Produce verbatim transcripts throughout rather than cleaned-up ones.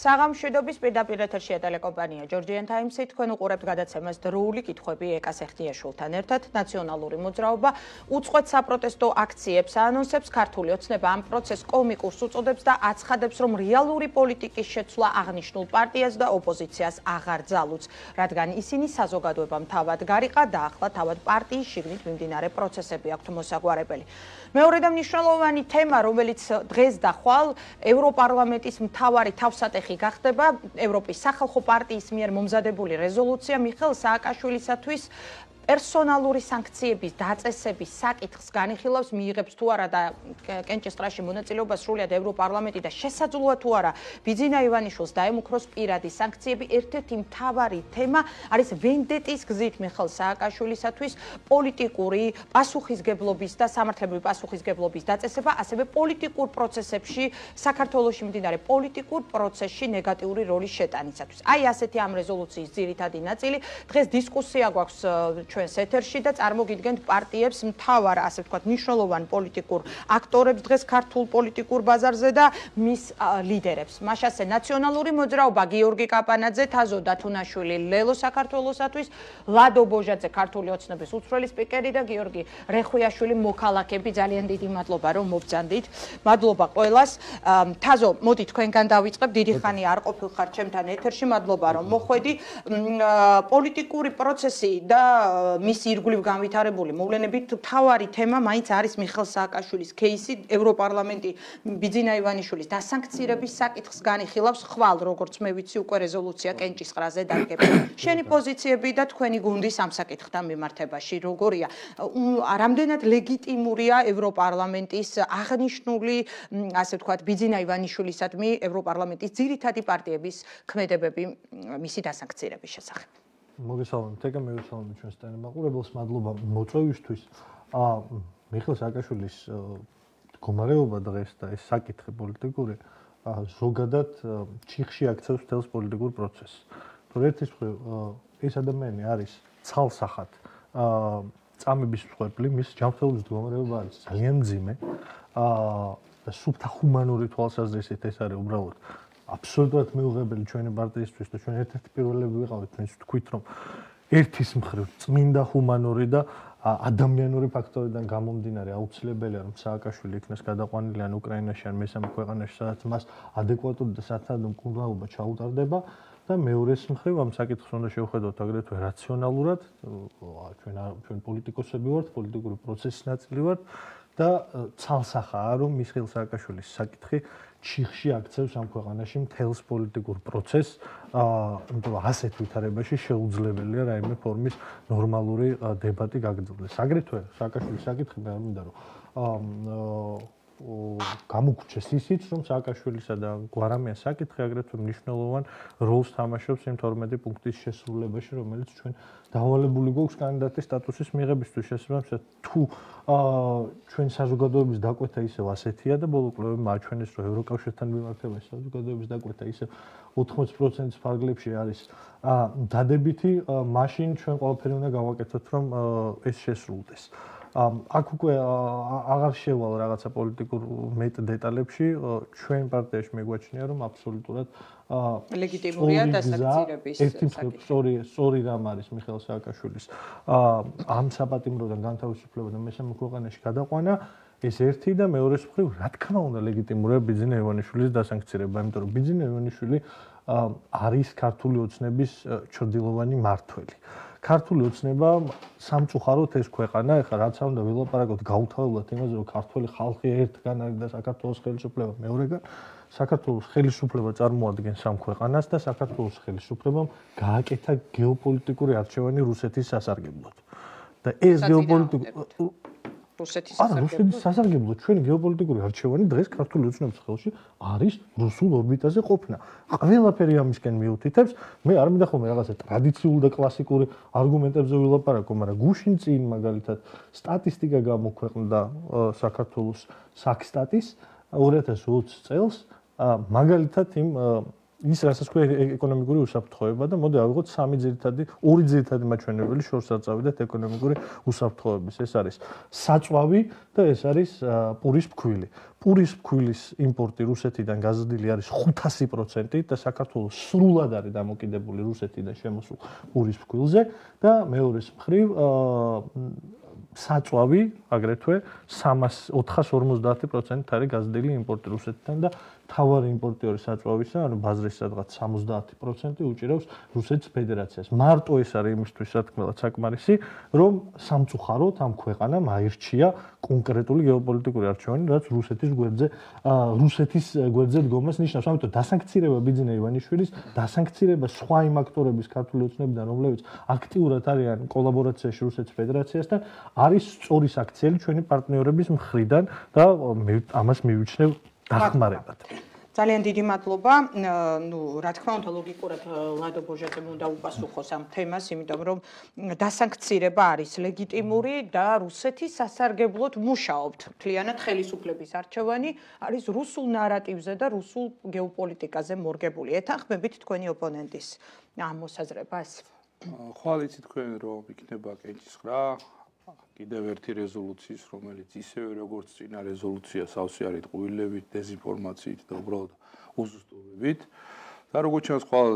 საღამშვიდობის პირდაპირ ეთერშია ტელეკომპანია Georgian Times-ი თქვენ უყურებთ გადაცემას დროული კითხვები ეკას ეხტიაშვილთან ერთად ნაციონალური მოძრაობა უწყვეტ საპროტესტო აქციებს აანონსებს ქართული ოცნება ამ პროცესს კომიკურს უწოდებს და აცხადებს რომ რეალური პოლიტიკის შეცვლა აღნიშნულ პარტიას და ოპოზიციას აღარ ძალუძს რადგან ისინი საზოგადოებამ თავად გარიყა და ახლა თავად პარტიის შიგნით მიმდინარე პროცესები აქვთ მოსაგვარებელი მეორე და მნიშვნელოვანი თემა რომელიც დღეს და ხვალ ევროპარლამენტის მთავარი თავსატეხი გახდება ევროპის სახალხო პარტიის მიერ მომზადებული რეზოლუცია მიხეილ სააკაშვილისათვის პერსონალური სანქციების დაწესების საკითხს განიხილავს მიიღებს თუ არა და კენჭისყრაში მონაწილეობას სრულიად ევროპარლამენტი და შესაძლოა თუ არა ბიძინა ივანიშვილს დაემუქროს პირადი სანქციები ერთ-ერთი მთავარი თემა არის ვენდეტის გზით მიხეილ სააკაშვილისათვის პოლიტიკური პასუხისგებლობის და სამართლებრივი პასუხისგებლობის დაწესება ასევე პოლიტიკურ პროცესებში საქართველოში მიმდინარე პოლიტიკურ პროცესში ნეგატიური როლის შეტანისათვის აი ასეთი ამ რეზოლუციის ძირითადი ნაწილი დღეს დისკუსია გვაქვს ჩვენს ეთერში და წარმოგიდგენთ პარტიებს მთავარ ასე ვთქვათ მნიშვნელოვან პოლიტიკურ აქტორებს დღეს ქართულ პოლიტიკურ ბაზარზე და მის ლიდერებს. მაშასე ნაციონალური მოძრაობა გიორგი კაპანაძე, თაზო დათუნაშვილი ლელო საქართველოსათვის, ლადო ბოჟაძე ქართული ოცნების უცვლელი სპიკერი და გიორგი რეხვიაშვილი მოქალაქეები ძალიან დიდი მადლობა რომ მობრძანდით. მადლობა ყველას. თაზო, მოდი თქვენგან დავიწყებ. დიდი ხანი არ ყოფილხარ ჩემთან ეთერში. მადლობა რომ მოხვედი. პოლიტიკური პროცესი და მის ირგვლივ განვითარებული მოვლენებით თავარი თემა მაინც არის მიხეილ სააკაშვილის кейსი ევროპარლამენტი ბიძინა ივანიშვილის დასანქცირების საკითხს განიხილავს ხვალ როგორც მე ვიცი უკვე რეზოლუცია კენჭისყრაზე დაგება შენი პოზიციები და თქვენი გუნდის ამ საკითხთან მიმართებაში როგორია რამდენად ლეგიტიმურია ევროპარლამენტის აღნიშნული ასე ვთქვათ ბიძინა ივანიშვილისადმი ევროპარლამენტის ძირითადი პარტიების ქმედებები მისი დასანქცირების შესახებ მოგესალმებით, ეკა მოგესალმებით ჩვენს ტელემაყურებელს, მადლობა მოწვევისთვის. აა მიხეილ სააკაშვილის მდგომარეობა დღეს და ეს საკითხი პოლიტიკური ზოგადად ჩიხში აქცევს მთელს პოლიტიკურ პროცესს. თუ ერთის მხრივ ეს ადამიანი არის ცალსახად აა წამების მსხვერპლი, მის ჯანმრთელობის მდგომარეობა არის ძალიან მძიმე. აა და სუფთა ჰუმანური თვალსაზრისით ეს არის უბრალოდ აბსოლუტურად მეუღებელი ჩვენი პარტიისთვის და ჩვენ ერთ-ერთი პირველები ვიყავით თქვენს თქვით რომ ერთის მხრივ წმინდა ჰუმანური და ადამიანური ფაქტორიდან გამომდინარე აუცილებელია რომ სააკაშვილი იქნას გადაყვანილი ან უკრაინაში ან მესამე ქვეყანაში სადაც მას ადეკვატური და სათანადო მკურნალობა ჩაუტარდება და მეორეს მხრივ ამ საკითხს უნდა შევხედოთ აგრეთვე რაციონალურად ჩვენ ჩვენ პოლიტიკოსები ვართ პოლიტიკური პროცესის ნაწილი ვართ და ცალსახაა რომ მიხეილ სააკაშვილის საკითხი ჩიხში აქცევს ამ ქვეყანაში მთელს პოლიტიკურ პროცესს, იმიტომ რომ ასეთ ვითარებაში შეუძლებელია რაიმე ფორმის ნორმალური დებატი გაგრძელდეს. აგრეთვე სააკაშვილის საკითხი მე არ მინდა რომ გამოგვრჩეს ისიც, რომ სააკაშვილისა და გვარამიანის საკითხი აგრეთვე მნიშვნელოვან როლს თამაშობს იმ თორმეტი პუნქტის შესრულებაში, რომელიც ჩვენ დავალებული გვაქვს კანდიდატის სტატუსის მიღებისთვის შესაბამისად თუ ჩვენ საზოგადოების დაკვეთა ისევ ასეთია და ბოლო კვლევები მაჩვენეს რომ ევროკავშირთან მიმართებაში საზოგადოების დაკვეთა ისევ ოთხმოცი პროცენტის ფარგლებში არის დადებითი, მაშინ ჩვენ ყველაფერი უნდა გავაკეთოთ რომ ეს შესრულდეს. აქ უკვე აღარ შევალ რაღაცა პოლიტიკურ მეტ დეტალებში ჩვენ პარტიაში მეგვაჩნია რომ აბსოლუტურად ლეგიტიმურია დასანქცირების ერთი სწორი სწორი რამ არის მიხეილ სააკაშვილის ამ საპატიმროდან განთავისუფლება და მესამე ქვეყანაში გადაყვანა ეს ერთი და მეორეს მხრივ რა თქმა უნდა ლეგიტიმურია ბიძინა ივანიშვილის დასანქცირება იმიტომ რომ ბიძინა ივანიშვილი არის ქართული ოცნების ჩრდილოვანი მმართველი ქართული ოცნება სამწუხაროდ ეს ქვეყანა ეხლა რაც არ უნდა ველაპარაკოთ გაუთავებლად იმაზე რომ ქართული ხალხი ერთგან არის და საქართველოს ხელისუფლება მეორეგან საქართველოს ხელისუფლება წარმოადგენს ამ ქვეყანას და საქართველოს ხელისუფლებამ გააკეთა გეოპოლიტიკური არჩევანი რუსეთის სასარგებლოდ და ეს გეოპოლიტიკური რუსეთის სასარგებლოდ ჩვენი გეოპოლიტიკური არჩევანი დღეს ქართული ოცნების ხელში არის რუსულ ორბიტაზე ყოფნა. ყველაფერი ამისკენ მიუთითებს, მე არ მინდა ხოლმე რაღაცა ტრადიციული და კლასიკური არგუმენტებზე ვილაპარაკო, მაგრამ გუშინ წინ მაგალითად სტატისტიკა გამოქვეყნდა საქართველოს საქსტატის ორი ათას ოცი წელს, მაგალითად იმ ის რასაც ქვია ეკონომიკური უსაფრთხოება და მოდი ავიღოთ სამი ძირითადი, ორი ძირითადი მაჩვენებელი შორს აწავიდეთ ეკონომიკური უსაფრთხოების. ეს არის საწვავი და ეს არის პურის ფქვილი. პურის ფქვილის იმპორტი რუსეთიდან გაზრდილი არის ხუთასი პროცენტი და საქართველოს სრულად არის დამოკიდებული რუსეთიდან შემოსულ პურის ფქვილზე და მეორეს მხრივ საწვავი აგრეთვე ოთხას ორმოცდაათი პროცენტით არის გაზრდილი იმპორტი რუსეთიდან და თავარი იმპორტიორი საწვავისა, ანუ ბაზრის სადღაც სამოცდაათი პროცენტი უჭირავს რუსეთის ფედერაციას. მარტო ეს არის იმისთვის სათქმელად საკმარისი, რომ სამწუხაროდ ამ ქვეყანამ აირჩია კონკრეტული გეოპოლიტიკური არჩევანი, რაც რუსეთის გვერდზე, რუსეთის გვერდზე დგომას ნიშნავს. ამიტომ დასანქცირება ბიძინა ივანიშვილის, დასანქცირება სხვა იმ აქტორების ქართული ოცნებიდან, რომლებიც აქტიურად არიან კოლაბორაციაში რუსეთის ფედერაციასთან, არის სწორი საქციელი ჩვენი პარტნიორების მხრიდან და ამას მივიჩნევ დახმარებად. ძალიან დიდი მადლობა. ნუ რა თქმა უნდა ლოგიკურად ლადო ბოჟაძემ უნდა უპასუხოს ამ თემას, იმიტომ რომ დასანქცირება არის ლეგიტიმური და რუსეთის სასარგებლოდ მუშაობთ. მთლიანად ხელისუფლების არჩევანი არის რუსულ ნარატივზე და რუსულ გეოპოლიტიკაზე მორგებული. ეთანხმებით თქვენი ოპონენტის ამ მოსაზრებას? ხვალ იცით თქვენ რომ იქნება კენჭისყრა კიდევ ერთი რეზოლუციის, რომელიც ისევე როგორც წინა რეზოლუცია სავსე არის ტყუილებით, დეზინფორმაციით და უბრალოდ უზუსტობებით. და როგორც ჩანს, ხვალ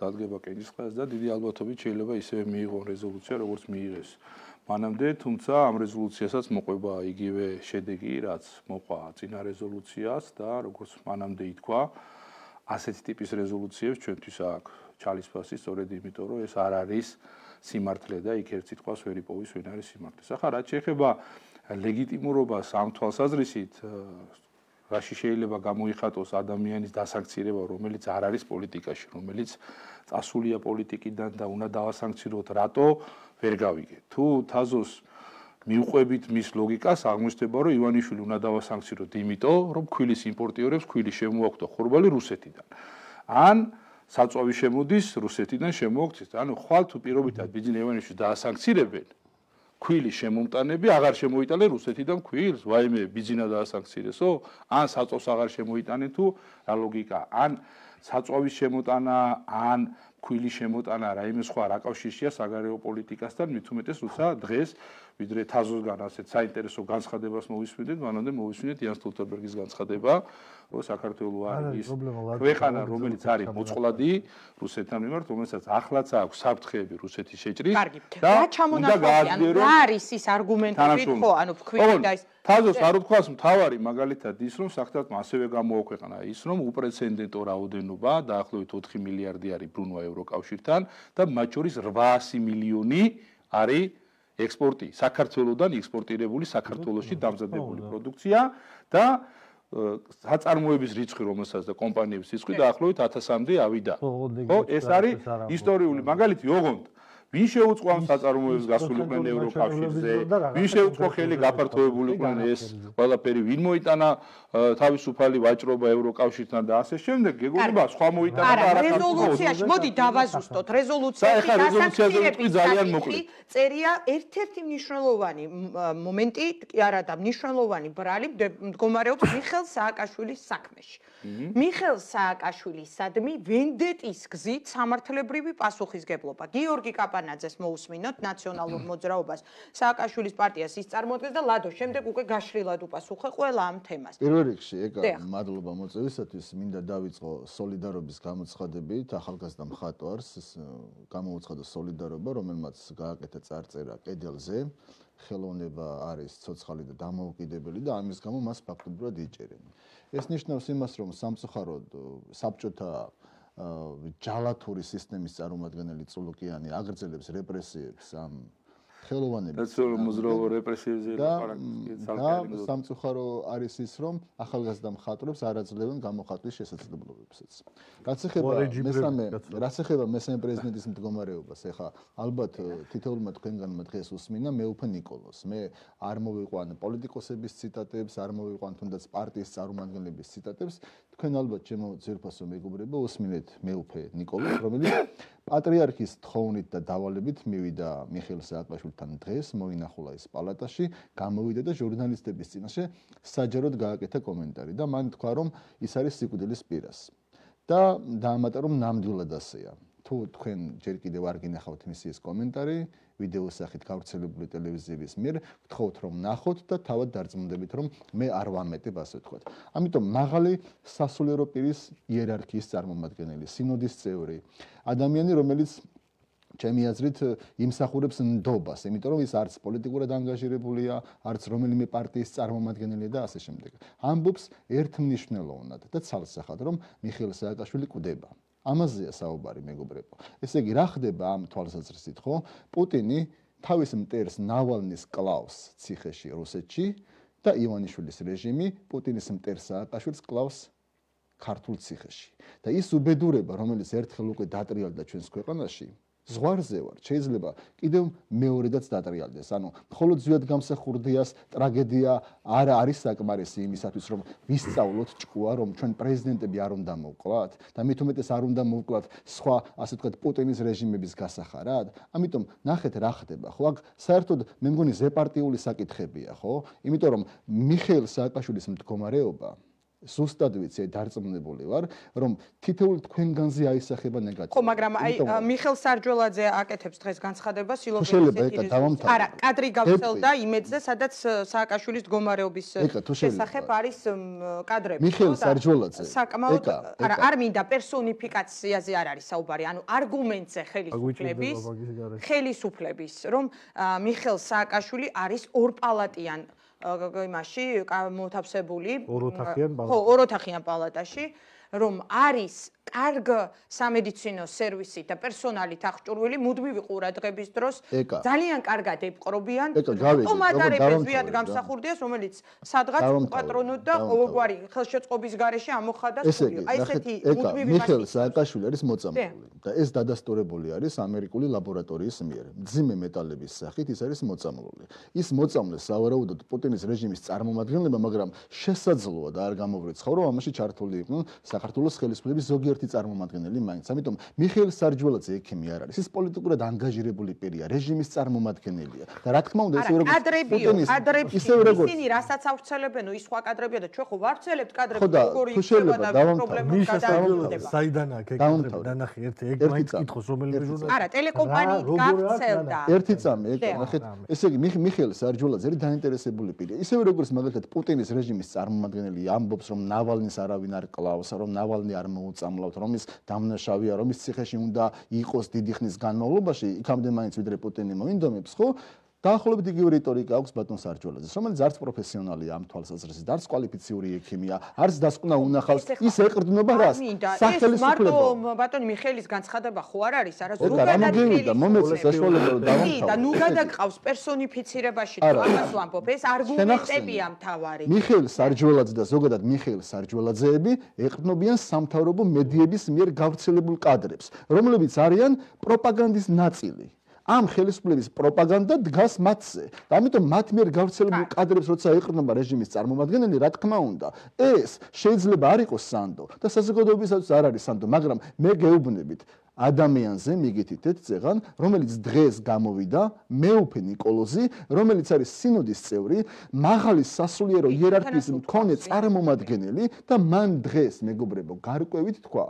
დადგება კენჭისყრას და დიდი ალბათობით შეიძლება ისევე მიიღონ რეზოლუცია, როგორც მიიღეს მანამდე, თუმცა ამ რეზოლუციასაც მოყვება იგივე შედეგი, რაც მოყვა წინა რეზოლუციას და როგორც მანამდე ითქვა, ასეთი ტიპის რეზოლუციებს ჩვენთვის აქვს ჩალისფასი, სწორედ იმიტომ, რომ ეს არ არის სიმართლე და იქ ერთ სიტყვას ვერ იპოვის ვინ არის სიმართლე. ახლა რაც შეეხება ლეგიტიმურობას ამ თვალსაზრისით, რაში შეიძლება გამოიხატოს ადამიანის დასანქცირება, რომელიც არ არის პოლიტიკაში, რომელიც წასულია პოლიტიკიდან და უნდა დავასანქციროთ, რატო ვერ გავიგე. თუ თაზოს მიუყვებით მის ლოგიკას, აღმოჩნდება, რომ ივანიშვილი უნდა დავასანქციროთ იმიტომ, რომ ქვილის იმპორტიორებს ქვილი შემოაქვთ ხორბალი რუსეთიდან. ან საწვავი შემოდის რუსეთიდან შემოაქვთ. ანუ ხვალ თუ პირობითად ბიძინა ივანიშვილს დაასანქცირებენ, ქვილი შემომტანები აღარ შემოიტანენ რუსეთიდან ქვილს, ვაიმე ბიძინა დაასანქცირესო, ან საწვავს აღარ შემოიტანენ თუ რა ლოგიკა, ან საწვავის შემოტანა, ან ქვილის შემოტანა რაიმე სხვა რა კავშირშია საგარეო პოლიტიკასთან, მით უმეტეს როცა დღეს ვიდრე თაზოსგან ასეთ საინტერესო განცხადებას მოვისმინეთ, მანამდე მოვისმინეთ იან სტოლტენბერგის განცხადება, რომ საქართველო არის ქვეყანა, რომელიც არის მოწყვლადი რუსეთთან მიმართ, რომელსაც ახლაც აქვს საფრთხეები რუსეთის შეჭრის და უნდა გააძლიეროს. რა არის ის არგუმენტები, ხო, ანუ ფქვილი და ის თაზოს არ უთქვას მთავარი მაგალითად ის, რომ საფრთხეთმა ასევე გამოაქვეყნა ის, რომ უპრეცედენტო რაოდენობა დაახლოებით ოთხი მილიარდი არის ბრუნვა ევროკავშირთან და მათ შორის რვაასი მილიონი არის ექსპორტი, საქართველოსდან ექსპორტირებული საქართველოში დამზადებული პროდუქცია და საწარმოების რიცხვი, რომელსაც და კომპანიების რიცხვი დაახლოებით ათასამდე ავიდა. ხო, ეს არის ისტორიული მაგალითი, ოღონდ ვინ შეუწყო ამ საწარმოებს გასულიყვნენ ევროკავშირზე, ვინ შეუწყო ხელი გაფართოებულიყვნენ ეს ყველაფერი, ვინ მოიტანა თავისუფალი ვაჭრობა ევროკავშირთან და ასე შემდეგ, გეგონება სხვა მოიტანა და არა რეზოლუციაში, მოდი დავაზუსტოთ, რეზოლუციაში დასანქცირების ძალიან მოკლედ წერია ერთ-ერთი მნიშვნელოვანი მომენტი, კი არა და მნიშვნელოვანი ბრალი მდგომარეობს მიხეილ სააკაშვილის საქმეში. მიხეილ სააკაშვილისადმი ვენდეტის გზით სამართლებრივი პასუხისგებლობა. გიორგი კაპანაძეს მოусმინოთ ნაციონალურ მოძრაობას, სააკაშვილის პარტიას ის წარმოადგენს და ლადო შემდეგ უკვე გაშრილად უპასუხე ყველა ამ თემას. პირველ რიგში, ეგა მადლობა მოწვევისათვის, მინდა დავიწყო სოლიდარობის გამოცხადებით, ახალგაზრდა მხატვარს გამოუცხადა სოლიდარობა, რომელმაც გააკეთა წარწერა კედელზე, ხელოვნება არის ცოცხალი და დამოუკიდებელი და ამის გამო მას ფაქტობრივად იჭერენ. ეს ნიშნავს იმას, რომ სამწუხაროდ საბჭოთა ჯალათური სისტემის წარმომადგენელი წულუკიანი აგრძელებს რეპრესიებს ამ ხელოვანების მოძრაობა რეპრესიებზე და სამწუხარო არის ის, რომ ახალგაზრდა მხატვრებს არ აძლევენ გამოხატვის შესაძლებლობებსაც. რაც ეხება მესამე, რაც ეხება მესამე პრეზიდენტის მდგომარეობას, ეხა ალბათ თითოეულმა თქვენგანმა დღეს უსმინა მეუფე ნიკოლოს. მე არ მოვიყვან პოლიტიკოსების ციტატებს, არ მოვიყვან თუნდაც პარტიის წარმომადგენლების ციტატებს. თქვენ ალბათ ჩემო ძვირფასო მეგობრებო უსმინეთ მეუფე ნიკოლოს, რომელიც პატრიარქის თხოვნით და დავალებით მივიდა მიხეილ სააკაშვილთან დღეს, მოინახულა ის პალატაში, გამოვიდა და ჟურნალისტების წინაშე საჯაროდ გააკეთა კომენტარი და მან თქვა, რომ ის არის სიკვდილის პირას. და დაამატა რომ ნამდვილად ასეა. თუ თქვენ ჯერ კიდევ არ გინახავთ მისი ეს კომენტარი, ვიდეოს სახით გავრცელებული ტელევიზიების მიერ, გთხოვთ რომ ნახოთ და თავად დარწმუნდებით რომ მე არ ვამეტებ ასე ვთქვათ. ამიტომ მაღალი სასულიერო პირის იერარქიის წარმომადგენელი, სინოდის წევრი, ადამიანი რომელიც ჩემი აზრით იმსახურებს ნდობას, იმიტომ რომ ის არც პოლიტიკურად ანგაჟირებულია, არც რომელიმე პარტიის წარმომადგენელია და ასე შემდეგ. ამბობს ერთმნიშვნელოვნად და ცალსახად რომ მიხეილ სააკაშვილი კვდება. ამაზეა საუბარი მეგობრებო. ესე იგი, რა ხდება ამ თვალსაზრისით, ხო? პუტინი თავის მტერს ნავალნის კლავს ციხეში რუსეთში და ივანიშვილის რეჟიმი პუტინის მტერს სააკაშვილს კლავს ქართულ ციხეში. და ის უბედურება, რომელიც ერთხელ უკვე დატრიალდა ჩვენს ქვეყანაში, ზღვარზე ვარ, შეიძლება კიდევ მეორედაც დატრიალდეს. ანუ მხოლოდ ზვიად გამსახურდიას ტრაგედია არ არის საკმარისი იმისათვის, რომ ვისწავლოთ ჭკუა, რომ ჩვენ პრეზიდენტები არ უნდა მოვკლათ და მით უმეტეს არ უნდა მოვკლათ სხვა, ასე ვთქვათ, პუტინის რეჟიმების გასახარად. ამიტომ ნახეთ რა ხდება, ხო? აქ საერთოდ მე მგონი ზეპარტიული საკითხებია, ხო? იმიტომ რომ მიხეილ სააკაშვილის მდგომარეობა ზუსტად ვიცი, დარწმუნებული ვარ, რომ თითოეულ თქვენგანზე აისახება ნეგატივი. ხო, მაგრამ აი მიხეილ სარჯველაძე აკეთებს დღეს განცხადებას სილოგიზმის. არა, კადრი გავცელდა იმედზე, სადაც სააკაშვილის მდგომარეობის შესახებ არის კადრები. მიხეილ სარჯველაძე. საკმაოდ არა, არ მინდა პერსონიფიკაციაზე არ არის საუბარი, ანუ არგუმენტზე ხელისუფლების, ხელისუფლების, რომ მიხეილ სააკაშვილი არის ორპალატიან იმაში მოთავსებული ხო ოროთახიან პალატაში რომ არის კარგ სამედიცინო სერვისი და პერსონალით აღჭურვილი მუდმივი ყურადღების დროს ძალიან კარგად ეპყრობიან კომანდარებს ვიად გამსახურდიას რომელიც სადღაც პატრონოთ და ყოველგვარი ხელშეწყობის გარეშე ამოხადა სული აი ესეთი მუდმივი მიხეილ სააკაშვილი არის მოწამლული და ეს დადასტურებული არის ამერიკული ლაბორატორიის მიერ მძიმე მეტალების სახით ის არის მოწამლული ის მოწამლე სავარაუდოდ პუტინის რეჟიმის წარმომადგენლებმა მაგრამ შესაძლოა და არ გამოვრიცხავ რომ ამაში ჩართული იყვნენ საქართველოს ხელისუფლების ზოგიერთი წარმომადგენელი მაინც. ამიტომ მიხეილ სარჯველაძე ექიმი არ არის. ის პოლიტიკურად ანგაჟირებული პირია, რეჟიმის წარმომადგენელია. და რა თქმა უნდა, ისე როგორც პუტინის ისე როგორც ისინი რასაც ავრცელებენ, ის სხვა კადრებია და ჩვენ ხო ვავრცელებთ კადრები, როგორი იქნება და პრობლემები გადაიჭირდება. საიდან აქ ეკრანები დანახი ერთი ეგ მაინც კითხოს რომელიმე ჟურნალისტი. არა, ტელეკომპანიით გავრცელდა. ერთი წამი, ეგ ნახეთ. ესე იგი მიხეილ სარჯველაძე არის დაინტერესებული პირია. ისევე როგორც მაგალითად პუტინის რეჟიმის წარმომადგენელი ამბობს, რომ ნავალნის არავინ არ კლავს, რომ ნავალნი არ მოუწამლავთ რომ ის დამნაშავეა, რომ ის ციხეში უნდა იყოს დიდი ხნის განმავლობაში, იქამდე მაინც ვიდრე პუტინი მოინდომებს, ხო? დაახლოებით იგივე რიტორიკა აქვს ბატონ სარჯველაძეს, რომელიც არც პროფესიონალია ამ თვალსაზრისით, არც კვალიფიციური ექიმია, არც დასკვნა უნახავს, ის ეყრდნობა რას? სახელმწიფო ბატონი მიხეილის განცხადება ხო არ არის, არა ზოგადად მომეწეს საშუალება რომ დავამთავრე. და ნუ გადაგყავს პერსონიფიცირებაში თუ ამას ვამბობ, ეს არგუმენტებია მთავარი. მიხეილ სარჯველაძე და ზოგადად მიხეილ სარჯველაძეები ეყრდნობიან სამთავრობო მედიების მიერ გავრცელებულ კადრებს, რომლებიც არიან პროპაგანდის ნაწილი. ამ ხელისუფლების პროპაგანდა დგას მათზე. და ამიტომ მათ მიერ გავრცელებულ კადრებს როცა ეყრდნობა რეჟიმის წარმომადგენელი, რა თქმა უნდა, ეს შეიძლება არ იყოს სანდო და საზოგადოებისაც არ არის სანდო, მაგრამ მე გეუბნებით ადამიანზე მიგითითეთ წეღან, რომელიც დღეს გამოვიდა, მეუფე ნიკოლოზი, რომელიც არის სინოდის წევრი, მაღალი სასულიერო იერარქიის მქონე წარმომადგენელი და მან დღეს მეგობრებო გარკვევით თქვა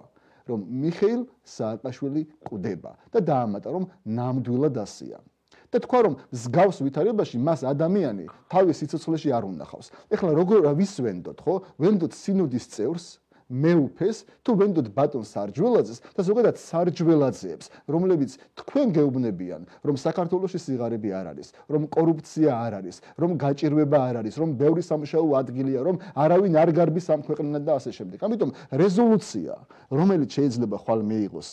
რომ მიხეილ სააკაშვილი კვდება და დაამატა რომ ნამდვილად ასეა. და თქვა რომ მსგავს ვითარებაში მას ადამიანი თავის სიცოცხლეში არ უნახავს. ეხლა როგორ ვის ვენდოთ, ხო? ვენდოთ სინოდის წევრს, მეუფეს, თუ ვენდოთ ბატონ სარჯველაძეს და ზოგადად სარჯველაძეებს, რომლებიც თქვენ გეუბნებიან, რომ საქართველოში სიღარიბე არ არის, რომ კორუფცია არ არის, რომ გაჭირვება არ არის, რომ ბევრი სამუშაო ადგილია, რომ არავინ არ გარბის ამ ქვეყნად და ასე შემდეგ. ამიტომ რეზოლუცია, რომელიც შეიძლება ხვალ მიიღოს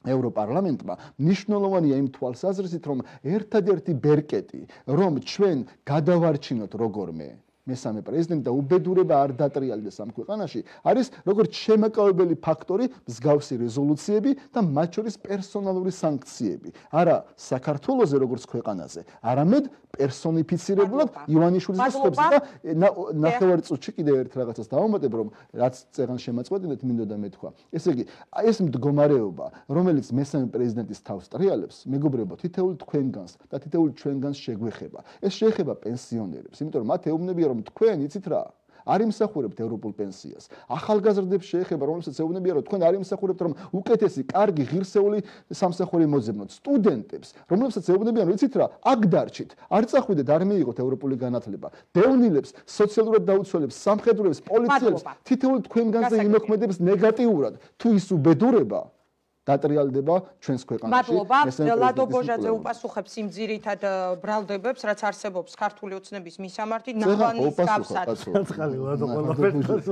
ევროპარლამენტმა მნიშვნელოვანია იმ თვალსაზრისით, რომ ერთადერთი ბერკეტი, რომ ჩვენ გადავარჩინოთ როგორმე მესამე პრეზიდენტი და უბედურება არ დატრიალდეს ამ ქვეყანაში, არის როგორც შემაკავებელი ფაქტორი მსგავსი რეზოლუციები და მათ შორის პერსონალური სანქციები. არა საქართველოზე როგორც ქვეყანაზე, არამედ პერსონიფიცირებულად ივანიშვილის ხსოვსა და ნახევარ წუთში კიდევ ერთ რაღაცას დავამატებ, რომ რაც წეგან შემაწყვეტილეთ მინდოდა მეთქვა. ესე იგი, ეს მდგომარეობა, რომელიც მესამე პრეზიდენტის თავს ტრიალებს, მეგობრებო, თითოეულ თქვენგანს და თითოეულ ჩვენგანს შეგვეხება. ეს შეეხება პენსიონერებს, იმიტომ რომ მათ ეუბნებიან რომ თქვენ იცით რა, არ იმსახურებთ ევროპულ პენსიას. ახალგაზრდებს შეეხება, რომლებსაც ეუბნებიან, რომ თქვენ არ იმსახურებთ, რომ უკეთესი, კარგი, ღირსეული სამსახური მოძებნოთ. სტუდენტებს, რომლებსაც ეუბნებიან, რომ იცით რა, აქ დარჩით, არ წახვიდეთ, არ მიიღოთ ევროპული განათლება. დევნილებს, სოციალურად დაუცველებს, სამხედროებს, პოლიციელებს, თითოეულ თქვენგანზე იმოქმედებს ნეგატიურად. თუ ის უბედურება დატრიალდება ჩვენს ქვეყანაში. მადლობა. ლადო ბოჟაძე უპასუხებს იმ ძირითად ბრალდებებს, რაც არსებობს ქართული ოცნების მისამართით, ნახვანის გავსად.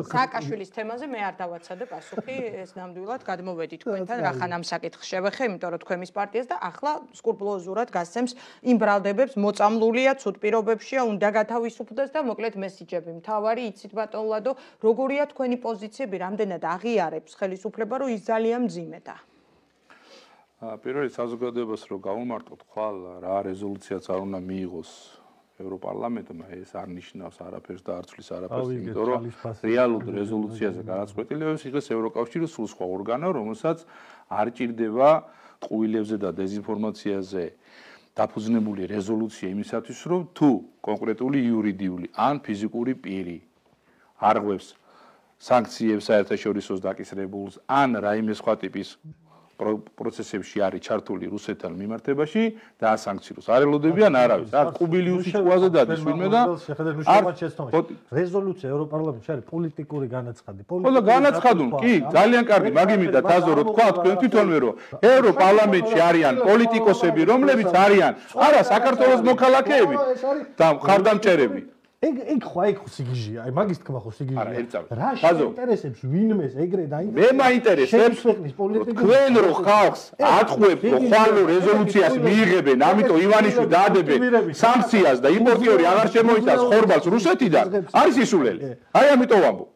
სააკაშვილის თემაზე მე არ დავაცადე პასუხი, ეს ნამდვილად გადმოვედი თქვენთან, რახან ამ საკითხს შევეხე, იმიტომ რომ თქვენ მის პარტიას და ახლა სკრუპულოზურად გასცემს იმ ბრალდებებს, მოწამლულია, ცუდ პირობებშია, უნდა გათავისუფლდეს და მოკლედ მესიჯები. მთავარი იცით ბატონ ლადო, როგორია თქვენი პოზიციები, რამდენად აღიარებს ხელისუფლება, რომ ის ძალიან მძიმედა. პირველი საზოგადოებას რო გავუმარტოთ ხვალ რა რეზოლუციაც არ უნდა მიიღოს ევროპარლამენტმა, ეს არ ნიშნავს არაფერს და არ ცვლის არაფერს, იმიტომ რომ რეალურ რეზოლუციაზე განაწყვეტილებებს იღებს ევროკავშირი სულ სხვა ორგანო, რომელსაც არ ჭირდება ტყუილებზე და დეзинფორმაციაზე დაფუძნებული რეზოლუცია იმისათვის, რომ თუ კონკრეტული იურიდიული ან ფიზიკური პირი არღვევს სანქციებს საერთაშორისო დაკისრებულს ან რაიმე სხვა ტიპის პროცესებში არის ჩართული რუსეთთან მიმართებაში და ასანქციურს არ ელოდებიან არავის. არ კუბილიუსის ყუაზე დადის ვინმე და რეზოლუცია ევროპარლამენტში არის პოლიტიკური განაცხადი. ხო და განაცხადულ, კი, ძალიან კარგი, მაგიმი და თაზო რო თქვა თქვენ თვითონვე რომ ევროპარლამენტში არიან პოლიტიკოსები, რომლებიც არიან არა საქართველოს მოქალაქეები და მხარდამჭერები. ეგ ეგ ხო ეგ სიგიჟია, აი მაგის თქმა ხო სიგიჟია. რა შეინტერესებს ვინმეს ეგრე დაინტერესებს? მე მაინტერესებს თქვენ რო ხალხს ატყვევთ, რომ ხვალო რეზოლუციას მიიღებენ, ამიტომ ივანიშვილი დაადებენ სანქციას და იმპორტიორი აღარ შემოიტანს ხორბალს რუსეთიდან, არის ისულელი. აი ამიტომ ვამბობ.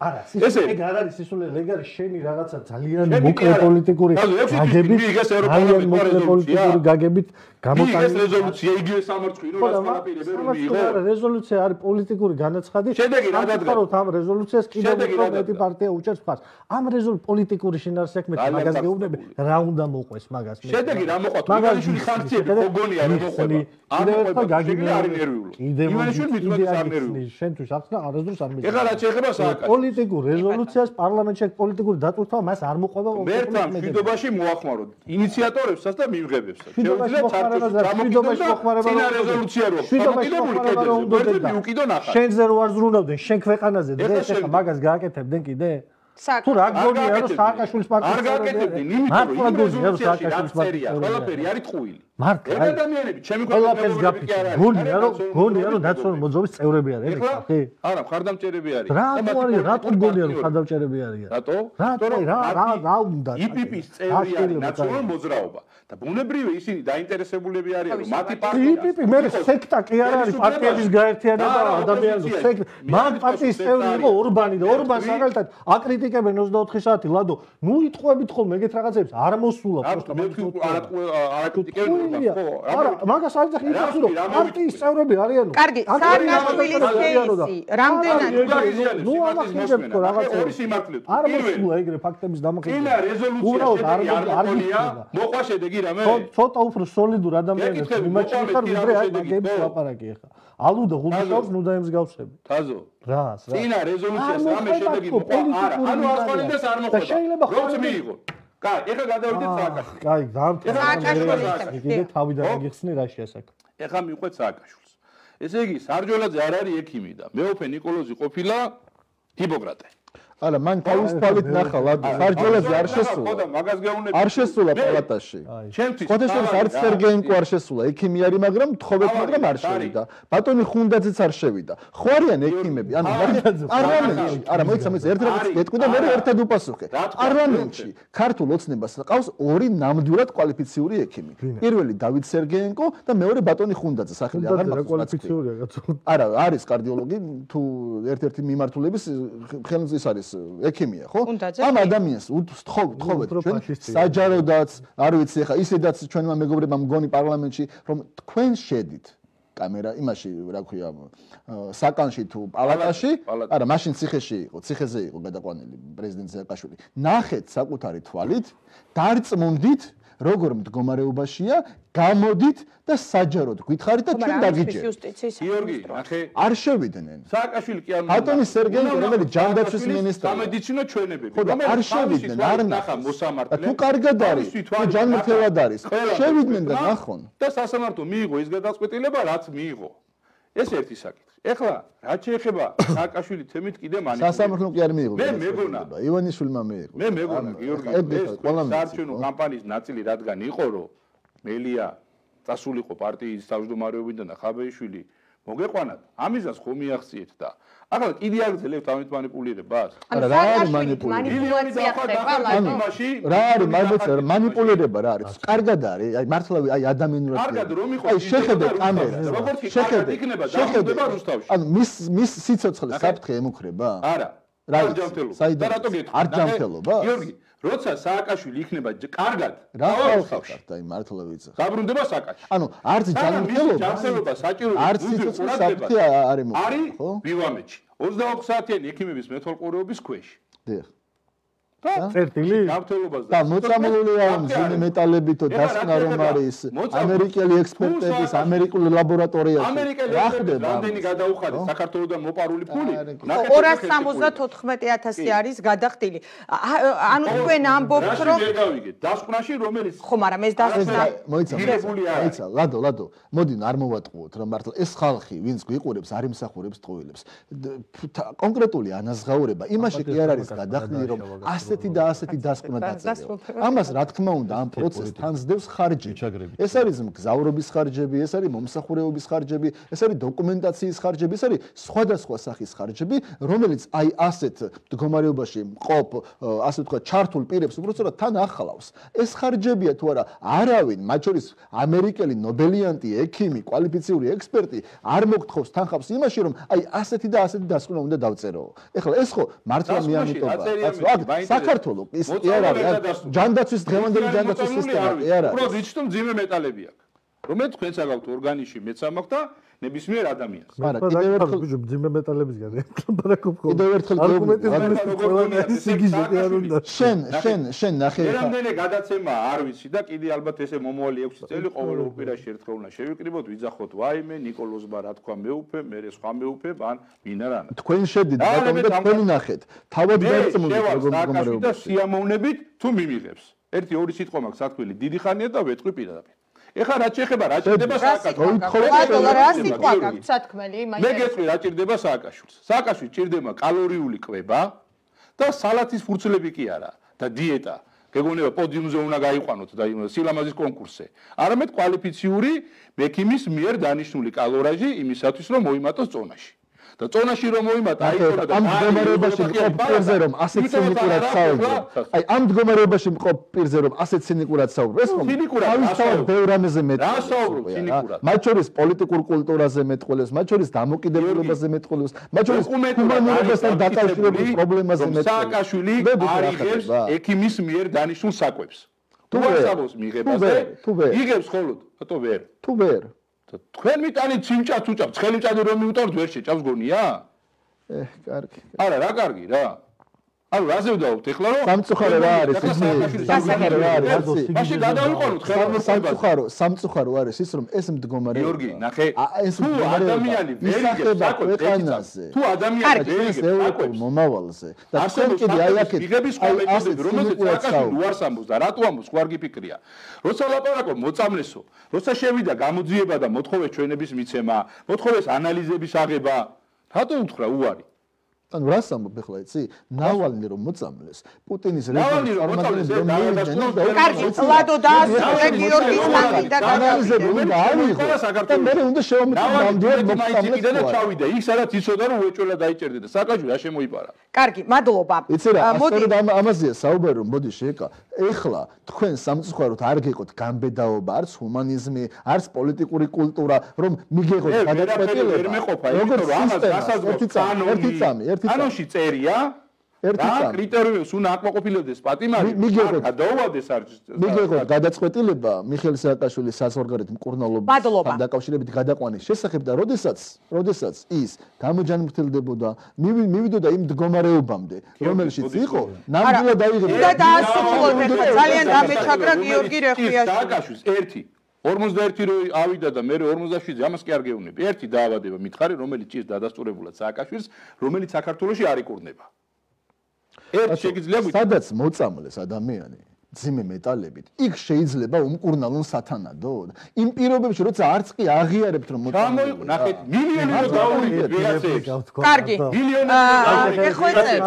ესე ეგ არ არის ისულელი, ეგ არის შენი რაღაცა ძალიან მოკლე პოლიტიკური გაგებით, ძალიან მოკლე პოლიტიკური გაგებით გამოტანილი. ეს რეზოლუცია იგივე სამარცხვინო რაც ყველაფერები რომ მიიღო. რეზოლუცია არის პოლიტიკური განაცხადი. შედეგი რა დადგა? ამ რეზოლუციას კიდევ უფრო მეტი პარტია უჭერს მხარს. ამ რეზოლუციის პოლიტიკური შინაარსი აქვს, მე მაგას გეუბნები, რა უნდა მოყვეს მაგას მე. შედეგი რა მოყვა? ივანიშვილი სანქციები გოგონია რომ მოყვება. კიდევ ერთხელ გაგიგებული არის ნერვიული. ივანიშვილი მithumetes არ ნერვიული. შენთვის აქვს და არასდროს არ მიიღო. ეხლა რა შეიძლება სააკაშო? პოლიტიკურ რეზოლუციას პარლამენტში პოლიტიკური დატვირთვა მას არ მოყვება. მერთან მშვიდობაში მოახმაროთ ინიციატორებსაც და მიმღებებსაც. შეუძლიათ საერთოდ მშვიდობაში მოხმარება რა რეზოლუცია რო გამოკიდებული კედელზე მიუკიდონ ახლა. შენზე რო არ ზრუნავდნენ შენ ქვეყანაზე დღეს ეხლა მაგას გააკეთებდნენ კიდე? თუ რა გონია რომ სააკაშვილის პარტია არ გააკეთებდნენ, იმიტომ რომ სააკაშვილის პარტია ყველაფერი არის ტყუილი. მარტო აი ადამიანები ჩემი ყველაფერს გაფიქრე. გონია რომ გონია რომ ნაციონალური მოძრაობის წევრები არიან ეგ ხალხი? არა, მხარდამჭერები არის. რატო არის? რატო გონია რომ მხარდამჭერები არიან? რატო? რატო რა რა რა უნდა? იპიპის წევრი არის ნაციონალური მოძრაობა. და ბუნებრივია ისინი დაინტერესებულები არიან რომ მათი პარტია იპიპი მე სექტა კი არ არის პარტიების გაერთიანება ადამიანის სექტა. მან პარტიის წევრი იყო ორბანი და ორბანს მაგალითად აკრიტიკებენ ოცდაოთხი საათი ლადო. ნუ იტყვებით ხოლმე ეგეთ რაღაცებს არ მოსულა პროსტა მე არ აკრიტიკებენ არა, მაგას არ იცი იცი რომ პარტიის წევრები არიანო. კარგი, სააკაშვილის кейსი, რამდენად ნუ ამახინჯებთ ხო რაღაცებს. არ მოსულა ეგრე ფაქტების დამახინჯება. ინა რეზოლუცია არ გიქნება. მოყვა შედეგი რამე? ცოტა უფრო სოლიდურ ადამიანებს მიმაჩნია ხარ ვიდრე აი მაგების ლაპარაკი ახლა. ალუ და ღუდაობს ნუ დაემსგავსები. თაზო. რას რა? ინა რეზოლუციას რამე შედეგი მოყვა? არა, ანუ ასყოლინდეს არ მოხდება. რომც მიიღო? კაი, ეხლა გადავიდეთ სააკაშვილს. კაი, დამთავრდა. კიდე თავიდან გიხსნი რა შეასაკ. ეხლა მიყვეთ სააკაშვილს. ესე იგი, სარჯოლაძე არ არის ექიმი და მეოფე ნიკოლოზი ყოფილა ჰიპოკრატე. არა, მან თავისუფლად ნახა ლადო, სარჯოლაძე არ შესულა. ხო და მაგას გეუბნები. არ შესულა პალატაში. ჩემთვის ხოთესორის არც სერგეენკო არ შესულა, ექიმი არის, მაგრამ თხოვეთ, მაგრამ არ შევიდა. ბატონი ხუნდაძეც არ შევიდა. ხო არიან ექიმები, ანუ პარლამენტში, არა, მოიცა, მოიცა, ერთ რამეს გეტყვი და მე ერთად უპასუხე. პარლამენტში ქართულ ოცნებას ყავს ორი ნამდვილად კვალიფიციური ექიმი. პირველი დავით სერგეენკო და მეორე ბატონი ხუნდაძე, სახელი აღარ მაქვს. კვალიფიციურია კაცო. არა, არის კარდიოლოგი, თუ ერთ-ერთი მიმართულების ხელმძღვანელი არის ექიმია, ხო? ამ ადამიანს უთხოვთ, თხოვეთ ჩვენ საჯაროდაც, არ ვიცი ახლა ისედაც ჩვენმა მეგობრებმა მგონი პარლამენტში, რომ თქვენ შედით კამერა იმაში, რა ქვია, საკანში თუ პალატაში, არა, მაშინ ციხეში იყო, ციხეზე იყო გადაყვანილი პრეზიდენტ სააკაშვილი. ნახეთ საკუთარი თვალით, დარწმუნდით როგორ მდგომარეობაშია, გამოდით და საჯაროდ გითხარით და ჩვენ დაგიჯერთ. გიორგი, ნახე, არ შევიდნენ. სააკაშვილი კი არ უნდა. ბატონი სერგეი, რომელიც ჯანდაცვის მინისტრია. სამედიცინო ჩვენებები, რომელიც შევიდნენ, არ ნახა მოსამართლე. თუ კარგად არის, თუ ჯანმრთელად არის, შევიდნენ და ნახონ. და სასამართლო მიიღო ის გადაწყვეტილება, რაც მიიღო. ეს ერთი საკითხი. ეხლა რაც შეეხება სააკაშვილი თემით კიდე მანიპულირება. სასამართლომ კი არ მიიღო. მე მეგონა, ივანიშვილმა მიიღო. მე მეგონა, გიორგი, ეს საარჩევნო კამპანიის ნაწილი რადგან იყო, რომ მელია წასულიყო პარტიის თავმჯდომარეობიდან და ხაბეიშვილი მოგეყვანათ, ამისას ხომ მიაღწიეთ და ახლა კიდე აგრძელებთ ამით მანიპულირებას? არა, რა არის მანიპულაცია ხდება ლაიმაში? რა არის მანიპულაცია? მანიპულირება რა არის? კარგად არის, აი მართლა აი ადამიანურად. კარგად რომ იყო, აი შეხედე კამერას. როგორც კი კარგად იქნება, დახვდება რუსთავში. ანუ მის მის სიცოცხლე საფრთხე ემუქრება? არა. რა ჯანმრთელობა. და რატო გეტყვი? არ ჯანმრთელობა? გიორგი, როცა სააკაშვილი იქნება კარგად, რა ხალხი აი მართლა ვიცი. გაბრუნდება სააკაშვილი. ანუ არც ჯანმრთელობა, ჯანმრთელობა საჭირო არც სიცოცხლე საფრთხე არ ემუქრება, ხო? არის ბივამეთში. ოცდაოთხ საათიანი ექიმების მეთვალყურეობის ქვეშ. დიახ. წერტილი? ჯანმრთელობას და მოწამლულია მძიმე მეტალებითო დასკვნა რომ არის ამერიკელი ექსპერტების ამერიკული ლაბორატორიაში. ამერიკელი ექსპერტები რამდენი გადაუხადა საქართველოსთან მოპარული ფული? ორას სამოცდათოთხმეტი ათასი არის გადახდილი. ანუ თქვენ ამბობთ რომ შეგავიგეთ დასკვნაში რომელიც ხო, მაგრამ ეს დასკვნა მოიცა, მოიცა, ლადო, ლადო. მოდი არ მოვატყუოთ რომ მართლა ეს ხალხი ვინც გვიყურებს არ იმსახურებს ტყუილებს. კონკრეტული ანაზღაურება იმაში კი არ არის გადახდილი რომ ასეთი და ასეთი დასკვნა დაწერილ. ამას რა თქმა უნდა ამ პროცესს თანსდევს ხარჯი. ეს არის მგზავრობის ხარჯები, ეს არის მომსახურეობის ხარჯები, ეს არის დოკუმენტაციის ხარჯები, ეს არის სხვადასხვა სახის ხარჯები, რომელიც აი ასეთ მდგომარეობაში მყოფ, ასე ვთქვათ, ჩართულ პირებს უბრალოდ თან ახლავს. ეს ხარჯებია თუ არა, არავინ, მათ შორის ამერიკელი ნობელიანტი, ექიმი, კვალიფიციური ექსპერტი არ მოგთხოვს თანხავს იმაში, რომ აი ასეთი და ასეთი დასკვნა უნდა დავწერო. ეხლა ეს ხო მართლა მიამიტოვა. საქართველო ის კი არ არის ჯანდაცვის დღევანდელი ჯანდაცვის სისტემა კი არ არის. უბრალოდ იცით რომ ძიმე მეტალები აქვს. რომელიც თქვენს აგავთ ორგანიზმში მეც ამაქვს და ნებისმიერ ადამიანს. მაგრამ კიდევ ერთხელ ძიმე მეტალებისგან ემბარაკობ. კიდევ ერთხელ შენ შენ შენ ნახე. რამდენი გადაცემა არ ვიცი და კიდე ალბათ ესე მომავალი ექვსი წელი ყოველ ორ კვირაში ერთხელ უნდა შევიკრიბოთ, ვიძახოთ ვაიმე, ნიკოლოზმა რა თქვა მეუფე, მე სხვა მეუფე, ან ვინა რა. თქვენ შედით ბატონო და თქვენ ნახეთ. თავად გაწმუნდით როგორ მდგომარეობა. და სიამოვნებით თუ მიმიღებს. ერთი ორი სიტყვა მაქვს სათქმელი, დიდი ხანია და ვეთყვი პირადად. ეხლა რა შეეხება რა ჭირდება სააკაშვილს? რა სიტყვა გაქვს სათქმელი? მე გეტყვი რა ჭირდება სააკაშვილს. სააკაშვილს ჭირდება კალორიული კვება და სალათის ფურცლები კი არა და დიეტა. გეგონება პოდიუმზე უნდა გაიყვანოთ და სილამაზის კონკურსზე. არამედ კვალიფიციური ექიმის მიერ დანიშნული კალორაჟი იმისათვის რომ მოიმატოს წონაში. და წონაში რომ მოიმატა აიწყო და ამ მდგომარეობაში მყოფ პირზე რომ ასეთ ცინიკურად საუბრობ. აი ამ მდგომარეობაში მყოფ პირზე რომ ასეთ ცინიკურად საუბრობ. ეს ხომ თავისთავად ბევრ რამეზე მეტყველებს. მათ შორის პოლიტიკურ კულტურაზე მეტყველებს, მათ შორის დამოკიდებულებაზე მეტყველებს, მათ შორის ჰუმანურობასთან დაკავშირებულ პრობლემაზე მეტყველებს. სააკაშვილი არიღებს ექიმის მიერ დანიშნულ საკვებს. თუ ვასაბოს მიღებაზე, იღებს ხოლოდ, ბატონო ვერ. თუ ვერ თქვენ მიტანით სიმჭაც უჭამთ, ცხელი მჭადი რომ მიუტოვოთ ვერ შეჭამს გონია? ე, კარგი. არა, რა კარგი რა. ანუ რაზე ვდაობთ ეხლა რომ სამწუხარო რა არის? სამწუხარო რა არის? მაშინ გადავიყენოთ ხელოვნებას. სამწუხარო, სამწუხარო არის ის რომ ეს მდგომარეობა. გიორგი, ნახე. ეს ადამიანი ვერ იგებს ქვეყანაზე. თუ ადამიანი ვერ იგებს ევროპულ მომავალზე და თქვენ კიდე აი აქეთ იღების სხვა მეთოდები, რომელზეც სააკაშვილი უარს ამბობს და რატო ამბობს, ხო არ გიფიქრია. როცა ლაპარაკობ მოწამლესო, როცა შევიდა გამოძიება და მოთხოვეს ჩვენების მიცემა, მოთხოვეს ანალიზების აღება, რატო უთხრა უარი? ანუ რას ამბობ ახლა იცი? ნავალნი რომ მოწამლეს, პუტინის ნავალნი რომ მოწამლეს, კარგი, ლადო დაასრულე გიორგის მანდა ანალიზები უნდა აიღო და მე უნდა შევამოწმო ნამდვილად მოწამლეს და ჩავიდა. იქ სადაც იცოდა რომ უეჭველა დაიჭერდა და სააკაშვილი რა შემოიპარა. კარგი, მადლობა. იცი რა, ასწორედ ამაზეა საუბარი რომ მოდი შეკა. ეხლა თქვენ სამწუხაროდ არ გეყოთ გამბედაობა, არც ჰუმანიზმი, არც პოლიტიკური კულტურა, რომ მიგეღოთ გადაწყვეტილება. ვერ მეყოფა, იმიტომ რომ ამას გასაზრდოთ ერთი წამი, ერთი წამი, ერთი წამი. ანონში წერია ერთი რა კრიტერიუმებს უნდა აკმაყოფილებდეს პატიმარი მიგიღოთ გადაუვადეს არ მიგიღოთ გადაწყვეტილება მიხეილ სააკაშვილის საზღვარგარეთ მკურნალობასთან დაკავშირებით გადაყვანის შესახებ და როდესაც როდესაც ის გამოჯანმრთელდებოდა მივიდოდა იმ მდგომარეობამდე რომელშიც იყო ნამდვილად დაიღებდა და დაასრულოთ ახლა ძალიან დამეჩაგრა გიორგი რეხიაშვილი სააკაშვილს ერთი ორმოცდაერთი რო ავიდა და მე ორმოცდაშვიდზე ამას კი არ გეუბნები. ერთი დაავადება მითხარი, რომელიც ჭირს დადასტურებულად სააკაშვილს, რომელიც საქართველოში არ იკურნება. ერთ შეგიძლია სადაც მოწამლეს ადამიანი ძიმე მეტალებით, იქ შეიძლება უმკურნალონ სათანადოდ. იმ პირობებში, როცა არც კი აღიარებთ რომ მოწამლე. ნახეთ, მილიონი დაუვიდეთ ვიღაცებს. კარგი. მილიონი ეხოწებ.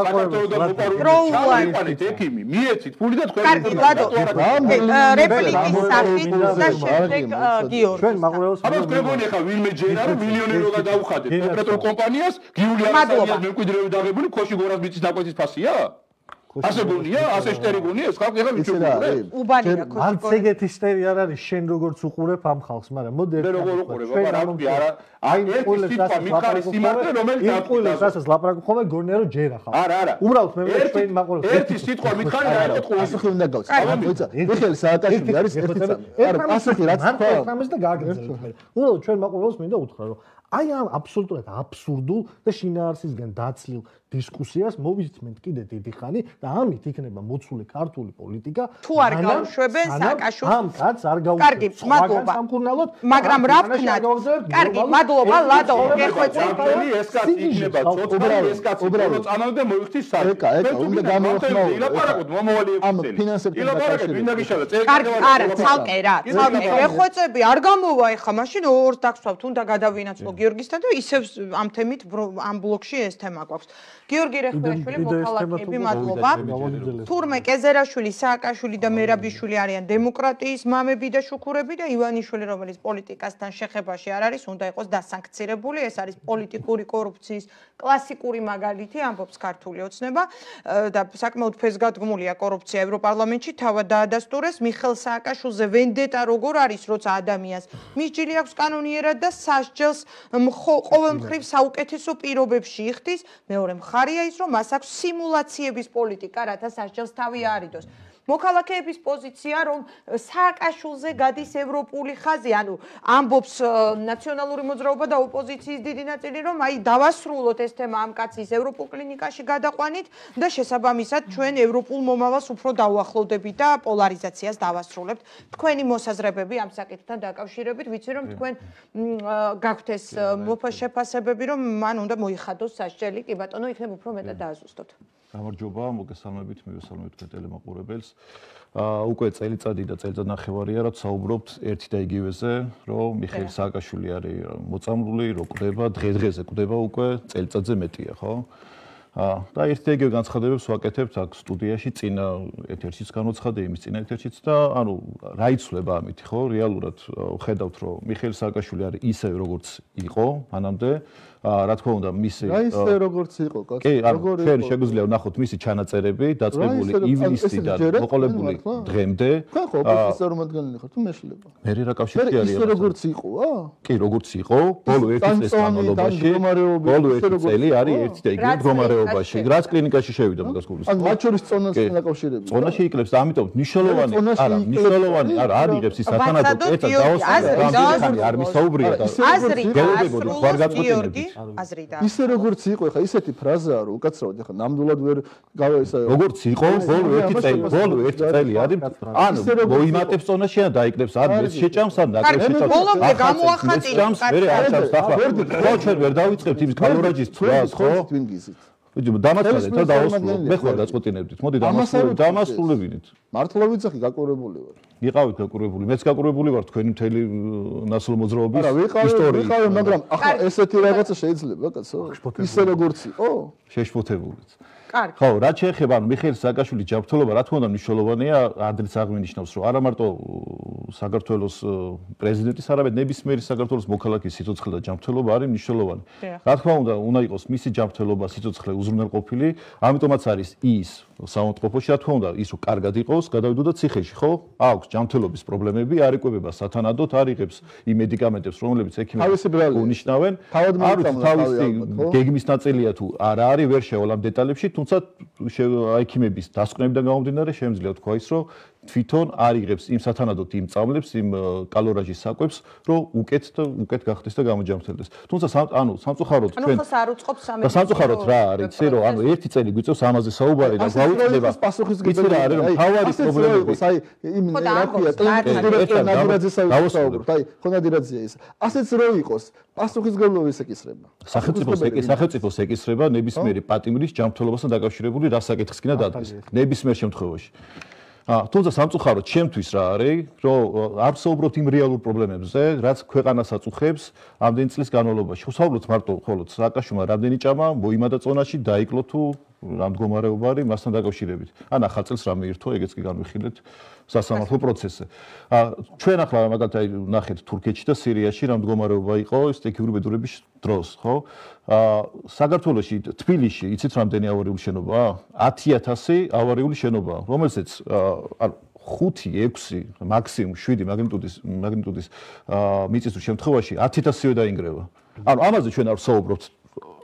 პროულანით ექიმი, მიეცით ფული და თქვენ. კარგი, ლადო. რეპლიკის სახით და შემდეგ გიორგი. ჩვენ მაყურებელს აბა თქვენ გონი ახლა ვინმე ჯერა რომ მილიონი რო გადაუხადეთ კონკრეტულ კომპანიას, გიული არასწორია მემკვიდრეები დაღებული ქოში გორას მიწის დაკვეთის ფასია? ასე გონია, ასე შტერი გონია, ეს ხალხი ახლა მიჩვენე. უბანია ქოში. არც ეგეთი შტერი არ არის შენ როგორც უყურებ ამ ხალხს, მაგრამ მოდი მე როგორ უყურებ, აბა რა ვთქვი, არა, აი ერთი სიტყვა მიხარი სიმართლე, რომელიც დაყვილეს, რასაც ლაპარაკობ ხოლმე გონია რომ ჯერა ხალხი. არა, არა. უბრალოდ მე ჩვენ მაყურებელს ერთი სიტყვა მითხარი რა ერთ ყოლი. ასე ხომ უნდა გავწევ. აბა მოიცა, მიხეილ სააკაშვილი არის ერთი წამი. არა, ასეთი რაც თქვა. ამას და გააგრძელებთ მე. უბრალოდ ჩვენ მაყურებელს მინდა უთხრა რომ აი ამ აბსოლუტურად აბსურდულ და შინაარსისგან დაცლილ დისკუსიას მოვისმენთ კიდე დიდი ხანი და ამით იქნება მოცული ქართული პოლიტიკა თუ არ გავუშვებენ სააკაშვილს ამ კაცს არ გავუშვებენ კარგი მადლობა მაგრამ რა ვქნათ კარგი მადლობა ლადო გეხვეწე ეს კაცი იქნება უბრალოდ ეს კაცი უბრალოდ წამოვიდა მოიხთის საერთოდ ეკა ეკა უნდა გამოვხმაო ილაპარაკოთ მომავალი ამ ფინანსებთან ილაპარაკეთ მინდა გიშალა კარგი არა ცალკე რა ცალკე გეხვეწები არ გამოვა ეხა მაშინ ორს დაგსვავთ უნდა გადავინაცვლო გიორგისთან და ისევ ამ თემით ამ ბლოკში ეს თემა გვაქვს გიორგი რეხმიაშვილი მოქალაქეები მადლობა თურმე კეზერაშვილი სააკაშვილი და მერაბიშვილი არიან დემოკრატიის მამები და შუქურები და ივანიშვილი რომელიც პოლიტიკასთან შეხებაში არ არის უნდა იყოს დასანქცირებული ეს არის პოლიტიკური კორუფციის კლასიკური მაგალითი ამბობს ქართული ოცნება და საკმაოდ ფესგადგმულია კორუფცია ევროპარლამენტში თავად დაადასტურეს მიხეილ სააკაშვილზე ვენდეტა როგორ არის როცა ადამიანს მისჯილი აქვს კანონიერად და სასჯელს ყოველ მხრივ საუკეთესო პირობებში იხდის მეორე მხარია ის რომ მას აქვს სიმულაციების პოლიტიკა რათა სასჯელს თავი აარიდოს მოქალაქეების პოზიცია რომ სააკაშვილზე გადის ევროპული ხაზი ანუ ამბობს ნაციონალური მოძრაობა და ოპოზიციის დიდი ნაწილი რომ აი დავასრულოთ ეს თემა ამ კაცის ევროპულ კლინიკაში გადაყვანით და შესაბამისად ჩვენ ევროპულ მომავალს უფრო დავუახლოვდებით და პოლარიზაციას დავასრულებთ თქვენი მოსაზრებები ამ საკითხთან დაკავშირებით ვიცი რომ თქვენ გაქვთ ეს შეფასებები რომ მან უნდა მოიხადოს სასჯელი კი ბატონო იქნებ უფრო მეტად დააზუსტოთ გამარჯობა, მოგესალმებით, მივესალმებით თქვენ ტელემაყურებელს. აა უკვე წელიწადი და წელიწადნახევარია, რაც საუბრობთ ერთი და იგივეზე, რომ მიხეილ სააკაშვილი არის მოწამლული, რო კვდება, დღე-დღეზე კვდება უკვე წელიწადზე მეტია, ხო? აა და ერთი და იგივე განცხადებებს ვაკეთებთ აქ სტუდიაში, წინა ეთერშიც განვცხადე, იმის წინა ეთერშიც და ანუ რა იცვლება ამით, ხო? რეალურად ხედავთ, რომ მიხეილ სააკაშვილი არის ისე როგორც იყო მანამდე რა თქმა უნდა მისი რა ისე როგორც იყო კაცი როგორი ჩვენ შეგვიძლია ვნახოთ მისი ჩანაწერები დაწყებული ივნისიდან მოყოლებული დღემდე ხო ხო ოპოზიციის წარმომადგენელი ხარ თუ მეშლება მე რა კავშირი არის ისე როგორც იყო კი როგორც იყო ბოლო ერთი წლის განმავლობაში ბოლო ერთი წელი არის ერთი და იგივე მდგომარეობაში რაც კლინიკაში შევიდა მაგას გულის ან მათ შორის წონასთან დაკავშირებით წონაში იკლებს და ამიტომ ნიშნულოვანი არა ნიშნულოვანი არა არ იღებს ის სათანადო კეცად დაოსწრებს არ მისაუბრია და გელოდებოდი ხარ გაწყვეტილებით აზრი და ისე როგორც იყო ეხა ისეთი ფრაზაა რომ უკაცრავად ეხა ნამდვილად ვერ გავა ისა როგორც იყო ბოლო ერთი წელი ბოლო ერთი წელი არის ანუ მოიმატებს წონაში ან დაიკნებს ან ეს შეჭამს ან ნაკრებს შეჭამს ბოლომდე გამოახატინებს მე არ ჩამს ახლა ხო ჩვენ ვერ დავიწყებთ იმის კალორაჯის თვალს ხო თქვენ გიზით ვიჯი დამასრულეთ და დაუსრულოთ მე ხარ გაწყვეტინებდით მოდი დამასრულოთ დამასრულებინით მართლა ვიცახი გაკურებული ვარ იყავით გაკურებული მეც გაკურებული ვარ თქვენი მთელი ნაცნობ მოძრაობის ისტორიით ვიყავი მაგრამ ახლა ესეთი რაღაცა შეიძლება კაცო ისე როგორც იყო შეშფოთებულიც კარგი ხო რა შეეხება ანუ მიხეილ სააკაშვილის ჯანმრთელობა რა თქმა უნდა მნიშვნელოვანია ადრეც აღნიშნავს რომ არა მარტო საქართველოს პრეზიდენტის არამედ ნებისმიერი საქართველოს მოქალაქის სიცოცხლე და ჯანმრთელობა არის მნიშვნელოვანი რა თქმა უნდა უნდა იყოს მისი ჯანმრთელობა სიცოცხლე უზრუნველყოფილი ამიტომაც არის ის საავადმყოფოში, რა თქმა უნდა, ის რომ კარგად იყოს, გადავიდოდა ციხეში, ხო? აქვს ჯანმრთელობის პრობლემები, არ იკვებება სათანადოდ, არ იღებს იმ მედიკამენტებს, რომლებიც ექიმები უნიშნავენ. არ ვიცი, თავისი გეგმის ნაწილია თუ არა არის, ვერ შევალ ამ დეტალებში, თუმცა ექიმების დასკვნებიდან გამომდინარე, შემიძლია თქვა ის, რომ თვითონ არ იღებს იმ სათანადოდ იმ წამლებს, იმ კალორაჟის საკვებს, რომ უკეთ და უკეთ გახდეს და გამოჯამრთელდეს. თუმცა ანუ სამწუხაროდ ჩვენ ანუ ხოს არ უწყობს სამედიცინო. და სამწუხაროდ რა არის, იცი რომ ანუ ერთი წელი გვიწევს ამაზე საუბარი და გაუწდება. იცი რა არის, რომ თავარი პრობლემები. აი იმ რაფია ტელევიზორზე ნადირაძესავი საუბრობ. აი ხონადირაძეა ის. ასეც რო იყოს, პასუხისგებლობა ეკისრება. სახელმწიფოს სახელმწიფოს ეკისრება ნებისმიერი პატიმრის ჯანმრთელობასთან დაკავშირებული რა საკითხს კიდე დადგეს. ნებისმიერ შემთხვევაში. თუმცა სამწუხაროდ ჩემთვის რა არის, რომ არ ვსაუბრობთ იმ რეალურ პრობლემებზე, რაც ქვეყანას აწუხებს ამდენი წლის განმავლობაში. ვსაუბრობთ მარტო ხოლოდ სააკაშვილმა რამდენი ჭამა მოიმადა წონაში, დაიკლო თუ რა მდგომარეობა არის მასთან დაკავშირებით. ან ახალ წელს რამე ირთო, ეგეც კი განვიხილეთ სასამართლო პროცესზე. ჩვენ ახლა მაგალითად ნახეთ თურქეთში და სირიაში რა მდგომარეობა იყო სტიქიური ბედურების დროს, ხო? საქართველოში, თბილისში, იცით რამდენი ავარიული შენობაა? ათი ათასი ავარიული შენობაა, რომელზეც ანუ ხუთი, ექვსი, მაქსიმუმ შვიდი მაგნიტუდის მაგნიტუდის მიწისძვრის შემთხვევაში ათი ათასივე დაინგრევა. ანუ ამაზე ჩვენ არ ვსაუბრობთ.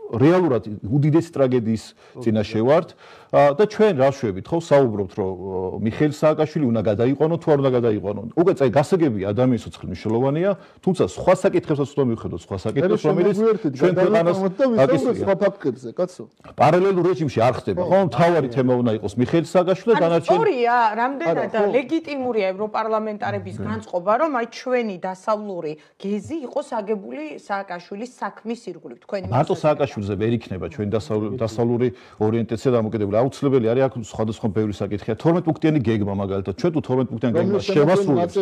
რეალურად უდიდესი ტრაგედიის წინაშე ვართ და ჩვენ რა ვშვებით, ხო, საუბრობთ, რომ მიხეილ სააკაშვილი უნდა გადაიყვანო, თუ არ უნდა გადაიყვანო. უკვე წაი გასაგები ადამიანის ცოცხლი მნიშვნელოვანია, თუმცა სხვა საკითხებსაც უნდა მივხვდეთ, სხვა საკითხებს, რომელიც ჩვენ ქვეყანას აკისრია. სხვა ფაქტებზე, კაცო. პარალელურ რეჟიმში არ ხდება, ხო? მთავარი თემა უნდა იყოს მიხეილ სააკაშვილი და დანარჩენი. სწორია, რამდენად ლეგიტიმურია ევროპარლამენტარების განწყობა, რომ აი ჩვენი დასავლური გეზი იყოს აგებული სააკაშვილის საქმის ირგვლივ, თქვენი მარტო სააკაშვილზე ვერ იქნება ჩვენი დასავლური ორიენტაცია დამოკიდებული. აუცილებელი არის აქ სხვადასხვა ბევრი საკითხია. თორმეტ პუნქტიანი გეგმა მაგალითად. ჩვენ თუ თორმეტ პუნქტიანი გეგმა შევასრულებთ.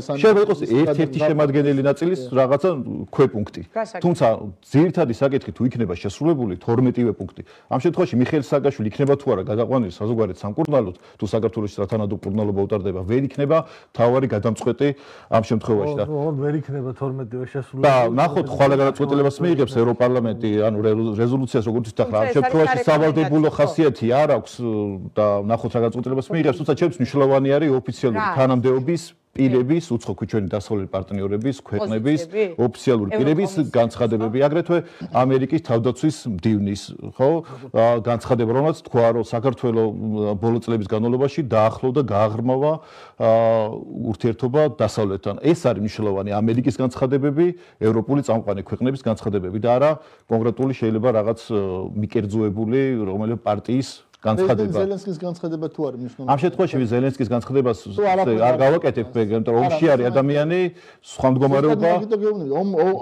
შეიძლება იყოს ერთ-ერთი შემადგენელი ნაწილის რაღაცა ქვეპუნქტი. თუმცა ძირითადი საკითხი თუ იქნება შესრულებული თორმეტივე პუნქტი. ამ შემთხვევაში მიხეილ სააკაშვილი იქნება თუ არა გადაყვანილი საზოგადოებრივ სამკურნალოდ, თუ საქართველოს სათანადო მკურნალობა utardeba, ვერ იქნება თავარი გადამწყვეტი ამ შემთხვევაში და ვერ იქნება თორმეტივე შესრულებული. და ნახოთ ხვალე გადაწყვეტილებას მიიღებს ევროპარლამენტი, ანუ რეზოლუციას როგორც ითახლა, ამ შემთხვევაში სავალდებულო ხასიათი არ აქვს და ნახოთ რა გადაწყვეტილებას მიიღებს, თუმცა ჩემთვის მნიშვნელოვანი არის ოფიციალური თანამდებობის პირების, უცხო ჩვენი დასავლელი პარტნიორების, ქვეყნების, ოფიციალური პირების განცხადებები, აგრეთვე ამერიკის თავდაცვის მდივნის, ხო, განცხადება, რომელსაც თქვა, რომ საქართველოს ბოლო წლების განმავლობაში დაახლოვდა გააღრმავა ურთიერთობა დასავლეთთან. ეს არის მნიშვნელოვანი ამერიკის განცხადებები, ევროპული წამყვანი ქვეყნების განცხადებები და არა კონკრეტული შეიძლება რაღაც მიკერძოებული რომელიმე პარტიის განცხადება. ზელენსკის განცხადება თუ არის მნიშვნელოვანი? ამ შემთხვევაში ზელენსკის განცხადებას არ გავაკეთებ, იმიტომ რომ ომში არის ადამიანი, სხვა მდგომარეობა.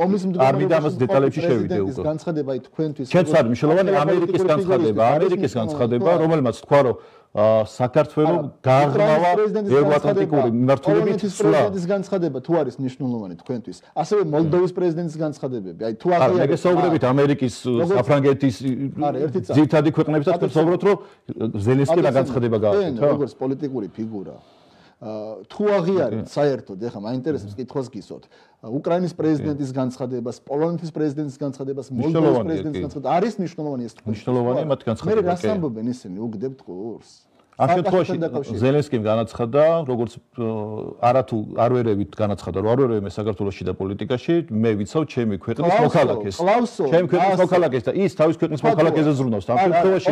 ომის მდგომარეობა. არ მინდა ამას დეტალებში შევიდე უკვე. განცხადება აი თქვენთვის. ჩვენც არის მნიშვნელოვანი ამერიკის განცხადება, ამერიკის განცხადება, რომელმაც თქვა, რომ საქართველოს გააღრმავა ევროატლანტიკური მიმართულებით სულა. პრეზიდენტის განცხადება თუ არის მნიშვნელოვანი თქვენთვის. ასევე მოლდოვის პრეზიდენტის განცხადებები. აი თუ აღიარეთ. აი, მეგესაუბრებით ამერიკის, საფრანგეთის ძირითადი ქვეყნებისაც თქვენ საუბრობთ, რომ ზელენსკი რა განცხადება გააკეთა? როგორც პოლიტიკური ფიგურა. თუ აღიარეთ საერთოდ, ეხლა მაინტერესებს კითხვას გისვათ. უკრაინის პრეზიდენტის განცხადებას, პოლონეთის პრეზიდენტის განცხადებას, მოლდოვის პრეზიდენტის განცხადება არის მნიშვნელოვანი ეს თქვენ. მნიშვნელოვანია მათ განცხადება. მე რას ამბობენ ისინი, უგდებთ ყურს. ამ შემთხვევაში ზელენსკიმ განაცხადა, როგორც არათუ არ ვერევით განაცხადა, რომ არ ვერევი მე საქართველოსში და პოლიტიკაში, მე ვიცავ ჩემი ქვეყნის მოქალაქეს. ჩემი ქვეყნის მოქალაქეს და ის თავის ქვეყნის მოქალაქეზე ზრუნავს. ამ შემთხვევაში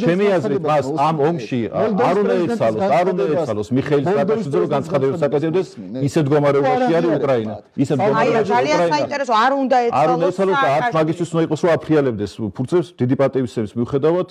ჩემი აზრით მას ამ ომში არ უნდა ეცალოს, არ უნდა ეცალოს მიხეილ სააკაშვილიძე, რომ განცხადებებს აკეთებდეს, ისეთ მდგომარეობაში არის უკრაინა. ისეთ მდგომარეობაში ძალიან საინტერესო, არ უნდა ეცალოს. არ უნდა ეცალოს და არც მაგისთვის უნდა იყოს, რომ აფრიალებდეს ფურცებს დიდი პატივისცემის მიუხედავად,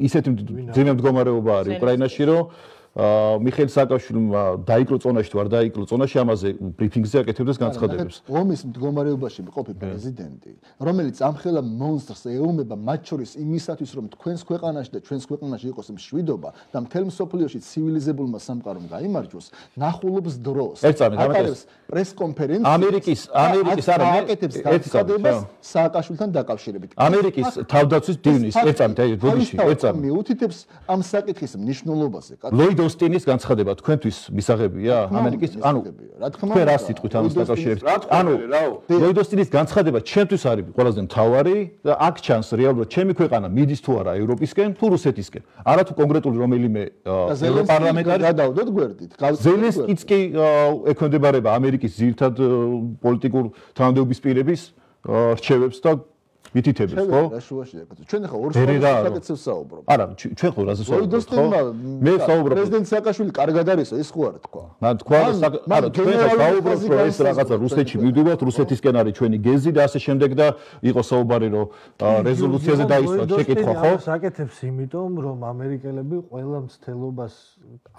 ისეთი ძიმე მდგომარეობა არის უკრაინაში, რომ მიხეილ სააკაშვილმა დაიკლო წონაში თუ არ დაიკლო წონაში, ამაზე ბრიფინგზე აკეთებდეს განცხადებებს. ომის მდგომარეობაში მყოფი პრეზიდენტი, რომელიც ამხელა მონსტრს ეომება მათ შორის იმისათვის, რომ თქვენს ქვეყანაში და ჩვენს ქვეყანაში იყოს მშვიდობა და მთელ მსოფლიოში ცივილიზებულმა სამყარომ გაიმარჯვოს, ნახულობს დროს. აკეთებს პრესკონფერენციას. ამერიკის ამერიკის არა აკეთებს განცხადებას სააკაშვილთან დაკავშირებით. ამერიკის თავდაცვის დივნის ეწამით, აი, ბოდიში, ეწამით. მიუთითებს ამ საკითხის მნიშვნელობაზე. ლოიდ ლოიდ ოსტინის განცხადება თქვენთვის მისაღებია ამერიკის ანუ რა თქმა უნდა რა სიტყვით ამას დაკავშირებით ანუ ლოიდ ოსტინის განცხადება ჩემთვის არის ყველაზე მთავარი და აქ ჩანს რეალურად ჩემი ქვეყანა მიდის თუ არა ევროპისკენ თუ რუსეთისკენ არა თუ კონკრეტული რომელიმე ევროპარლამენტარი გადავდოთ გვერდით ზელენსკიც კი ექვემდებარება ამერიკის ძირითად პოლიტიკურ თანამდებობის პირების რჩევებს და მითითებს ხო? რა შუაშია კაცო. ჩვენ ახლა ორ საკითხებს საუბრობთ. არა, ჩვენ ხო რაზე საუბრობთ ხო? მე საუბრობ. პრეზიდენტ სააკაშვილი კარგად არისო, ეს ხო არ თქვა. მან თქვა არა, ჩვენ საუბრობთ რომ ეს რაღაცა რუსეთში მივდივართ, რუსეთისკენ არის ჩვენი გეზი და ასე შემდეგ და იყო საუბარი რომ რეზოლუციაზე დაისვა შეკითხვა ხო? საკეთებს იმიტომ რომ ამერიკელები ყველა მცდელობას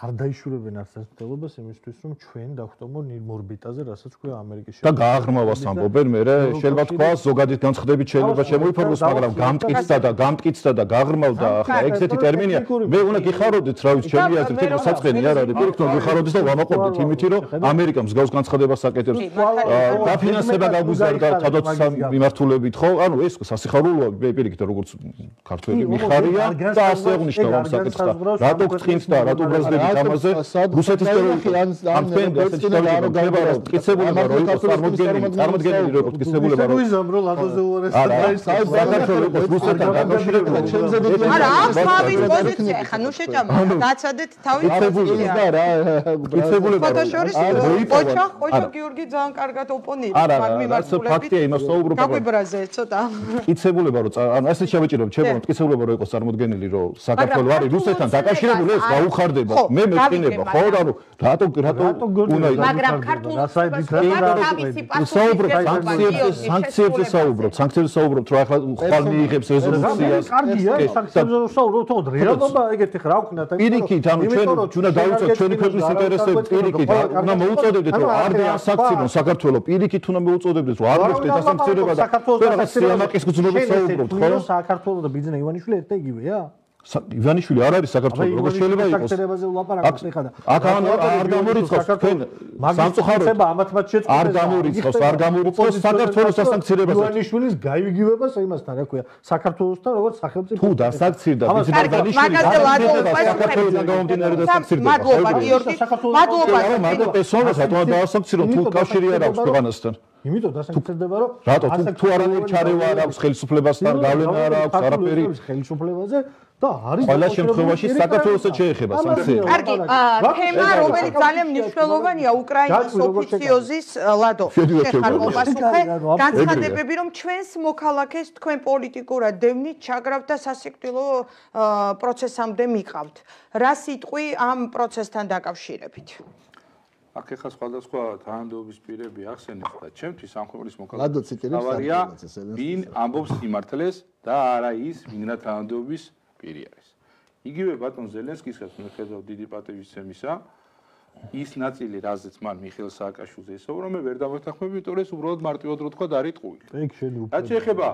არ დაიშურებენ არც ერთ მცდელობას იმისთვის რომ ჩვენ დავხტომო ნირმორბიტაზე, რასაც ქვია ამერიკის და გააღრმავას ამბობენ მე შეიძლება თქვა ზოგადად განცხადებით შეიძლება შემოიფორმოს, მაგრამ გამტკიცდა და გამტკიცდა და გაღრმავდა, ახლა ეგეთი ტერმინია. მე უნდა გიხაროდეთ, რა ვიცი, ჩემი აზრით, ეს საწყენი არ არის. პირიქით, გიხაროდეთ და ვამაყობდით იმითი, რომ ამერიკა მსგავს განცხადებას აკეთებს. დაფინანსება გაგვიზარდა თავდაცვის მიმართულებით, ხო? ანუ ეს სასიხარულოა, პირიქით, როგორც ქართველი მიხარია და ასე აღნიშნავ ამ საკითხს. რატო გწინთ და რატო ბრაზდებით ამაზე? რუსეთის ტერორისტი ან ამ პენდასტინა რო გაიბარო, მტკიცებულება რო იყოს წარმოდგენილი, წარმოდგენილი რო იყოს მტკიცებულება რო ვიზამ რო ლადოზე უარეს საქართველოს რუსეთთან დაკავშირებული ჩემზე დიდი არა ამ ხავის პოზიცია ხა ნუ შეჭამა დაცადეთ თავი პოზიცია და რა მტკიცებულება ფოტოშორის ოჩა ოჩა გიორგი ძალიან კარგად ოპონირებს მაგ მიმართულებით ფაქტია იმას საუბრობ გაგვიბრაზე ცოტა მტკიცებულება რო ანუ ასე შევეჭირებ ჩემო მტკიცებულება რო იყოს წარმოდგენილი რომ საქართველოს არის რუსეთთან დაკავშირებული ეს გაუხარდება მე მეწინება ხო და რომ რატო რატო უნდა მაგრამ ქართულს თავისი საუბრობ სანქციებზე სანქციებზე საუბრობ სანქციებზე საუბრობთ რომ ახლა ხვალ მიიღებს რეზოლუციას კარგია სანქციებზე საუბრობთ თქო რეალობა ეგეთი ხარ აქვნა და პირიქით ანუ ჩვენ უნდა დავუწოთ ჩვენი ქვეყნის ინტერესები პირიქით უნდა მოუწოდებდეთ რომ არ დაასანქციონონ საქართველოს პირიქით უნდა მოუწოდებდეთ რომ არ მოხდეს დასანქციონება და რაღაც სიამაყის გზნობით საუბრობთ ხო საქართველოს და ბიძინა ივანიშვილი ერთ და იგივეა ივანიშვილი არ არის საქართველოს როგორ შეიძლება იყოს საქმეებაზე ვლაპარაკობთ ეხლა აქ არ გამორიცხავს თქვენ სამწუხაროდ ამათმაც შეწყდა არ გამორიცხავს არ გამორიცხავს საქართველოს სასანქციებას ივანიშვილის გაივიგივებას იმასთან რა ქვია საქართველოსთან როგორც სახელმწიფო თუ დასანქცირდა მაგაზე ლადო საქართველოს გამომდინარე დასანქცირდა მადლობა გიორგი მადლობა მაგრამ პერსონალს რატომ დაასანქცირო თუ კავშირი არ აქვს ქვეყანასთან იმიტომ დასანქცირდება რომ რატო თუ არანაირი ჩარევა არ აქვს ხელისუფლებასთან გავლენა არ აქვს არაფერი ხელისუფლებაზე და არის ყველა შემთხვევაში საქართველოსაც შეეხება სანქციები. კარგი, თემა რომელიც ძალიან მნიშვნელოვანია უკრაინის ოფიციოზის ლადო შეხარყოფასუხე განცხადებები რომ ჩვენს მოქალაქეს თქვენ პოლიტიკურად დევნით ჩაგრავთ და სასიკვდილო პროცესამდე მიყავთ. რა სიტყვი ამ პროცესთან დაკავშირებით? აქ ეხლა სხვადასხვა თანამდებობის პირები ახსენეთ და ჩემთვის ამ ქვეყნის მოქალაქეა ვინ ამბობს სიმართლეს და არა ის ვინმე თანამდებობის პირი არის. იგივე ბატონ ზელენსკისაც მიხედავ დიდი პატივისცემისა ის ნაწილი რაზეც მან მიხეილ სააკაშვილზე ესაუბრა მე ვერ დავეთანხმები იმიტომ რომ ეს უბრალოდ მარტივად რო თქვა დარიტყუილი. ეგ შენ უფრო რაც შეეხება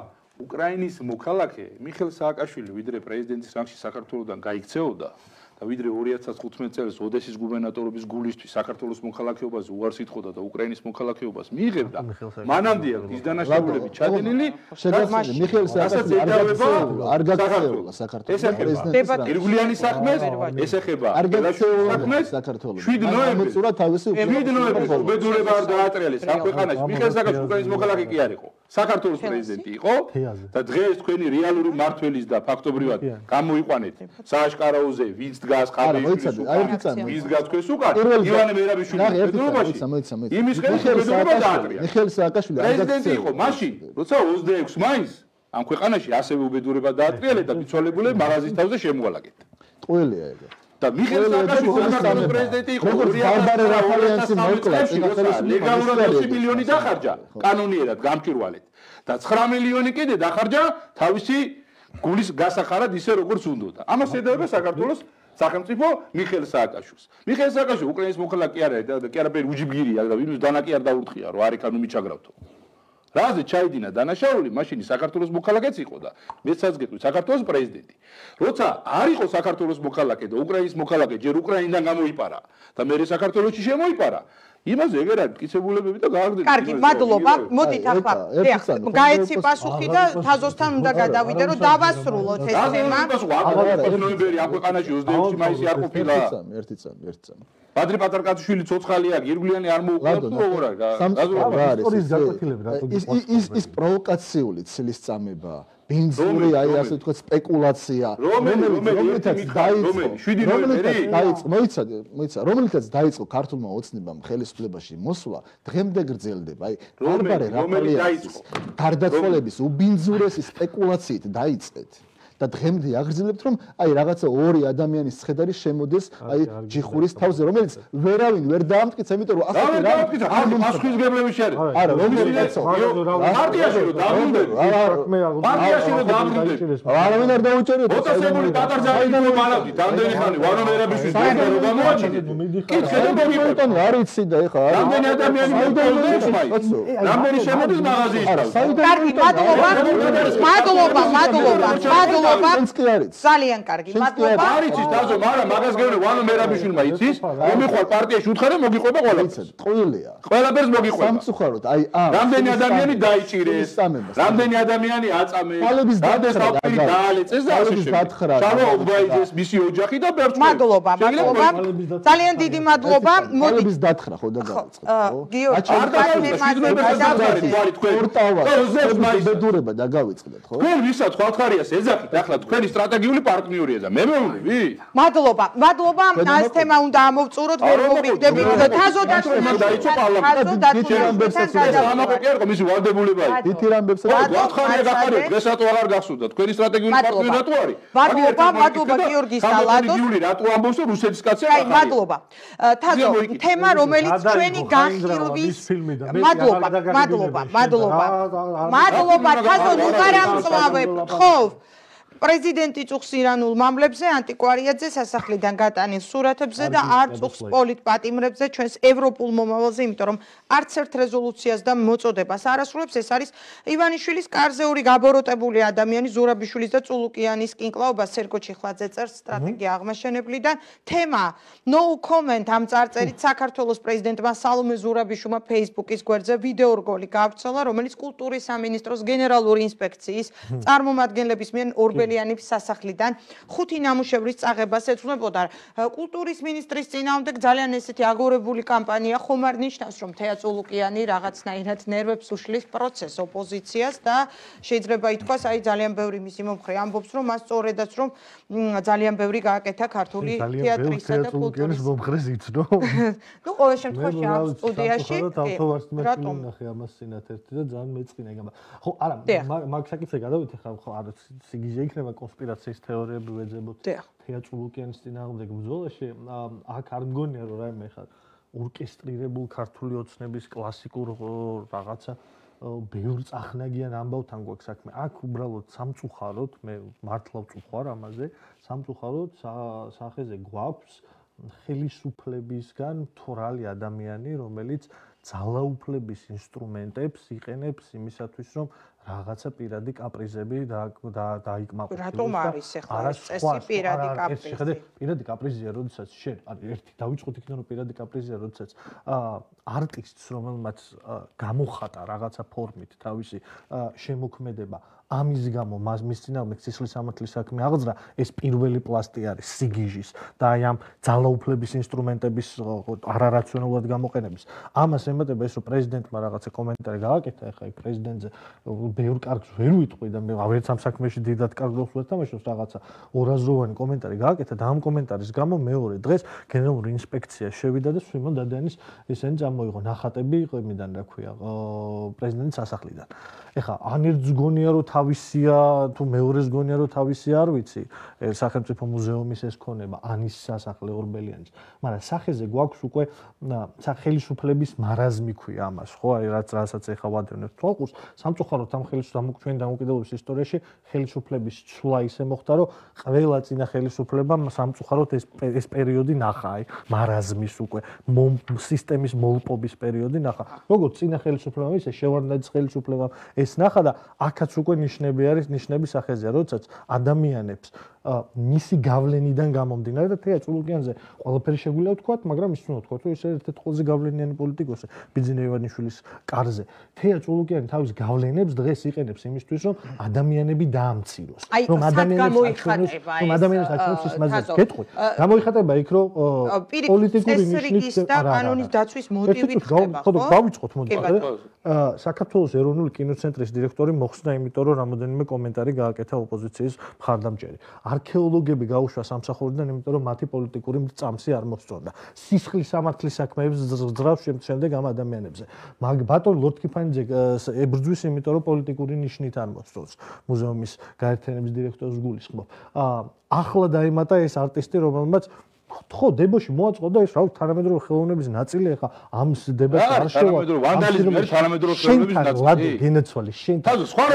უკრაინის მოქალაქე მიხეილ სააკაშვილი ვიდრე პრეზიდენტის რანგში საქართველოსდან გაიქცეოდა და ვიდრე ორი ათას თხუთმეტ წელს ოდესის გუბერნატორობის გულისთვის საქართველოს მოქალაქეობაზე უარს ითხოვდა და უკრაინის მოქალაქეობას მიიღებდა მანამდეა ის დანაშაულები ჩადენილი შეგახსენე მიხეილ სააკაშვილი არ გაგაცეულა საქართველოს პრეზიდენტის ირგვლიანი საქმეს ეს ეხება საქართველოს საქართველოს შვიდ ნოემბერს უწურა თავისი შვიდ ნოემბერს უბედურება არ დაატრიალეს ამ ქვეყანაში მიხეილ სააკაშვილი უკრაინის მოქალაქე კი არ იყო საქართველოს პრეზიდენტი იყო და დღეს თქვენი რეალური მმართველის და ფაქტობრივად გამოიყვანეთ სააშკარაოზე ვინც დგას ხაბეიშვილის უკან ვინც დგას თქვენს უკან ივანე მერაბიშვილის ბედურობაში იმის ხელში ბედურება დაატრია მიხეილ სააკაშვილი პრეზიდენტი იყო მაშინ როცა ოცდაექვსი მაისს ამ ქვეყანაში ასევე უბედურება დაატრიალეთ და ბიცვალებული მაღაზიის თავზე შემოვალაგეთ ყველია ეგ და მიხეილ სააკაშვილი საქართველოს პრეზიდენტი იყო ბარბარე რაფალიანსი მოკლა ლეგალურად ოცი მილიონი დახარჯა კანონიერად გამჭირვალეთ და ცხრა მილიონი კიდე დახარჯა თავისი გულის გასახარად ისე როგორც უნდოდა ამას ეძებდა საქართველოს სახელმწიფო მიხეილ სააკაშვილს მიხეილ სააკაშვილი უკრაინის მოქალაქე არ არის და კი არაფერი უჯიბგირია და ვინმე დანაკი არ დაურთხია რომ არ იქანუ მიჩაგრავთო რაზე ჩაიდინა დანაშაული მაშინ საქართველოს მოქალაქეც იყო და მეცაც გეტყვი საქართველოს პრეზიდენტი როცა არ იყო საქართველოს მოქალაქე და უკრაინის მოქალაქე ჯერ უკრაინიდან გამოიპარა და მე საქართველოში შემოიპარა იმაზე ეგერ არის მტკიცებულებები და გააგრძელეთ. კარგი, მადლობა. მოდით ახლა გაეცი პასუხი და თაზოსთან უნდა გადავიდე, რომ დავასრულოთ ეს თემა. ნოემბერი ამ ქვეყანაში ოცდაექვსი მაისი არ ყოფილა. ერთი წამი, ერთი წამი. ბადრი პატარკაცშვილი ცოცხალი აქვს, ირგვლიანი არ მოუყვა თუ როგორ არის? ის ის პროვოკაციული ცილის წამება, ბინძური, აი ასე ვთქვათ, სპეკულაცია, რომელიცაც დაიწყო, მოიცა, მოიცა, რომელიცაც დაიწყო ქართულმა ოცნებამ ხელისუფლებაში მოსვლა, დღემდე გრძელდება. აი, ბარბარე რაფაელის გარდაცვალების უბინძურესი სპეკულაციით დაიწყეთ. და დღემდე აგრძელებთ, რომ აი რაღაცა ორი ადამიანის ცხედარი შემოდეს აი ჯიხურის თავზე, რომელიც ვერავინ ვერ დაამტკიცა, იმიტომ რომ ასეთი რა არ პასუხისმგებლები შეარეთ. არა, რომელი კაცო? პარტიაში რომ დაბრუნდები. პარტიაში რომ დაბრუნდები. არავინ არ დაუჭერიოთ. ოტასებული დაკრძალული მალავდით, ამდენი ხანი ვანო მერაბიშვილს ვერ გამოაჩინეთ. კითხე და მოგიყვება. არ იცი და ეხა არა. რამდენი ადამიანი მოგდებს მაი? რამდენი შემოდის მაღაზიის თავზე? კარგი, მადლობა. მადლობა, მადლობა. მადლობა. ძალიან კარგი, მადლობა. არ იცის დაზო, მაგრამ მაგას გეუბნები ვანო მერაბიშვილმა იცის, მომიხვალ პარტიაში უთხარ და მოგიყვება ყველაფერს. ტყუილია. ყველაფერს მოგიყვება. სამწუხაროდ, აი ამ რამდენი ადამიანი დაიჭირეს, რამდენი ადამიანი აწამეს, რამდენი საფირი დაალეწეს და ასე შემდეგ. შალო უბაიძეს მისი ოჯახი და ბერჩ. მადლობა, მადლობა. ძალიან დიდი მადლობა. მოდით დათხრა ხო და გავიწყეთ, ხო? გიორგი, არ დავაწყდეთ, ბედურება და გავიწყდეთ, ხო? თქვენ ვისაც ხალხარიას ეძახით, ახლა თქვენი სტრატეგიული პარტნიორია და მე მეუბნები. მადლობა, მადლობა. ეს თემა უნდა ამოვწუროთ, ვერ მოვიგდები. თაზოდაც დაიწყო პარლამენტი. ამაყო კი არ ყო მისი ვალდებულებაა. თითი რამბებს ხალხარია გახარეთ, დღეს რატო აღარ გახსოვდა? თქვენი სტრატეგიული პარტნიორი რატო არის? მადლობა, მადლობა გიორგის და ლადოს. სტრატეგიული რატო ამბობს, რომ რუსეთის კაცია აი, მადლობა. თაზო, თემა რომელიც ჩვენი განხილვის მადლობა, მადლობა, მადლობა. მადლობა, თაზო, ნუ გარამწვავებ, ხო? პრეზიდენტი წუხს ირანულ მამლებზე, ანტიკვარიაძე სასახლიდან გატანილ სურათებზე და არ წუხს პოლიტპატიმრებზე ჩვენს ევროპულ მომავალზე, იმიტომ რომ არც ერთ რეზოლუციას და მოწოდებას არ ასრულებს. ეს არის ივანიშვილის კარზეული გაბოროტებული ადამიანი, ზურაბიშვილის და წულუკიანის კინკლაობა. სერგო ჩიხლაძე წერს სტრატეგია აღმაშენებლიდან. თემა no comment ამ წარწერით საქართველოს პრეზიდენტმა სალომე ზურაბიშვილმა Facebook-ის გვერდზე ვიდეორგოლი გაავრცელა, რომელიც კულტურის სამინისტროს გენერალური ინსპექციის წარმომადგენლების მიერ ორბელიანის სასახლიდან ხუთი ნამუშევრის წაღებას ეძღვნებოდა. კულტურის მინისტრის წინააღმდეგ ძალიან ესეთი აგორებული კამპანია ხომ არ ნიშნავს, რომ თეა წულუკიანი რაღაცნაირად ნერვებს უშლის პროცესს ოპოზიციას და შეიძლება ითქვას, აი ძალიან ბევრი მისი მომხრე ამბობს, რომ მას სწორედაც რომ ძალიან ბევრი გააკეთა ქართული თეატრისა და კულტურის მომხრეს იცნო. ნუ ყოველ შემთხვევაში ამ სტუდიაში რატომ ნახე ამას წინათ ერთი და ძალიან მეწყინა ეგ. ხო, არა, მაგ საკითხზე გადავიდე ხა, ხო, არა, სიგიჟე იქნება კონსპირაციის თეორიები ვეძებოთ. თეა წულუკიანის წინააღმდეგ ბრძოლაში აქ არ მგონია რომ რაიმე ხა ორკესტრირებულ ქართული ოცნების კლასიკურ რაღაცა ბევრ წახნაგიან ამბავთან გვაქვს საქმე. აქ უბრალოდ სამწუხაროდ, მე მართლა ვწუხარ ამაზე, სამწუხაროდ სახეზე გვაქვს ხელისუფლებისგან თორალი ადამიანი, რომელიც ძალაუფლების ინსტრუმენტებს იყენებს იმისათვის, რომ რაღაცა პირადი კაპრიზები დაიკმაყოფილოს. რატომ არის ახლა ეს წესი პირადი კაპრიზი? შეხედე, პირადი კაპრიზია, როდესაც შენ, ანუ ერთი დავიწყოთ იქიდან, რომ პირადი კაპრიზია, როდესაც არტისტს, რომელმაც გამოხატა რაღაცა ფორმით თავისი შემოქმედება, ამის გამო მის წინააღმდეგ სისხლის სამართლის საქმე აღძრა, ეს პირველი პლასტი არის სიგიჟის და აი ამ ძალაუფლების ინსტრუმენტების არარაციონალურად გამოყენების. ამას ემატება ეს, რომ პრეზიდენტმა რაღაცა კომენტარი გააკეთა, ახლა იქ პრეზიდენტზე ბევრ კარგს ვერ ვიტყვი და მე ვერც ამ საქმეში დიდად კარგ როლს ვერ თამაშობს, რაღაცა ორაზროვანი კომენტარი გააკეთა და ამ კომენტარის გამო მეორე დღეს გენერალური ინსპექცია შევიდა და სვიმონ დადიანის ესენი წამოიღო ნახატები იმიდან, რა ქვია, პრეზიდენტის სასახლიდან. ეხლა ან ერთს გონია რომ თავისია თუ მეორეს გონია რომ თავისი არ ვიცი სახელმწიფო მუზეუმის ეს ქონება ან ის სასახლე ორბელიანის, მაგრამ სახეზე გვაქვს უკვე ხელისუფლების მარაზმი ქვია ამას, ხო, აი რაც რასაც ეხლა ვადევნებთ თვალყურს, სამწუხაროდ ამ ხელისუფლების ჩვენ დამოუკიდებლობის ისტორიაში ხელისუფლების ცვლა ისე მოხდა, რომ ყველა წინა ხელისუფლებამ სამწუხაროდ ეს ეს პერიოდი ნახა, აი მარაზმის უკვე სისტემის მოლპობის პერიოდი ნახა. როგორც წინა ხელისუფლებამ ისე შევარდნაძის ხელისუფლებამ ეს ნახა და აქაც უკვე ნიშნები არის, ნიშნები სახეზეა, როდესაც ადამიანებს მისი გავლენიდან გამომდინარე და თეა წულუკიანზე ყველაფერი შეგვიძლია ვთქვათ, მაგრამ ის უნდა ვთქვათ, რომ ის ერთ-ერთი ყველაზე გავლენიანი პოლიტიკოსი ბიძინა ივანიშვილის კარზე. თეა წულუკიანი თავის გავლენებს დღეს იყენებს იმისთვის, რომ ადამიანები დაამციროს, რომ ადამიანებს აჩვენოს, რომ ადამიანებს აჩვენოს ის მაზას გეტყვი. გამოიხატება იქ, რომ პოლიტიკური ნიშნით და კანონის დაცვის მოტივით ხდება, ხო? დავიწყოთ მოდი. საქართველოს ეროვნული კინოცენტრის დირექტორი მოხსნა, იმიტომ რომ რამოდენიმე კომენტარი გააკეთა ოპოზიციის მხარდამჭერი. არქეოლოგები გაუშვა სამსახურიდან, იმიტომ რომ მათი პოლიტიკური წამსი არ მოსწონდა. სისხლის სამართლის საქმეებს ძრავს შემდეგ ამ ადამიანებზე. მაგ ბატონ ლორდ-კიფანიძე ებრძვის, იმიტომ რომ პოლიტიკური ნიშნით არ მოსწონს. მუზეუმის გაერთიანების დირექტორს გულისხმობ. ახლა დაემატა ეს არტისტი, რომელმაც ხო დებოში მოაწყო და ეს რა თანამედროვე ხელოვნების ნაწილი ახლა ამ დებას არ შევა ვანდალიზმი არის თანამედროვე ხელოვნების ნაწილი გენეცვალი შენ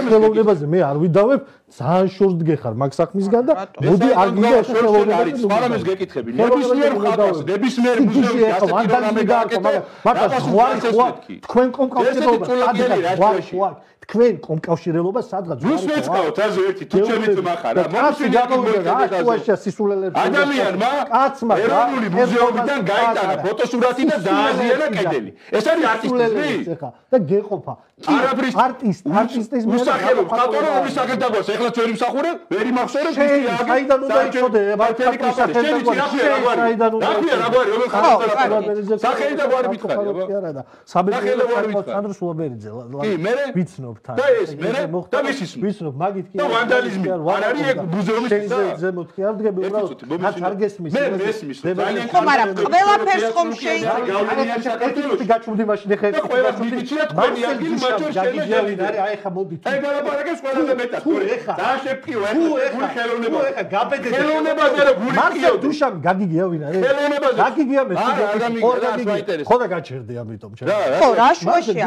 ხელოვნებაზე მე არ ვიდავებ ძალიან შორს დგეხარ მაგ საქმისგან და მოდი არ გინდა ეს ხელოვნება არის სხვანაირად გეკითხები ნებისმიერ ხალხს ნებისმიერ მუზეუმში ასეთი პროგრამები გააკეთე მაგრამ ზღვარი ხوار თქვენ კომკავშირობა თქვენ კომკავშირელობა სადღაც ზუსტ მეცხოვთ ასე ერთი თუ ჩემი ძმა ხარ რა მომშვიდობია სისულელებს ადამიანმა კაცმა ეროვნული მუზეუმიდან გაიტანა ფოტოსურათი და დააზიანა კედელი ეს არის არტისტიზმი და გეყოფა არაფრის არტისტ არტისტის მოსახელო ხატოროვის საკეთებოს ახლა ჩვენი მსახურე ვერ იმახსოვრებს ის რა საიდან უნდა იცოდე ბარტელი კაპიტალისტი საიდან უნდა იცოდე რა გვარი რომელ ხალხს სახელი და გვარი მითხარი არა და საბედნიერო სანდრო სულაბერიძე კი მე ვიცნობ და ეს მე და მისის ვიცნობ მაგით კი და ვანდალიზმი არ არის ეგ მუზეუმის ზემოთ კი არ დგები უბრალოდ რაც არ გესმის მე მესმის ძალიან ხო მაგრამ ყველაფერს ხომ შეიძლება გავლენიანი საქართველოში გაჩვდი მაშინ ეხა და ყველა მიგიჩია თქვენი ადგილი მაჩვენ შეგიძლიათ არის აი ხა მოდი აი გალაპარაკებს ყველაზე მეტად გული ეხა და შეფკიო ეხა ხელოვნება ეხა გაბედე ხელოვნებაზე რა გული მარსელ დუშამ გაგიგია ვინ არის ხელოვნებაზე გაგიგია მე ხო და გაჩერდი ამიტომ ხო რა შუაშია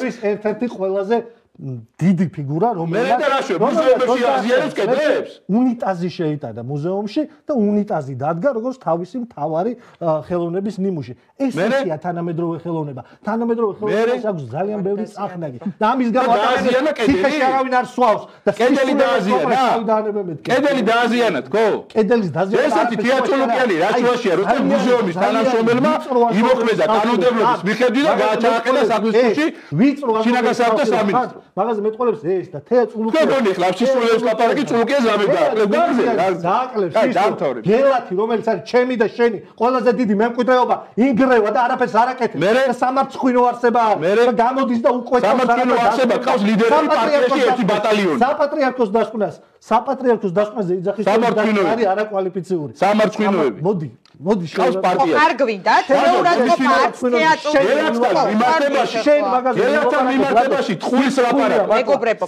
ეს ერთ-ერთი ყველაზე დიდი ფიგურა რომელიც მუზეუმში აზიანებს კედლებს უნიტაზი შეიტანა მუზეუმში და უნიტაზი დადგა როგორც თავისი მთავარი ხელოვნების ნიმუში ეს ისია თანამედროვე ხელოვნება თანამედროვე ხელოვნებას აქვს ძალიან ბევრი წახნაგი და ამის გამო აზიანა კედელი არავინ არ სვავს და კედელი დააზიანა კედელი დააზიანა თქო კედელის დაზიანა ესეთი თეატროლოგიალი რა შუაშია როცა მუზეუმის თანამშრომელმა იმოქმედა კანონმდებლობის მიხედვით და გააჩაყენა საქმეში ვიწრო შინაგანსაკუთრებო სამინისტრო მაგაზე მეტყოლებს ეს და თეა წულუკია თქვენი ხლა სისულელს ლაპარაკი წულუკია ზამებდა დააკლებს ის გელათი რომელიც არის ჩემი და შენი ყველაზე დიდი მემკვიდრეობა ინგრევა და არაფერს არ აკეთებს და სამარცხვინო არსება და გამოდის და უყვეთავს სამარცხვინო არსება ყავს ლიდერები პარტიაში ერთი ბატალიონი საპატრიარქოს დასკვნას საპატრიარქოს დასკვნაზე იძახის არის არაკვალიფიციური სამარცხვინოები მოდი მოდი შევას პარტია არ გვინდა თეორად ყოფა თეატრში შენ მაგაზე გელათთან მიმართებაში ტყუის ლაპარაკი მეგობრებო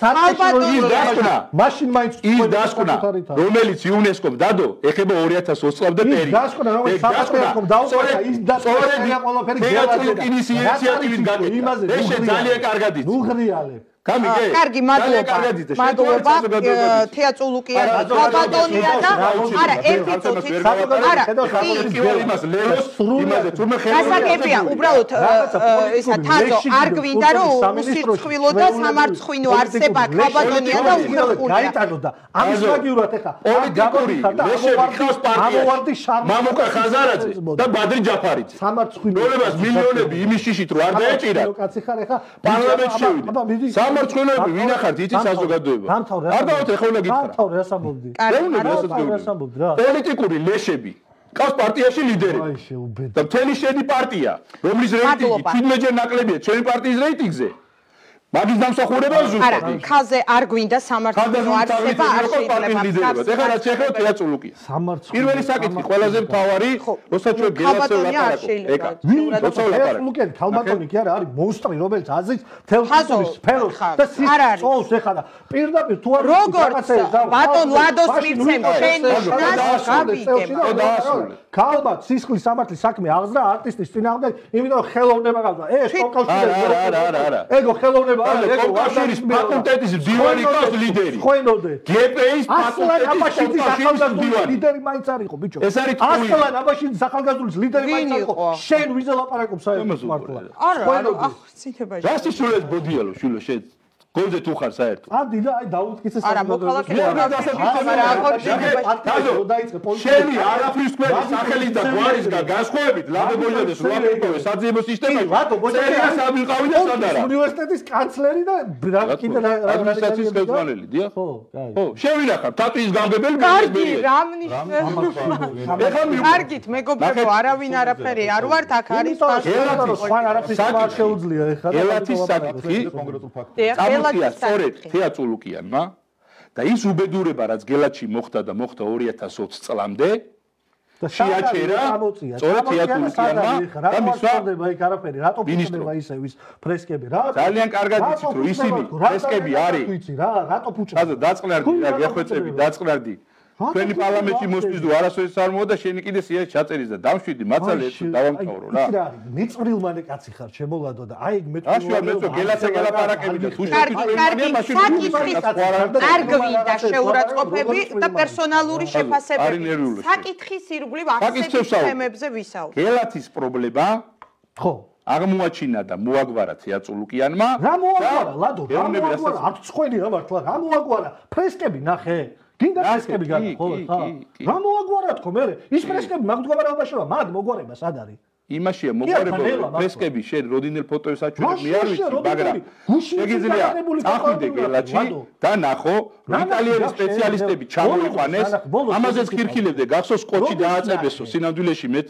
ის დასკვნა მაშინ მაინც ის დასკვნა რომელიც იუნესკომ დადო ეხება ორი ათას ოცი წლამდე პერიოდს დასკვნა რომელიც საპატრიარქომ დაუყარა ის დასკვნა ყველაფერი გელათი ინიციატივით გაკეთდა ეს ძალიან კარგად იცი ნუღრიალე გამიგე კარგი მადლობა მადლობა თეა წულუკიანი ბატონია და არა ერთი წუთი არა იმას ლეროს იმაზე თურმე ხელოვნებაა გასაგებია უბრალოდ ისა თაზო არ გვინდა რომ უსირცხვილო და სამარცხვინო არსება ქაბატონია და უხერხულია გაიტანო და ამის მაგივრად ეხა პოლიტიკური ლეშები ამოვარდი შარმა მამუკა ხაზარაძე და ბადრი ჯაფარიძე სამარცხვინო ნოლებას მილიონები იმის შიშით რო არ დაეჭირა კაცი ხარ ეხა პარლამენტში შევიდა სამარცხვინოები ვინ ახართ იცი საზოგადოება არ დავთ ეხლა უნდა გითხრა დამთავრე ასამბლოდი ასამბლოდი პოლიტიკური ლეშები ყავს პარტიაში ლიდერები და მთელი შენი პარტია რომლის რეიტინგი თითქმეტჯერ ნაკლებია ჩვენი პარტიის რეიტინგზე მაგის დამსახურება ზუსტად არა ხალხზე არ გვინდა სამარცხვინო არსება არ შეიძლება ეხლა რაც შეეხება თეა წულუკია პირველი საკითხი ყველაზე მთავარი როცა ჩვენ გელასზე ვლაპარაკობ ეკა როცა ვლაპარაკობ ქალბატონი კი არა არის მონსტრი რომელიც აზრის თელხაზის სფეროს და სიცოცხლეს ეხლა და პირდაპირ თუ არ როგორც ბატონ ლადოს მირცემ შენ ნიშნავს გაბიგება ქალბატ სისხლის სამართლის საქმე აღზრდა არტისტის წინააღმდეგ იმიტომ რომ ხელოვნება გავდა ეს კონკურსი არა არა არა ეგო ხელოვნება კონკურსის ფაკულტეტის დივანი ყავს ლიდერი ხოენოდე გპ-ის ფაკულტეტის ახალგაზრდული ლიდერი მაინც არ იყო ბიჭო ეს არის ტყუილი ასლან აბაშიძის ახალგაზრდულის ლიდერი მაინც არ იყო შენ ვიზე ლაპარაკობ საერთოდ მართლა არა არა ახ ციტებაში რასი სულეს ბოდიალო შულო შენ გონზე თუ ხარ საერთოდ. ადი და აი დაუთკიცე არა, მოქალაქეები შენი არაფრის თქვენი სახელის და გვარის და განსხვავებით ლაბებოლიდეს რუაპირკოვეს საძიებო სისტემაში. რატო ბოჭერია სამიყავი და სადარა. უნივერსიტეტის კანცლერი და კიდე რა ადმინისტრაციის ხელმძღვანელი, დიახ? ხო, კაი. ხო, შევინახავ თატვის გამგებელი კარგი, რა ნიშნავს? კარგით, მეგობრებო, არავინ არაფერი არ ვართ, აქ არის სხვა არაფრის არ შეუძლია ეხლა. ელათის საკითხი კონკრეტულ ფაქტს. წამოწია სწორედ თეა წულუკიანმა და ის უბედურება, რაც გელათში მოხდა და მოხდა ორი ათას ოცი წლამდე შეაჩერა სწორედ თეა წულუკიანმა და მისვა იქ არაფერი, რატო ფუჭდება ისე ვის ფრესკები რა? ძალიან კარგად იცით, რომ ისინი ფრესკები არის. ვიცი რა, რატო ფუჭდება? ხაზო დაწყნარდი, რა გეხვეწები, დაწყნარდი. თქვენი პარლამენტში მოსვლის თუ არასოდეს არ მოვა და შენი კიდე სია ჩაწერის და დამშვიდი მაცალე ერთ დავამთავრო რა. ის რა არის? მიწვრილმანი კაცი ხარ, შემოლადო და აი მე რა შუა მეცო გელაცა გელაპარაკები და თუ შეგიძლია მაშინ არ გვინდა შეურაცხყოფები და პერსონალური შეფასებები. საკითხის ირგვლივ ახსნების თემებზე ვისაუბრებთ. გელათის პრობლემა ხო აღმოაჩინა და მოაგვარა თეა წულუკიანმა. რა მოაგვარა ლადო? რა მოაგვარა? აქ წხვენი რა მართლა? რა მოაგვარა? ფრესკები ნახე. გინდა ფრესკები განა ხო ხა? რა მოაგვარა თქო მე? ის ფრესკები მაგ მდგომარეობაშია, მაგ მოგვარება სად არის? იმაშია მოგვარება ფრესკები შენ როდინელ ფოტოებს აჩვენებ მე არ ვიცი, მაგრამ შეგიძლია წახვიდე გელათში და ნახო იტალიური სპეციალისტები ჩამოიყვანეს, ამაზეც ხირხილებდე, გახსოვს ყოჩი დააწებესო სინამდვილეში მე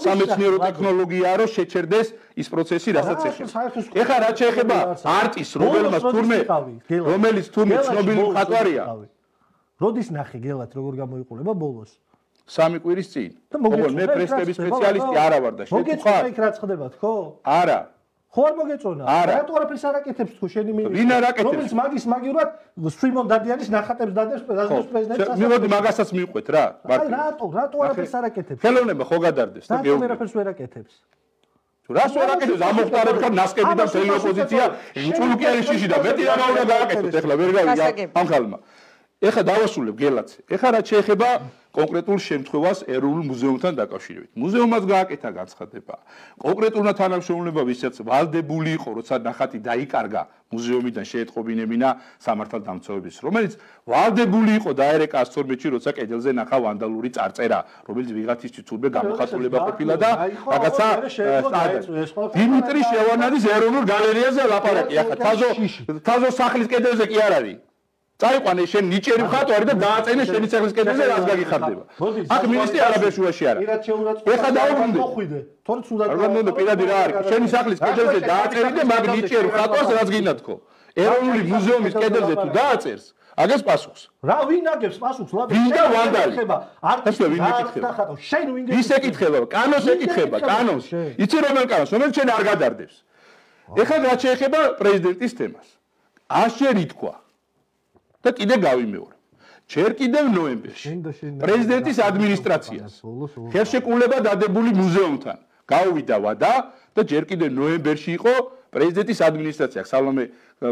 სამეცნიერო ტექნოლოგიაა რომ შეჩერდეს ის პროცესი, რასაც ეხება. ეხლა რაც შეეხება არტის, რომელმაც თურმე რომელიც თურმე ცნობილი მხატვარია. როდის ნახე გელათ როგორ გამოიყურება ბოლოს? სამი კვირის წინ. ოღონდ მე პრესკების სპეციალისტი არა ვარ და შენ ხარ. მოგეწონა იქ რაც ხდება თქო? არა. ხო არ მოგეწონა? რატო არაფერს არ აკეთებს თქო შენი მინისტრი? ვინ არ აკეთებს? რომელიც მაგის მაგივრად სვიმონ დადიანის ნახატებს დადებს პრეზიდენტს. მივოდი მაგასაც მივყვეთ რა. აი რატო? რატო არაფერს არ აკეთებს? ხელოვნება ხო გადარდეს და გეუბნები. არაფერს ვერ აკეთებს. რას ვერ აკეთებს? ამოხტარებ ხარ ნასკები და მთელი ოპოზიცია წულუკიანის შიში და მეტი რა უნდა გააკეთოთ ეხლა ვერ გავიგე ამ ხალმა. ეხლა დავასრულებ გელათზე. ეხლა რაც შეეხება კონკრეტულ შემთხვევას ეროვნულ მუზეუმთან დაკავშირებით. მუზეუმმაც გააკეთა განცხადება. კონკრეტულმა თანამშრომლებმა, ვისაც ვალდებული იყო, როცა ნახატი დაიკარგა მუზეუმიდან შეეტყობინებინა სამართალდამცავების, რომელიც ვალდებული იყო დაერეკა ას თორმეტში, როცა კედელზე ნახა ვანდალური წარწერა, რომელიც ვიღაცისთვის თურმე გამოხატულება ყოფილა და რაღაცა დიმიტრი შევარნაძის ეროვნულ გალერეაზე ლაპარაკი. ახლა თაზო თაზო სახლის კედელზე კი არ არის. წაიყვანე შენ ნიჭიერი მხატვარი და დააწენე შენი სახლის კედელზე რაც გაგიხარდება. აქ მინისტრი არაბეშუაში არა. ეხლა დაუბრუნდი. თორე თუნდაც არ გამდო პირადი რა არის? შენი სახლის კედელზე დააწერი და მაგ ნიჭიერი მხატვარს რაც გინდა თქო. ეროვნული მუზეუმის კედელზე თუ დააწერს, აგეს პასუხს. რა ვინ აგებს პასუხს? ლაბი. ვინ და ვანდალი? არტის ვინ ეკითხება? შენ ვინ ის ეკითხება, კანონს ეკითხება, კანონს. იცი რომელ კანონს, რომელიც შენ არ გადარდებს. ეხლა რაც შეეხება პრეზიდენტის თემას. ასჯერ ითქვა და კიდე გავიმეორე. ჯერ კიდევ ნოემბერში პრეზიდენტის ადმინისტრაციას ხელშეკრულება დადებული მუზეუმთან გაუვიდა ვადა და ჯერ კიდევ ნოემბერში იყო პრეზიდენტის ადმინისტრაცია სალომე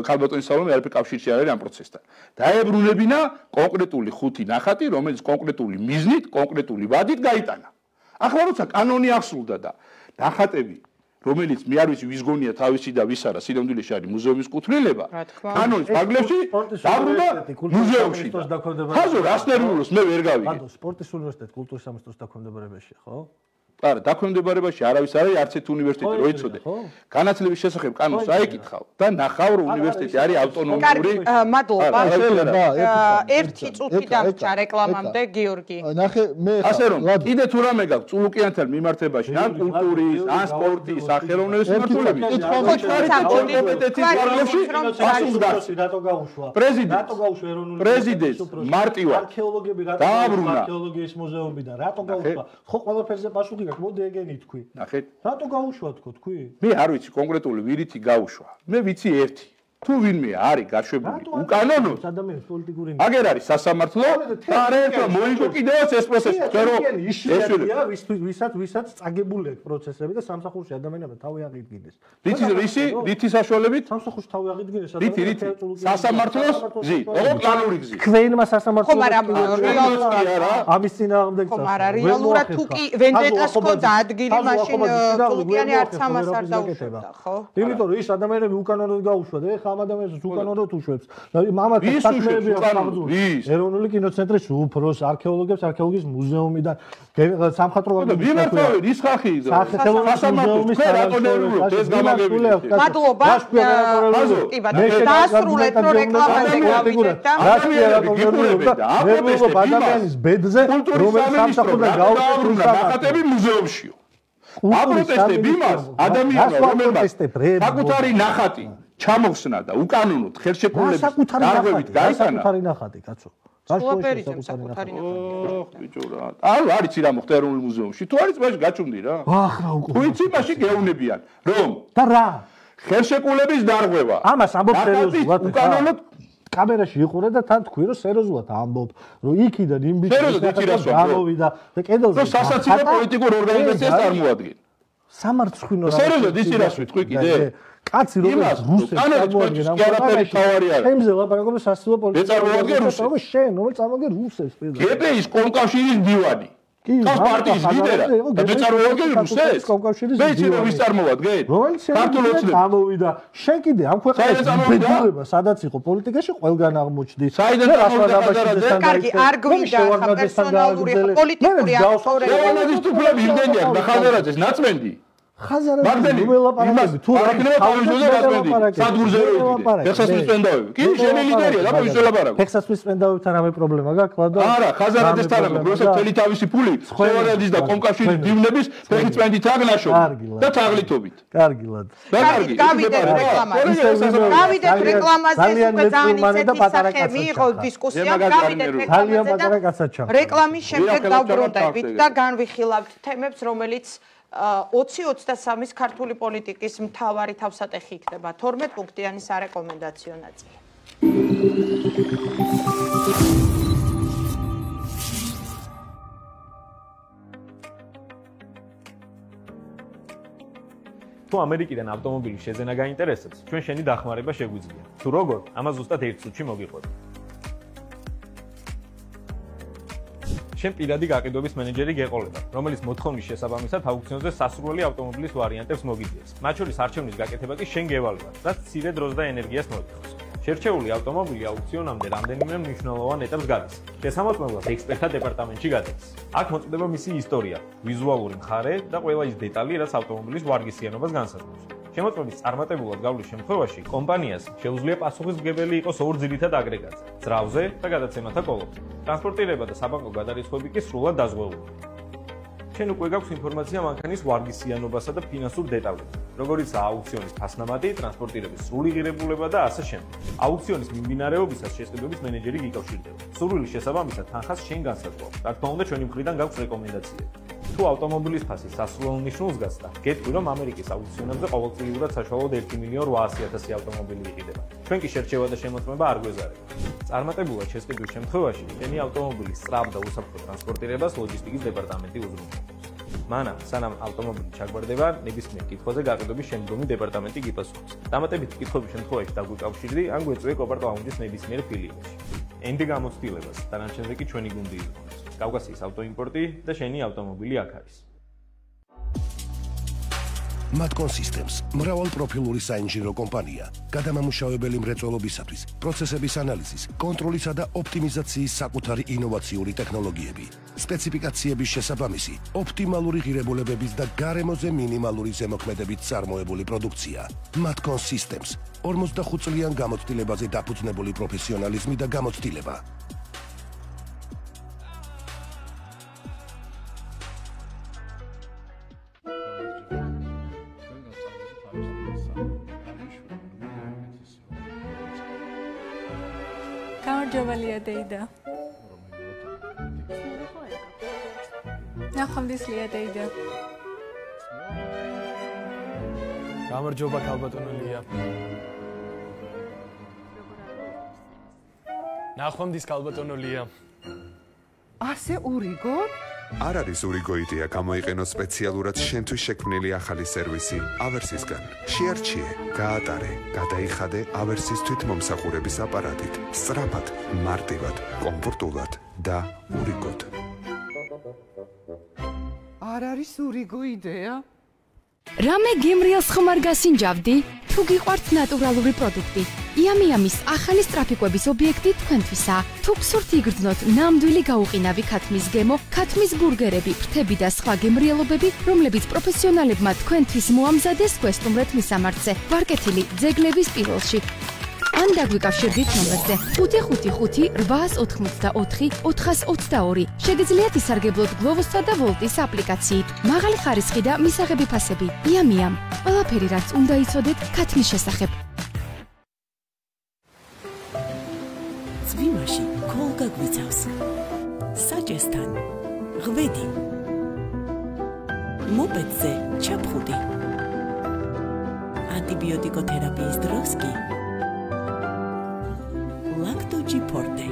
ქალბატონის სალომე არაფერ კავშირში არ არის ამ პროცესთან. დაებრუნებინა კონკრეტული ხუთი ნახატი, რომელიც კონკრეტული მიზნით, კონკრეტული ვადით გაიტანა. ახლა როცა კანონი აღსრულდა და ნახატები რომელიც მე არ ვიცი ვის გონია თავისი და ვის არა სინამდვილეში არის მუზეუმის კუთვნილება კანონის ფარგლებში დაბრუნდა მუზეუმში ხაზო რას ნერვიულობს მე ვერ გავიგე ბატონო სპორტის უნივერსიტეტი კულტურის სამინისტროს დაქვემდებარებაშია ხო არა დაქვემდებარებაში არავის არის არც ერთ უნივერსიტეტი რო იცოდე განათლების შესახებ კანონს აიკითხავ და ნახავ რომ უნივერსიტეტი არის ავტონომიური მადლობა ერთი წუთი დამჭა რეკლამამდე გიორგი ნახე მე ასე რომ კიდე თუ რამე გაქვს წულუკიანთან მიმართებაში ან კულტურის ან სპორტის ან ხელოვნების მიმართულებით რატო გაუშვა პრეზიდენტ რატო გაუშვა ეროვნული პრეზიდენტ მარტივად არქეოლოგები რატო დააბრუნა არქეოლოგიის მუზეუმიდან რატო გაუშვა ხო ყველაფერზე პასუხი მოდი ეგენი თქვი. ნახეთ. რატო გაუშვა თქო თქვი? მე არ ვიცი კონკრეტული ვირითი გაუშვა. მე ვიცი ერთი. თუ ვინმე არის გაშვებული უკანონო ადამიანის პოლიტიკური აგერ არის სასამართლო და არ ერთო მოიგო კიდევაც ეს პროცესი. თერო ესვია ვისაც ვისაც წაგებული აქვს პროცესები და სამსახურში ადამიანებმა თავი აღიდგინეს. რითი რისი რითი საშუალებით? სამსახურში თავი აღიდგინეს. რითი რითი სასამართლოს გზი. ოღონდ პლანური გზი. ქვენმა სასამართლოს ხომ არა რეალურად ამის წინააღმდეგ ხომ არა რეალურად თუ კი ვენდეტას ქონდა ადგილი მაშინ წულუკიანი არც ამას არ დაუშვებდა ხო? იმიტომ რომ ის ადამიანები უკანონოდ გაუშვა და ეხა ამ ადამიანს უკანონოდ უშვებს. მამათა საქმეები აღძულს. ეროვნული კინოცენტრის უფროს, არქეოლოგებს, არქეოლოგიის მუზეუმიდან, სამხატვრო ვიმართავენ ის ხალხი სახელმწიფო მუზეუმის თანამშრომლებს ეს გამაგებია. მადლობა. კი ბატონო, დაასრულეთ რომ რეკლამაზე გავიდეთ და ნერვულობა ადამიანის ბედზე, რომელიც სამსახურიდან გაუწევს ნახატები მუზეუმშიო. აპროტესტები იმას ადამიანს რომელმაც საკუთარი ნახატი ჩამოხსნა და უკანონოდ ხელშეკრულების დარღვევით გაიტანა საკუთარი ნახატი კაცო. სულაპერიზმ საკუთარი ნახატი. ოხ ბიჭო რა. ანუ არის რა მოხდა ეროვნულ მუზეუმში. თუ არის მაშინ გაჩუმდი რა. ახ რა უკვე. თუ იცი მაშინ გეუბნებიან რომ და რა? ხელშეკრულების დარღვევა. ამას ამბობ სერიოზულად. უკანონოდ კამერაში იყურე და თან თქვი რომ სერიოზულად ამბობ რომ იქიდან იმ ბიჭს გამოვიდა და კედელზე რომ სასაცილო პოლიტიკურ ორგანიზაციას წარმოადგენს სამარცხვინო რა სერიოზულად ისი რას ვიტყვი კიდე კაცი როგორც რუსებს წარმოადგენს ამ ყველაფერი ჩემზე ლაპარაკობ სასაცილო პოლიტიკურ ორგანიზაციას შენ რომელიც წარმოადგენს რუსებს გპ-ის კომკავშირის მდივანი კავს პარტიის ლიდერად და მეწარმოადგენს რუსებს მეცი რომ ვის წარმოვადგენ ქართულოცნები გამოვიდა შენ კიდე ამ ქვეყანაში ბედურება სადაც იყო პოლიტიკაში ყველგან აღმოჩნდი საიდან გამოვიდა კარგი არ გვინდა პერსონალური პოლიტიკური აქტორები რევოლუციის თუფლები იმდენია და ხაზარაძეს ნაცმენდი ხაზარაძე ველაპარაკები თუ რა იქნება თავისუფლად ნაცმენდი სადღურზე როიდი ფეხსაცმლის სპენდავები კი შენი ლიდერია და მოის ველაპარაკო ფეხსაცმლის სპენდავებთან რამე პრობლემა გაქვს ლადო არა ხაზარაძესთან რამე როცა მთელი თავისი ფული შევარაძის და კომკავშირის დივნების ფეხსაცმლით აგნაშო და თაღლითობით კარგი ლადო კარგი გავიდეთ რეკლამაზე გავიდეთ რეკლამაზე უკვე ძალიან ისეთი სახე მიიღო დისკუსია გავიდეთ რეკლამაზე რეკლამის შემდეგ დავბრუნდებით და განვიხილავთ თემებს რომელიც ოცი ოცდასამის ქართული პოლიტიკის მთავარი თავსატეხი იქნება თორმეტ პუნქტიანი სარეკომენდაციო ნაწილი. თუ ამერიკიდან ავტომობილის შეძენა გაინტერესებს, ჩვენ შენი დახმარება შეგვიძლია. თუ როგორ, ამას ზუსტად ერთ წუთში მოგიყვება. შენ პირადი გაყიდვების მენეჯერი გეყოლება, რომელიც მოთხოვნის შესაბამისად აუქციონზე სასურველი ავტომობილის ვარიანტებს მოგიძიებს. მათ შორის არჩევნის გაკეთება კი შენ გევალებად, რაც მცირე დროს და ენერგიას მოითხოვს. შერჩეული ავტომობილი აუქციონამდე რამდენიმე მნიშვნელოვან ეტაპს გადის. შესამოწმებლად ექსპერტთა დეპარტამენტში გადის. აქ მოწდება მისი ისტორია, ვიზუალური მხარე და ყველა ის დეტალი, რაც ავტომობილის ვარგისიანობას განსაზღვრავს. შემოწმების წარმატებულად გავლის შემთხვევაში კომპანიას შეუძლია პასუხისმგებელი იყოს ორ ძირითად აგრეგატზე: ძრავზე და გადაცემათა კოლოფზე. ტრანსპორტირება და საბანკო გადარიცხვები კი სრულად დაზღვეულია. შენ უკვე გაქვს ინფორმაცია მანქანის ვარგისიანობასა და ფინანსურ დეტალებზე, როგორიცაა აუქციონის ფასნამატი, ტრანსპორტირების სრული ღირებულება და ასე შემდეგ. აუქციონის მიმდინარეობისას შესყიდვების მენეჯერი გიკავშირდება. სურვილის შესაბამისად თანხას შენ განსაზღვრავს. რა თქმა უნდა, ჩვენი მხრიდან გაქვს რეკომენდაციები. თუ ავტომობილის ფასი სასურველ ნიშნულს გასცდა, გეტყვი რომ ამერიკის აუქციონებზე ყოველწლიურად საშუალოდ ერთი მილიონ ოთახი ათასი ავტომობილი იყიდება. ჩვენ კი შერჩევა და შემოწმება არ გვეზარება. წარმატებულად შესყიდვის შემთხვევაში, შენი ავტომობილის სწრაფ და უსაფრთხო ტრანსპორტირებას ლოჯისტიკის დეპარტამენტი უზრუნველყოფს. მანამ, სანამ ავტომობილი ჩაგვარდება, ნებისმიერ კითხვაზე გაყიდვების შემდგომი დეპარტამენტი გიპასუხებს. დამატებითი კითხვების შემთხვევაში დაგვიკავშირდი, ან გვეწვიე კოპარტ ლაუნჯის ნებისმიერ ფილიალში. ენდი გამოცდილებას, დანარჩენზე კი ჩვენი გუნდი იზრუნებს. კავკასიის ავტოიმპორტი და შენი ავტომობილი აქ არის. Matcon Systems მრავალპროფილური საინჟინრო კომპანია, გადამამუშავებელი მრეწველობისათვის, პროცესების ანალიზის, კონტროლისა და ოპტიმიზაციის საკუთარი ინოვაციური ტექნოლოგიები, სპეციფიკაციების შესაბამისი, ოპტიმალური ღირებულებების და გარემოზე მინიმალური ზემოქმედებით წარმოებული პროდუქცია. Matcon Systems ორმოცდახუთ წლიან გამოცდილებაზე დაფუძნებული პროფესიონალიზმი და გამოცდილება. გამარჯობელია დეიდა. ნახვამდისლია დეიდა. გამარჯობა ქალბატონო ლია. ნახვამდის ქალბატონო ლია. ასე ურიგო? არ არის ურიგო იდეა გამოიყენო სპეციალურად შენთვის შექმნილი ახალი სერვისი ავერსისგან. შეარჩიე, გაატარე, გადაიხადე ავერსის თვითმომსახურების აპარატით. სწრაფად, მარტივად, კომფორტულად და ურიგოდ. არ არის ურიგო იდეა? რამე გემრიელს ხომ არ გასინჯავდი? თუ გიყვართ ნატურალური პროდუქტი, იამიამის ახალი სტრაფიკვების ობიექტი თქვენთვისაა. თუ გსურთ იგრძნოთ ნამდვილი გაუყინავი ქათმის გემო, ქათმის ბურგერები, ფრთები და სხვა გემრიელობები, რომლებიც პროფესიონალებმა თქვენთვის მოამზადეს, გვესტუმრეთ მისამართზე. ვარკეთილი ძეგლების პირველში. ან დაგვიკავშირდით ნომერზე ხუთი ხუთი ხუთი რვაას ოთხმოცდაოთხი ოთხას ოცდაორი. შეგიძლიათ ისარგებლოთ გლოვოსსა და ვოლტის აპლიკაციით. მაღალი ხარისხი და მისაღები ფასები. იამიამ. ყველაფერი რაც უნდა იცოდეთ ქათმის შესახებ. წვიმაში ქოლგა გვიცავს. საჭესთან ღვედი. მოპედზე ჩაფხუტი. ანტიბიოტიკოთერაპიის დროს კი ლაქტოჯი ფორტე.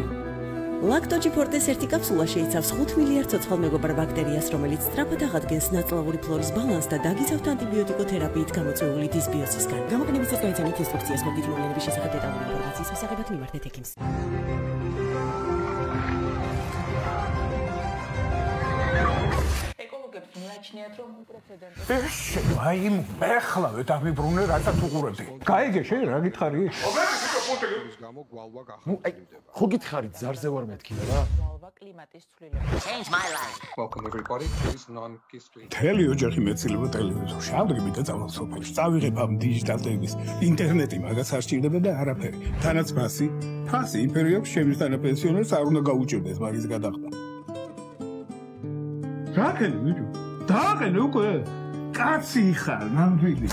ლაქტოჯი ფორტეს ერთი კაფსულა შეიცავს ხუთ მილიარდ ცოცხალმეგობრ ბაქტერიას, რომელიც სწრაფად აღადგენს ნაწლავური ფლორის ბალანსს და დაგიცავთ ანტიბიოტიკოთერაპიით გამოწვეული დისბიოსისგან. გამოყენების წეს გაიცანით ინსტრუქციას მოგდით მოვლენების შესახებ დეტალური ინფორმაციის მისაღებად მიმართეთ ექიმს. ეკოლოგებს მიაჩნიათ, რომ პრეცედენტი აი, ეხლა დავიბრუნე რასაც უყურებდი. გაიგე შენ რა გითხარი? გამო გვალვა გახარდება. ხო გითხარი ზარზე ვარ მეთქი რა? გვალვა კლიმატის ცვლილება. Change my life. Welcome everybody. This is non-history. თელი ოჯახი მეცილება ტელევიზორში. ამდგები და წავალ სოფელში. წავიღებ ამ დიჯიტალ ტელევის. ინტერნეტი მაგას არ სჭირდება და არაფერი. თანაც ფასი, ფასი იმპერია აქვს ჩემს თანაპენსიონერს არ უნდა გაუჭირდეს მაგის გადახდა. რაკენ ვიდეო? დააყენ უკვე. კაცი ხარ, ნამდვილი.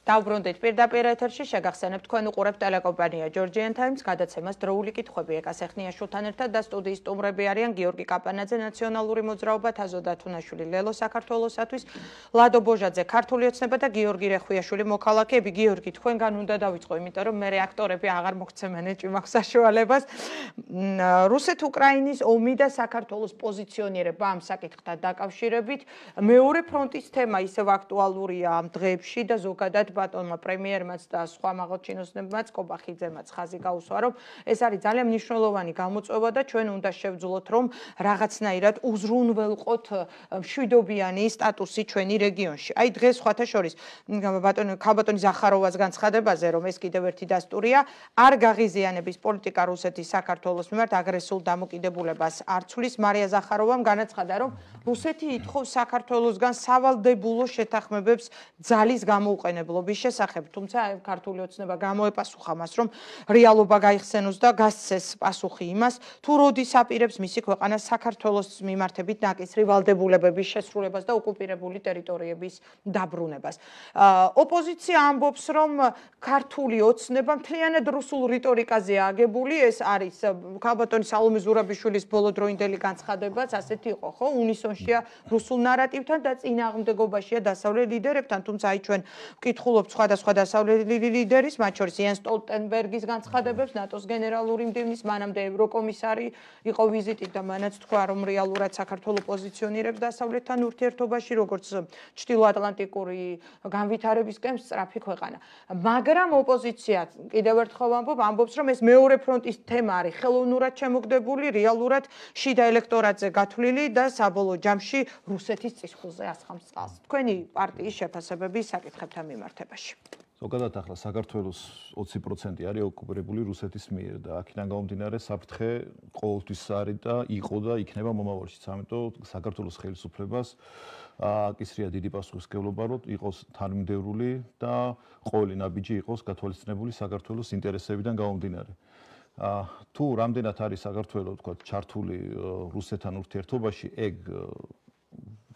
დავბრუნდით პირდაპირ ეთერში, შეგახსენებთ თქვენ უყურებთ ტელეკომპანია Georgian Times გადაცემას დროული კითხვები ეკას ეხნიაშვილთან ერთად და სტუდიის სტუმრები არიან გიორგი კაპანაძე, ნაციონალური მოძრაობა, თაზო დათუნაშვილი, ლელო საქართველოსათვის, ლადო ბოჟაძე, ქართული ოცნება და გიორგი რეხვიაშვილი, მოქალაქეები. გიორგი, თქვენგან უნდა დავიწყო, იმიტომ რომ მე რეაქტორები აღარ მოგცემენ ეჭვი მაქვს საშუალებას. რუსეთ-უკრაინის ომი და საქართველოს პოზიციონირება ამ საკითხთან დაკავშირებით. მეორე ფრონტის თემა ისევ აქტუალურია ამ დღეებში და ზოგადად ბატონმა პრემიერმაც და სხვა მაღალჩინოსნებმაც კობახიძემაც ხაზი გაუსვა, რომ ეს არის ძალიან მნიშვნელოვანი გამოწვევა და ჩვენ უნდა შევძლოთ, რომ რაღაცნაირად უზრუნველყოთ მშვიდობიანი სტატუსი ჩვენი რეგიონში. აი დღეს სხვათა შორის ბატონი ქალბატონი ზახაროვას განცხადებაზე, რომ ეს კიდევ ერთი დასტურია, არ გაღიზიანების პოლიტიკა რუსეთის საქართველოს მიმართ აგრესიულ დამოკიდებულებას არ ცვლის. მარია ზახაროვამ განაცხადა, რომ რუსეთი ითხოვს საქართველოსგან სავალდებულო შეთანხმებებს ძალის გამოუყენებლობის შესახებ, თუმცა ქართული ოცნება გამოეპასუხა მას, რომ რეალობა გაიხსენოს და გასცეს პასუხი იმას, თუ როდის აპირებს მისი ქვეყანა საქართველოს მიმართებით ნაკისრი ვალდებულებების შესრულებას და ოკუპირებული ტერიტორიების დაბრუნებას. ოპოზიცია ამბობს, რომ ქართული ოცნება მთლიანად რუსულ რიტორიკაზეა აგებული, ეს არის ქალბატონი სალომე ზურაბიშვილის ბოლოდროინდელი განცხადებაც ასეთი იყო, ხო? უნისონშია რუსულ ნარატივთან და წინააღმდეგობაშია დასავლელ ლიდერებთან, თუმცა აი ჩვენ ვკითხულობთ სხვადასხვა დასავლელი ლიდერის, მათ შორის იენ სტოლტენბერგის განცხადებებს, ნატოს გენერალური მდივნის, მანამდე ევროკომისარი იყო ვიზიტით და მანაც თქვა, რომ რეალურად საქართველოს პოზიციონირებს დასავლეთთან ურთიერთობაში, როგორც ჩრდილოატლანტიკური განვითარებისკენ სწრაფი ქვეყანა. მაგრამ ოპოზიცია კიდევ ერთხელ ამბობ, ამბობს, რომ ეს მეორე ფრონტის თემა არის ხელოვნურად შემოგდებული, რეალურად შიდა ელექტორატზე გათვლილი და საბოლოო ჯამში რუსეთის წისქვილზე ასხამს წყალს. თქვენი პარტიის შეფასებები საკითხებთან მიმართებაში. ზოგადად ახლა საქართველოს ოცი პროცენტი არის ოკუპირებული რუსეთის მიერ და აქედან გამომდინარე საფრთხე ყოველთვის არის და იყო და იქნება მომავალშიც. ამიტომ საქართველოს ხელისუფლებას აკისრია დიდი პასუხისმგებლობა, რომ იყოს თანმიმდევრული და ყოველი ნაბიჯი იყოს გათვალისწინებული საქართველოს ინტერესებიდან გამომდინარე. თუ რამდენად არის საქართველოს, თქვა, ჩართული რუსეთთან ურთიერთობაში, ეგ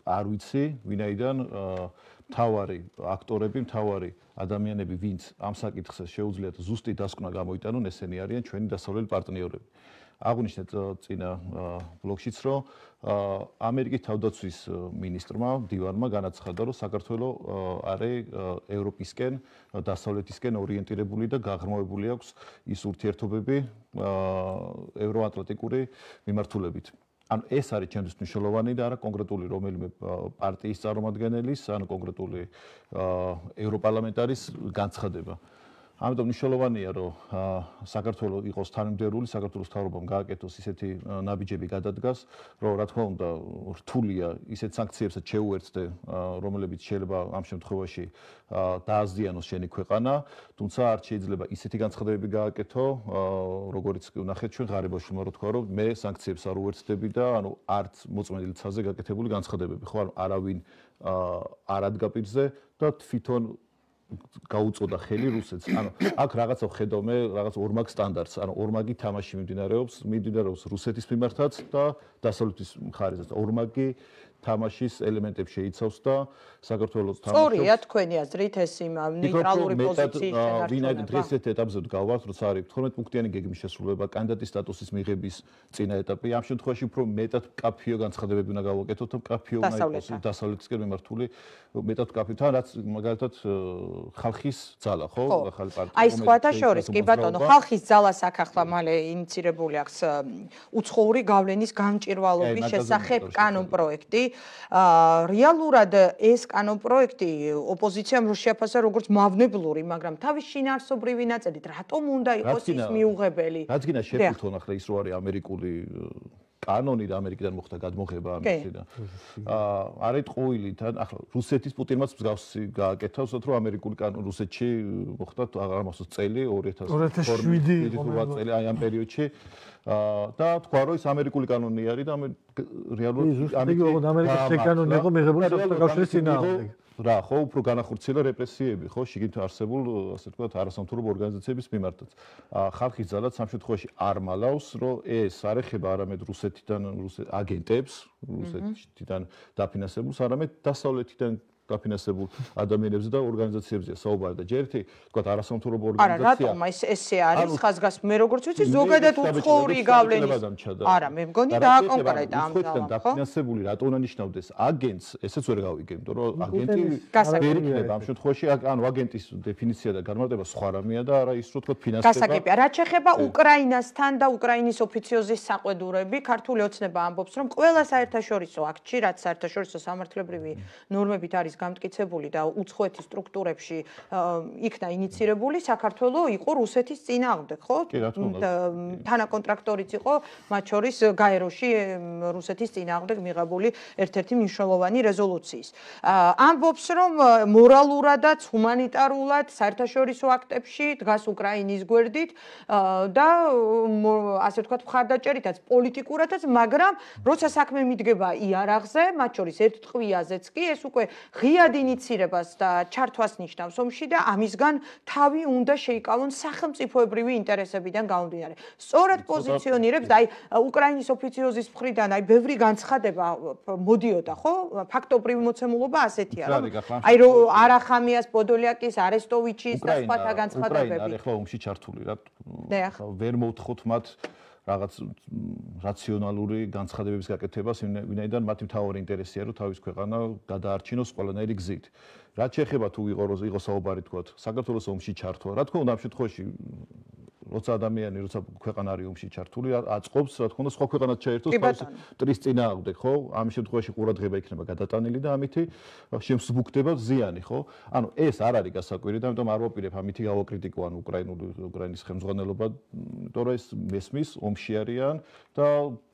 არ ვიცი, ვინაიდან მთავარი აქტორები, მთავარი ადამიანები, ვინც ამ საკითხზე შეუძლიათ ზუსტი დასკვნა გამოიტანონ, ესენი არიან ჩვენი დასავლელი პარტნიორები. აღვნიშნეთ წინა ბლოგშიც, რომ ამერიკის თავდაცვის მინისტრმა დივარმა განაცხადა, რომ საქართველოს არის ევროპისკენ, დასავლეთისკენ ორიენტირებული და გაღრმავებული აქვს ის ურთიერთობები ევროატლანტიკური მიმართულებით. ანუ ეს არის ჩემთვის მნიშვნელოვანი და არა კონკრეტული რომელიმე პარტიის წარმომადგენლის, ან კონკრეტული ევროპარლამენტარის განცხადება. ამიტომ მნიშვნელოვანია, რომ საქართველოს იყოს თანმიმდევრული, საქართველოს მთავრობამ გააკეთოს ისეთი ნაბიჯები გადადგას, რომ რა თქმა უნდა რთულია ისეთ სანქციებსაც შეუერთდე, რომლებიც შეიძლება ამ შემთხვევაში დააზიანოს შენი ქვეყანა, თუმცა არ შეიძლება ისეთი განცხადებები გააკეთო, როგორც ნახეთ ჩვენ ღარიბაშვილმა რო თქვა, რომ მე სანქციებს არ უერთდები და ანუ არც მოწმენდილ ცაზე გაკეთებული განცხადებები, ხო, არავინ არ ადგა პირზე და თვითონ გაუწოდა ხელი რუსეთს. ანუ აქ რაღაცა ხედავ მე, რაღაც ორმაგ სტანდარტს, ანუ ორმაგი თამაში მიმდინარეობს, მიმდინარეობს რუსეთის მიმართაც და დასავლეთის მხარესაც. ორმაგი თამაშის ელემენტებს შეიცავს და საქართველოს თამაშობს. სწორია თქვენი აზრით ეს იმ ნეიტრალური პოზიციის შენარჩუნება. ვინაიდან დღეს ერთ ეტაპზე გავართ, როცა არის თორმეტ პუნქტიანი გეგმის შესრულება, კანდიდატის სტატუსის მიღების წინა ეტაპი. ამ შემთხვევაში უფრო მეტად კაფეო განცხადებები უნდა გავაკეთოთ, კაფეო უნდა იყოს დასავლეთისკენ მიმართული, მეტად კაფეო, თან რაც მაგალითად ხალხის ძალა, ხო? ახალი პარტია. აი სხვათა შორის, კი ბატონო, ხალხის ძალას აქ ახლა მალე ინიცირებული აქვს უცხოური გავლენის გამჭვირვალობის შესახებ კანონპროექტი. რეალურად ეს კანონპროექტი ოპოზიციამ რო შეაფასა როგორც მავნებლური, მაგრამ თავის შინაარსობრივი ნაწილით რატომ უნდა იყოს ის მიუღებელი? რაც გინდა შეფუთონ ახლა ის რო არის ამერიკული კანონი და ამერიკიდან მოხდა გადმოღება ამისიდან. აა არის ტყუილი თან ახლა რუსეთის პუტინმაც მსგავსი გააკეთა, უბრალოდ რომ ამერიკული კანონი რუსეთში მოხდა აღარ მახსოვს წელი ორი ათას შვიდი წელი აი ამ პერიოდში. და თქვა რომ ის ამერიკული კანონი არის და რეალურად ამერიკის კანონი იყო მიღებული საქართველოს წინააღმდეგ. რა ხო უფრო განახორციელა რეპრესიები ხო შიგნით არსებულ ასე ვთქვათ არასამთავრობო ორგანიზაციების მიმართაც. ხალხის ძალაც ამ შემთხვევაში არ მალავს რომ ეს არ ეხება არამედ რუსეთიდან რუსეთ აგენტებს რუსეთიდან დაფინანსებულს არამედ დასავლეთიდან დაფინანსებულ ადამიანებზე და ორგანიზაციებზეა საუბარი და ჯერ ერთი ვთქვათ არასამთავრობო ორგანიზაცია. არა, რატომ ეს ესე არის ხაზგას მე როგორც ვიცი ზოგადად უცხოური გავლენის. არა, მე მგონი დააკონკრეტა ამ ძალამ, ხო? დაფინანსებული რატო უნდა ნიშნავდეს აგენტს, ესეც ვერ გავიგე, იმიტომ რომ აგენტი ვერ იქნება ამ შემთხვევაში, ანუ აგენტის დეფინიცია და განმარტება სხვა რამეა და არა ის რო ვთქვათ ფინანსება. გასაგებია, რაც შეეხება უკრაინასთან და უკრაინის ოფიციოზის საყვედურები, ქართული ოცნება ამბობს, რომ ყველა საერთაშორისო აქტში, რაც საერთაშორისო სამართლებრივი ნორმებით არის გამტკიცებული და უცხოეთის სტრუქტურებში იქნა ინიცირებული, საქართველო იყო რუსეთის წინააღმდეგ, ხო? თანაკონტრაქტორიც იყო, მათ შორის გაეროში რუსეთის წინააღმდეგ მიღებული ერთ-ერთი მნიშვნელოვანი რეზოლუციის. ამბობს, რომ მორალურადაც, ჰუმანიტარულად, საერთაშორისო აქტებში დგას უკრაინის გვერდით და ასე ვთქვათ, მხარდაჭერითაც, პოლიტიკურადაც, მაგრამ როცა საქმე მიდგება იარაღზე, მათ შორის ერთ ტყვიაზეც კი ეს უკვე ღიად ინიცირებას და ჩართვას ნიშნავს ომში და ამისგან თავი უნდა შეიკავონ სახელმწიფოებრივი ინტერესებიდან გამომდინარე. სწორად პოზიციონირებს და აი უკრაინის ოფიციოზის მხრიდან აი ბევრი განცხადება მოდიოდა, ხო? ფაქტობრივი მოცემულობა ასეთია, რომ აი რო არახამიას, პოდოლიაკის, არესტოვიჩის და სხვათა განცხადებები. უკრაინა არის ახლა ომში ჩართული რა. ვერ მოვთხოვთ მათ რაღაც რაციონალური განცხადებების გაკეთებას, ვინაიდან მათი მთავარი ინტერესია, რომ თავის ქვეყანა გადაარჩინოს ყველანაირი გზით. რაც შეეხება თუ იყო საუბარი თქვათ, საქართველოს ომში ჩართვა, რა თქმა უნდა ამ შემთხვევაში როცა ადამიანი, როცა ქვეყანა არის ომში ჩართული, აწყობს, რა თქმა უნდა, სხვა ქვეყანას ჩაერთოს თავის ტრის წინააღმდეგ, ხო? ამ შემთხვევაში ყურადღება იქნება გადატანილი და ამითი შემსუბუქდება ზიანი, ხო? ანუ ეს არ არის გასაკვირი და ამიტომ არ ვაპირებ ამითი გავაკრიტიკო ან უკრაინული უკრაინის ხელმძღვანელობა, იმიტომ რომ ეს მესმის ომში არიან და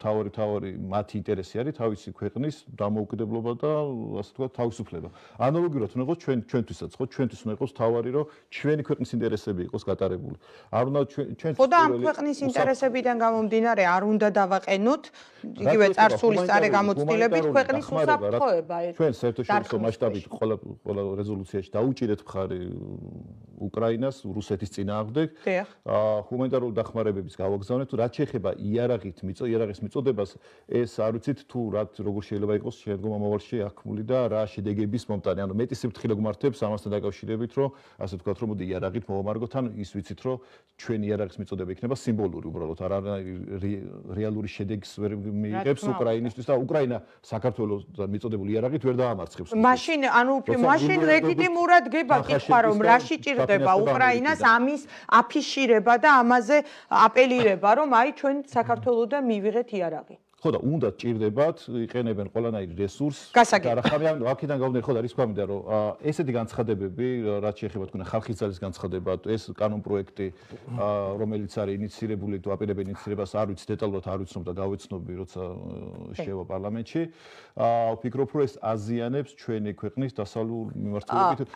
თავი თავი მათი ინტერესი არის თავისი ქვეყნის დამოუკიდებლობა და ასე ვთქვათ, თავისუფლება. ანალოგიურად უნდა იყოს ჩვენ ჩვენთვისაც, ხო? ჩვენთვის უნდა იყოს თავი რომ ჩვენი ქვეყნის ინტერესები იყოს გატარებული. არ უნდა ჩვენ ხო და ამ ქვეყნის ინტერესებიდან გამომდინარე არ უნდა დავაყენოთ იგივე წარსულის წარე გამოცდილებით ქვეყნის უსაფრთხოება ეს ჩვენ საერთაშორისო მასშტაბით ყველა ყველა რეზოლუციაში დაუჭირეთ მხარი უკრაინას რუსეთის წინააღმდეგ ჰუმანიტარული დახმარებების გავაგზავნეთ რაც შეეხება იარაღით მიწო იარაღის მიწოდებას ეს არ ვიცით თუ რა როგორ შეიძლება იყოს შემდგომ ამავალში აქმული და რა შედეგების მომტანი ანუ მეტი სიფრთხილე გვმართებს ამასთან დაკავშირებით რომ ასე ვთქვათ რომ მოდი იარაღით მოვამარგოთ ან ის ვიცით რომ ჩვენ იარაღის მიწოდება იქნება სიმბოლური უბრალოდ არ რეალური შედეგს ვერ მიიღებს უკრაინისთვის და უკრაინა საქართველოსთან მიწოდებული იარაღით ვერ დაამარცხებს. მაშინ ანუ მაშინ ლეგიტიმურად გება კითხვა რომ რა შეჭირდება უკრაინას ამის აფიშირება და ამაზე აპელირება რომ აი ჩვენ საქართველოსთან მივიღეთ იარაღი. ხო და უნდა ჭირდებათ იყენებენ ყველანაირ რესურსს გასაგებია. და რა ხარ ამიტომ აქედან გავდნე ხო და რის ქვამიდა რომ ესეთი განცხადებები რაც შეეხება თქვენ ხალხის ძალის განცხადება ეს კანონ პროექტი რომელიც არის ინიცირებული თუ აპირებენ ინიცირებას არ ვიცი დეტალურად არ ვიცნობ და გავეცნობი როცა შევა პარლამენტში ვფიქრობ რომ ეს აზიანებს ჩვენი ქვეყნის დასავლურ მიმართულებით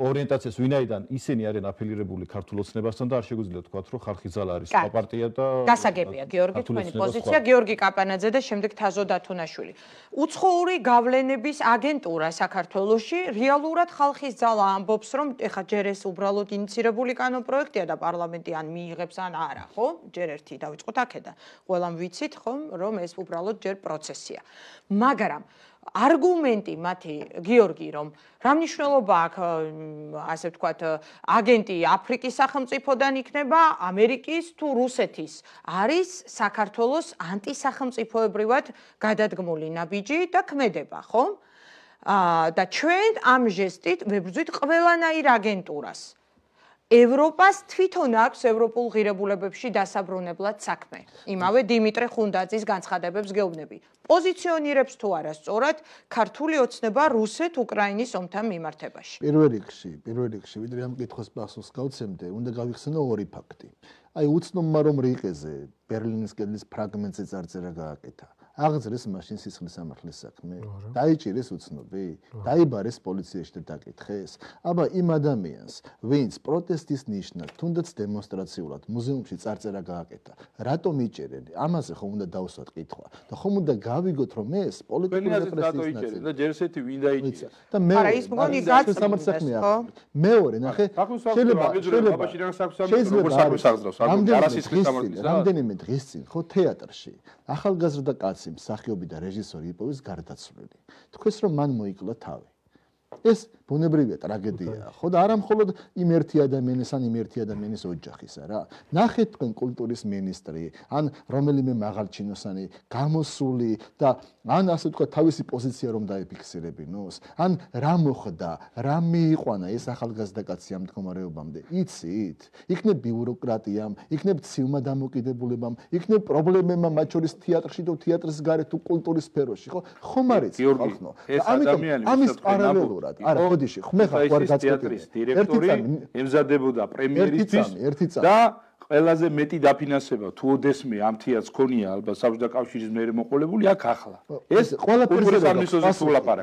ორიენტაციას ვინაიდან ისინი არიან აფილირებული ქართულ ოცნებასთან და არ შეგვიძლია თქვა რომ ხალხის ძალა არის პარტია და გასაგებია გიორგი თქვენი პოზიცია გიორგი კაპანაძე და შემდეგ თაზო დათუნაშვილი უცხოური გავლენების აგენტურა საქართველოში რეალურად ხალხის ძალა ამბობს რომ ეხა ჯერ ეს უბრალოდ ინიცირებული კანონ პროექტია და პარლამენტი ან მიიღებს ან არა ხო ჯერ ერთი დავიწყოთ აქედან ყველამ ვიცით ხომ რომ ეს უბრალოდ ჯერ პროცესია მაგრამ არგუმენტი მათი გიორგი რომ რა მნიშვნელობა აქვს ასე ვთქვათ აგენტი აფრიკის სახელმწიფოდან იქნება ამერიკის თუ რუსეთის არის საქართველოს ანტისახელმწიფოებრივად გადადგმული ნაბიჯი და ქმედება ხო და ჩვენ ამ ჟესტით ვებრძვით ყველანაირ აგენტურას ევროპას თვითონ აქვს ევროპულ ღირებულებებში დასაბრუნებლად საქმე. იმავე დიმიტრე ხუნდაძის განცხადებებს გეუბნები. პოზიციონირებს თუ არა სწორად ქართული ოცნება რუსეთ-უკრაინის ომთან მიმართებაში. პირველ რიგში, პირველ რიგში, ვიდრე ამ კითხვის პასუხს გავცემდე, უნდა გავიხსენო ორი ფაქტი. აი უცნობმა რომ რიყეზე ბერლინის კედლის ფრაგმენტზე წარწერა გააკეთა. აღძრეს მაშინ სისხლის სამართლის საქმე. დაიჭირეს უცნობი, დაიბარეს პოლიციაში და დაკითხეს. აბა იმ ადამიანს, ვინც პროტესტის ნიშნად, თუნდაც დემონსტრაციულად მუზეუმში წარწერა გააკეთა, რატომ იჭერენ? ამაზე ხომ უნდა დავსვათ კითხვა და ხომ უნდა გავიგოთ რომ ეს პოლიტიკური რეპრესიის ნაწილია. და ჯერ ესეთი ვინ დაიჭერა? და მე არა ის მგონი გაცნობდეს ხო? მეორე ნახე, შეიძლება შეიძლება შეიძლება რამდენიმე დღის წინ ხო თეატრში ახალგაზრდა კაცი მსახიობი და რეჟისორი იპოვის გარდაცვლილი. თქვენს რომ მან მოიკლა თავი. ეს ბუნებრივია ტრაგედიაა, ხო და არა მხოლოდ იმ ერთი ადამიანის ან იმ ერთი ადამიანის ოჯახისა რა. ნახეთ თქვენ კულტურის მინისტრი, ან რომელიმე მაღალჩინოსანი გამოსული და ან ასე თქვა თავისი პოზიცია რომ დაიფიქსირებინოს, ან რა მოხდა, რა მიიყვანა ეს ახალგაზრდა კაცი ამ მდგომარეობამდე. იცით? იქნებ ბიუროკრატიამ, იქნებ ცივმა დამოკიდებულებამ, იქნებ პრობლემებმა მათ შორის თეატრში და თეატრის გარეთ თუ კულტურის სფეროში, ხო? ხომ არ იცით ხალხო? ამიტომ ამის პარალელურად არა ხოდიში ხმე ხარ ვარ გაწყვეტილი დირექტორი ემზადებოდა პრემიერისთვის და ყველაზე მეტი დაფინანსება თუ ოდესმე ამ თეატრს ქონია ალბათ საბჭოთა კავშირის მეერე მოყოლებული აქ ახლა ეს ყველაფერზე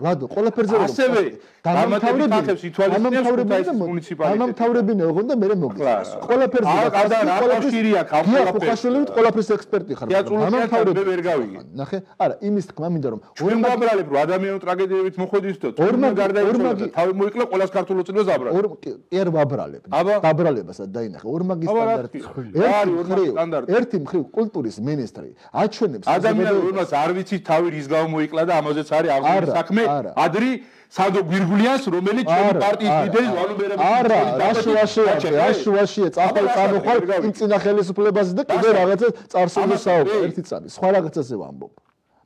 ლადო ყველაფერზე ასევე დამთავრებული ხახებს ითვალისწინებს მუნიციპალიტეტი დამთავრებინე ოღონდ და მე მოგიწევს ყველაფერზე კავშირია ყველაფერზე ყველაფერზე ექსპერტი ხარ დამთავრებული ვერ გავიგე ნახე არა იმის თქმა მინდა რომ ჩვენ ვაბრალებ რომ ადამიანური ტრაგედიებით მოხდით და თურმე გარდაიცვალა და თავი მოიკლა ყველას ქართულ ოცნებას აბრალებ კი არ ვაბრალებ დაბრალებასაც დაინახე ორმაგი სტანდარტი ერთი მხრივ კულტურის მინისტრი აჩვენებს ადამიანს რომელსაც არ ვიცით თავი რის გამო მოიკლა და ამაზეც არის აღული საქმე ადრი სანდო გვირგულიანს რომელიც ჩვენი პარტიის ლიდერი ვალობერების არა რაშუაშია რაშუაშია წახვალ წამოხვალ იმ წინა ხელისუფლებაზე და კიდე რაღაცა წარსულზე საუბარი ერთი წამი სხვა რაღაცაზე ვამბობ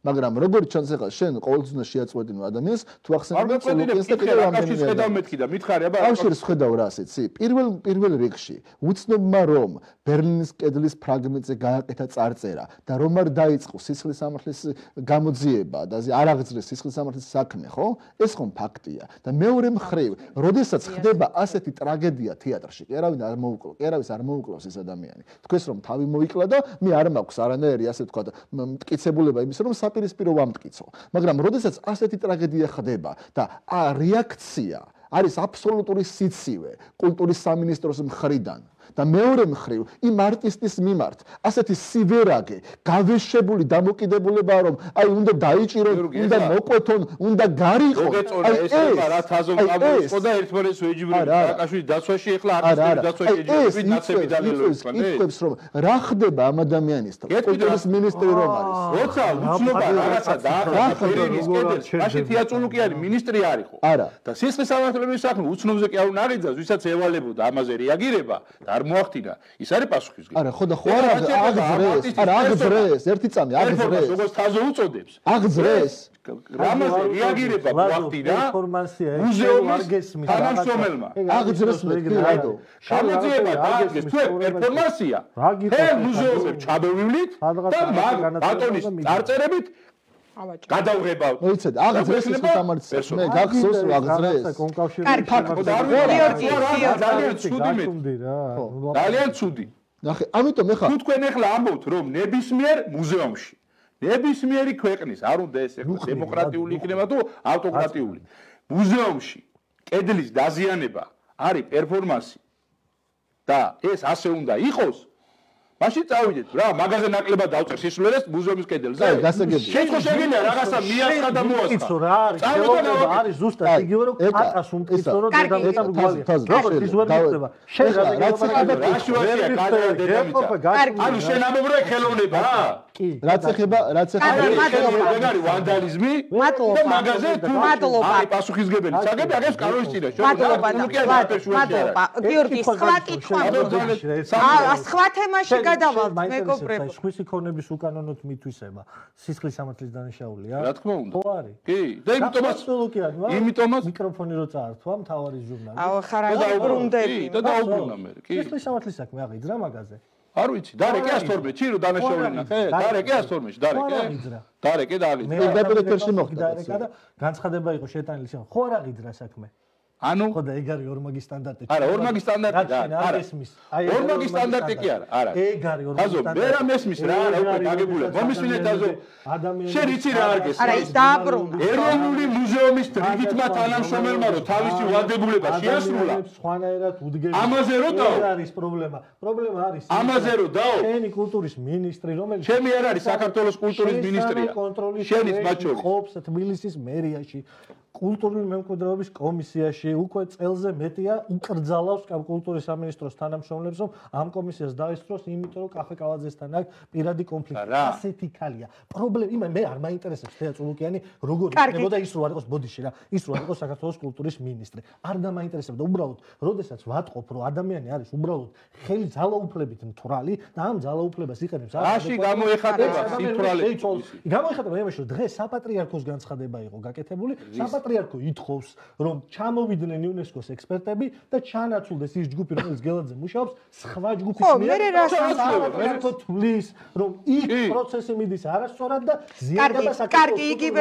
მაგრამ როგორც ჩანს ახლა შენ ყოველთვის უნდა შეაწყვეტინო ადამიანს თუ ახსენებენ სულუკენს და კიდევ რამდენი ხედავ მეთქი და მითხარი აბა კავშირს ხედავ რა ასეცი პირველ პირველ რიგში უცნობმა რომ ბერლინის კედლის ფრაგმენტზე გააკეთა წარწერა და რომ არ დაიწყო სისხლის სამართლის გამოძიება და არ აღძრეს სისხლის სამართლის საქმე ხო ეს ხომ ფაქტია და მეორე მხრივ როდესაც ხდება ასეთი ტრაგედია თეატრში კი არავინ არ მოუკლო კი არავის არ მოუკლავს ეს ადამიანი თქვენს რომ თავი მოიკლა და მე არ მაქვს არანაირი ასე თქვა მტკიცებულება იმის რომ პირისპირო ვამტკიცო მაგრამ როდესაც ასეთი ტრაგედია ხდება და რეაქცია არის აბსოლუტური სიცივე კულტურის სამინისტროს მხრიდან და მეორე მხრივ იმ არტისტის მიმართ ასეთი სივერაგე გავეშებული დამოკიდებულება რომ აი უნდა დაიჭირონ უნდა მოკვეთონ უნდა გარიყო აი ეს რა თაზო ყავისო და ერთმანეთს ვეჯიბრები საკაშვილი დაცვაში ეხლა არტისტების დაცვაში ეჯიბრები ნაცები დალელოებს იკითხებს რომ რა ხდება ამ ადამიანისთან კულტურის მინისტრი რომ არის როცა უცნობა რაღაცა დაახერხეს კედელში მაშინ თეატრული არის მინისტრი არისო და სისხლის სამართლების საქმე უცნობზე კი არ უნდა აღიძას ვისაც ევალებოდა ამაზე რეაგირება და არ მოახდინა, ის არის პასუხისმგებელი. არა, ხო და ხო არა აღძრეს, არა აღძრეს, ერთი წამი აღძრეს. როგორც თაზე უწოდებს. აღძრეს. რამაზე რეაგირება მოახდინა მუზეუმის თანამშრომელმა. აღძრეს მეთქი რადო. გამოძიება დააგეს თუ პერფორმანსია. ჰელ მუზეუმებს ჩაბევლით და მაგ ბატონის წარწერებით გადავღებავთ. მოიცადე, აღძრეს ის სამართლს. მე გახსოვს რომ აღძრეს. კარგი, გიორგი, ძალიან ცუდი მე. ძალიან ცუდი. ნახე, ამიტომ ეხლა თუ თქვენ ეხლა ამბობთ რომ ნებისმიერ მუზეუმში ნებისმიერი ქვეყნის არ უნდა ეს ეხლა დემოკრატიული იქნება თუ ავტოკრატიული მუზეუმში კედლის დაზიანება არის პერფორმანსი და ეს ასე უნდა იყოს მაშინ წავიდეთ რა მაგაზე ნაკლებად დავწერ სისულელეს მუზეუმის კედელზე შეთხო შეგიძლია რაღაცა მიასხა და მოასხა რა არის ხელოვნება არის ზუსტად იგივე რომ კატას უმტკიცო რომ დედამიწა რგვალია როგორც ის ვერ მიწება შენ რაც ანუ შენ ამობ რა ხელოვნება რა რაც ეხება რაც ეხება ეგარი ვანდალიზმი და მაგაზე თუ აი პასუხისგებელი საგები აგებს კანონის წინაშე მადლობა მადლობა გიორგი სხვა კითხვა აა სხვა თემაში გადავალთ მეგობრებო სხვისი ქონების უკანონოდ მითვისება სისხლის სამართლის დანაშაულია რა თქმა უნდა ხო არის კი და იმიტომაც იმიტომაც მიკროფონი რო წაართვა მთავარი ჟურნალი აუ ხარ დაუბრუნდები და დაუბრუნა მე კი სისხლის სამართლის საქმე აღიძრა მაგაზე არ ვიცი დარეკე ას თორმეტში რო დანაშაული ნახე დარეკე ას თორმეტში დარეკე დარეკე დალი მე დაბილეთერში მოხდა და განცხადება იყო შეტანილი შენ ხო არ აღიძრა საქმე ანუ ხო და ეგ არის ორმაგი სტანდარტი არა ორმაგი სტანდარტი და არა ორმაგი სტანდარტი კი არა არა ეგ არის ორმაგი სტანდარტი აზო მე რა მესმის რა რა უკვე გაგებულე მომისმინეთ აზო ადამიანი შენ იცი რა არ გესმის არა ის დააბრუნა ეროვნული მუზეუმის რიგითმა თანამშრომელმა რო თავისი ვალდებულება შეასრულა სხვანაირად უდგები ამაზე რო დაო ეგ არის პრობლემა პრობლემა არის ამაზე რო დაო შენი კულტურის მინისტრი რომელიც ჩემი არ არის საქართველოს კულტურის მინისტრია შენიც მათ შორის ყოფს თბილისის მერიაში კულტურული მემკვიდრეობის კომისიაში უკვე წელზე მეტია უკრძალავს კულტურის სამინისტროს თანამშრომლებს რომ ამ კომისიას დაესწროს იმიტომ რომ კახე კალაძესთან აქვს პირადი კონფლიქტი ასეთი ქალია პრობლემა იმე მე არ მაინტერესებს თეა წულუკიანი როგორ იქნებოდა ის რო არ იყოს ბოდიში რა ის რო არ იყოს საქართველოს კულტურის მინისტრი არ დამაინტერესებდა უბრალოდ როდესაც ვატყობ რომ ადამიანი არის უბრალოდ ხელი ძალაუფლებით მთვრალი და ამ ძალაუფლებას იყენებს რაში გამოეხატება სითვრალე გამოეხატება იმაში რომ დღეს საპატრიარქოს განცხადება იყო გაკეთებული საპატრიარქო ითხოვს რომ ჩამოვიდნენ იუნესკოს ექსპერტები და ჩანაცვლდეს ის ჯგუფი რომელიც გელაძე მუშაობს სხვა ჯგუფის მიერ საპატრიარქო თვლის რომ იქ პროცესი მიდის არასწორად და ზიანდება საქართველოს კარგი იგივე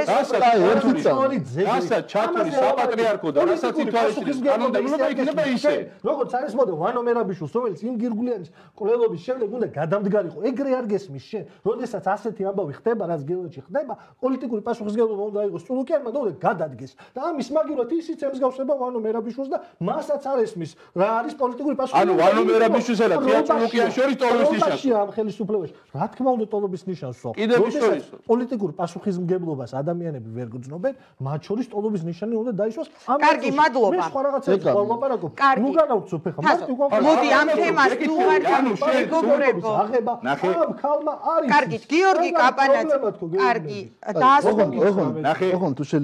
რასაც ჩათვლი საპატრიარქო და რასაც ითვალისწინებს კანონმდებლობა იქნება ისე როგორც არის მოდე ვანო მერაბიშვილს რომელიც იმ გირგულიანის კვლევების შემდეგ უნდა გადამდგარიყო ეგრე არ გესმის შენ როდესაც ასეთი ამბავი ხდება რაც გელაძეში ხდება პოლიტიკური პასუხისმგებლობა უნდა იყოს წულუკიანმა და უნდა გადადგეს და ამის მაგივრად ისიც ემსგავსება ვანო მერაბიშვილს და მასაც არ ესმის რა არის პოლიტიკური პასუხისმგებლობა ანუ ვანო მერაბიშვილსა და თეა წულუკიანს შორის ტოლობის ნიშანს ამ ხელისუფლებაში რა თქმა უნდა ტოლობის ნიშანსო როდესაც პოლიტიკურ პასუხისმგებლობას ადამიანები ვერ გძნობენ მათ შორის ტოლობის ნიშანი უნდა დაისვას ამ კარგი მადლობა მე სხვა რაღაცებს ვალაპარაკობ ნუ განავცობ ხა მარტივ მოდი ამ თემას თუ არ გამოგობრებო აღება ამ ქალმა არის კარგი გიორგი კაპანაძე კარგი დაასრულე ნახე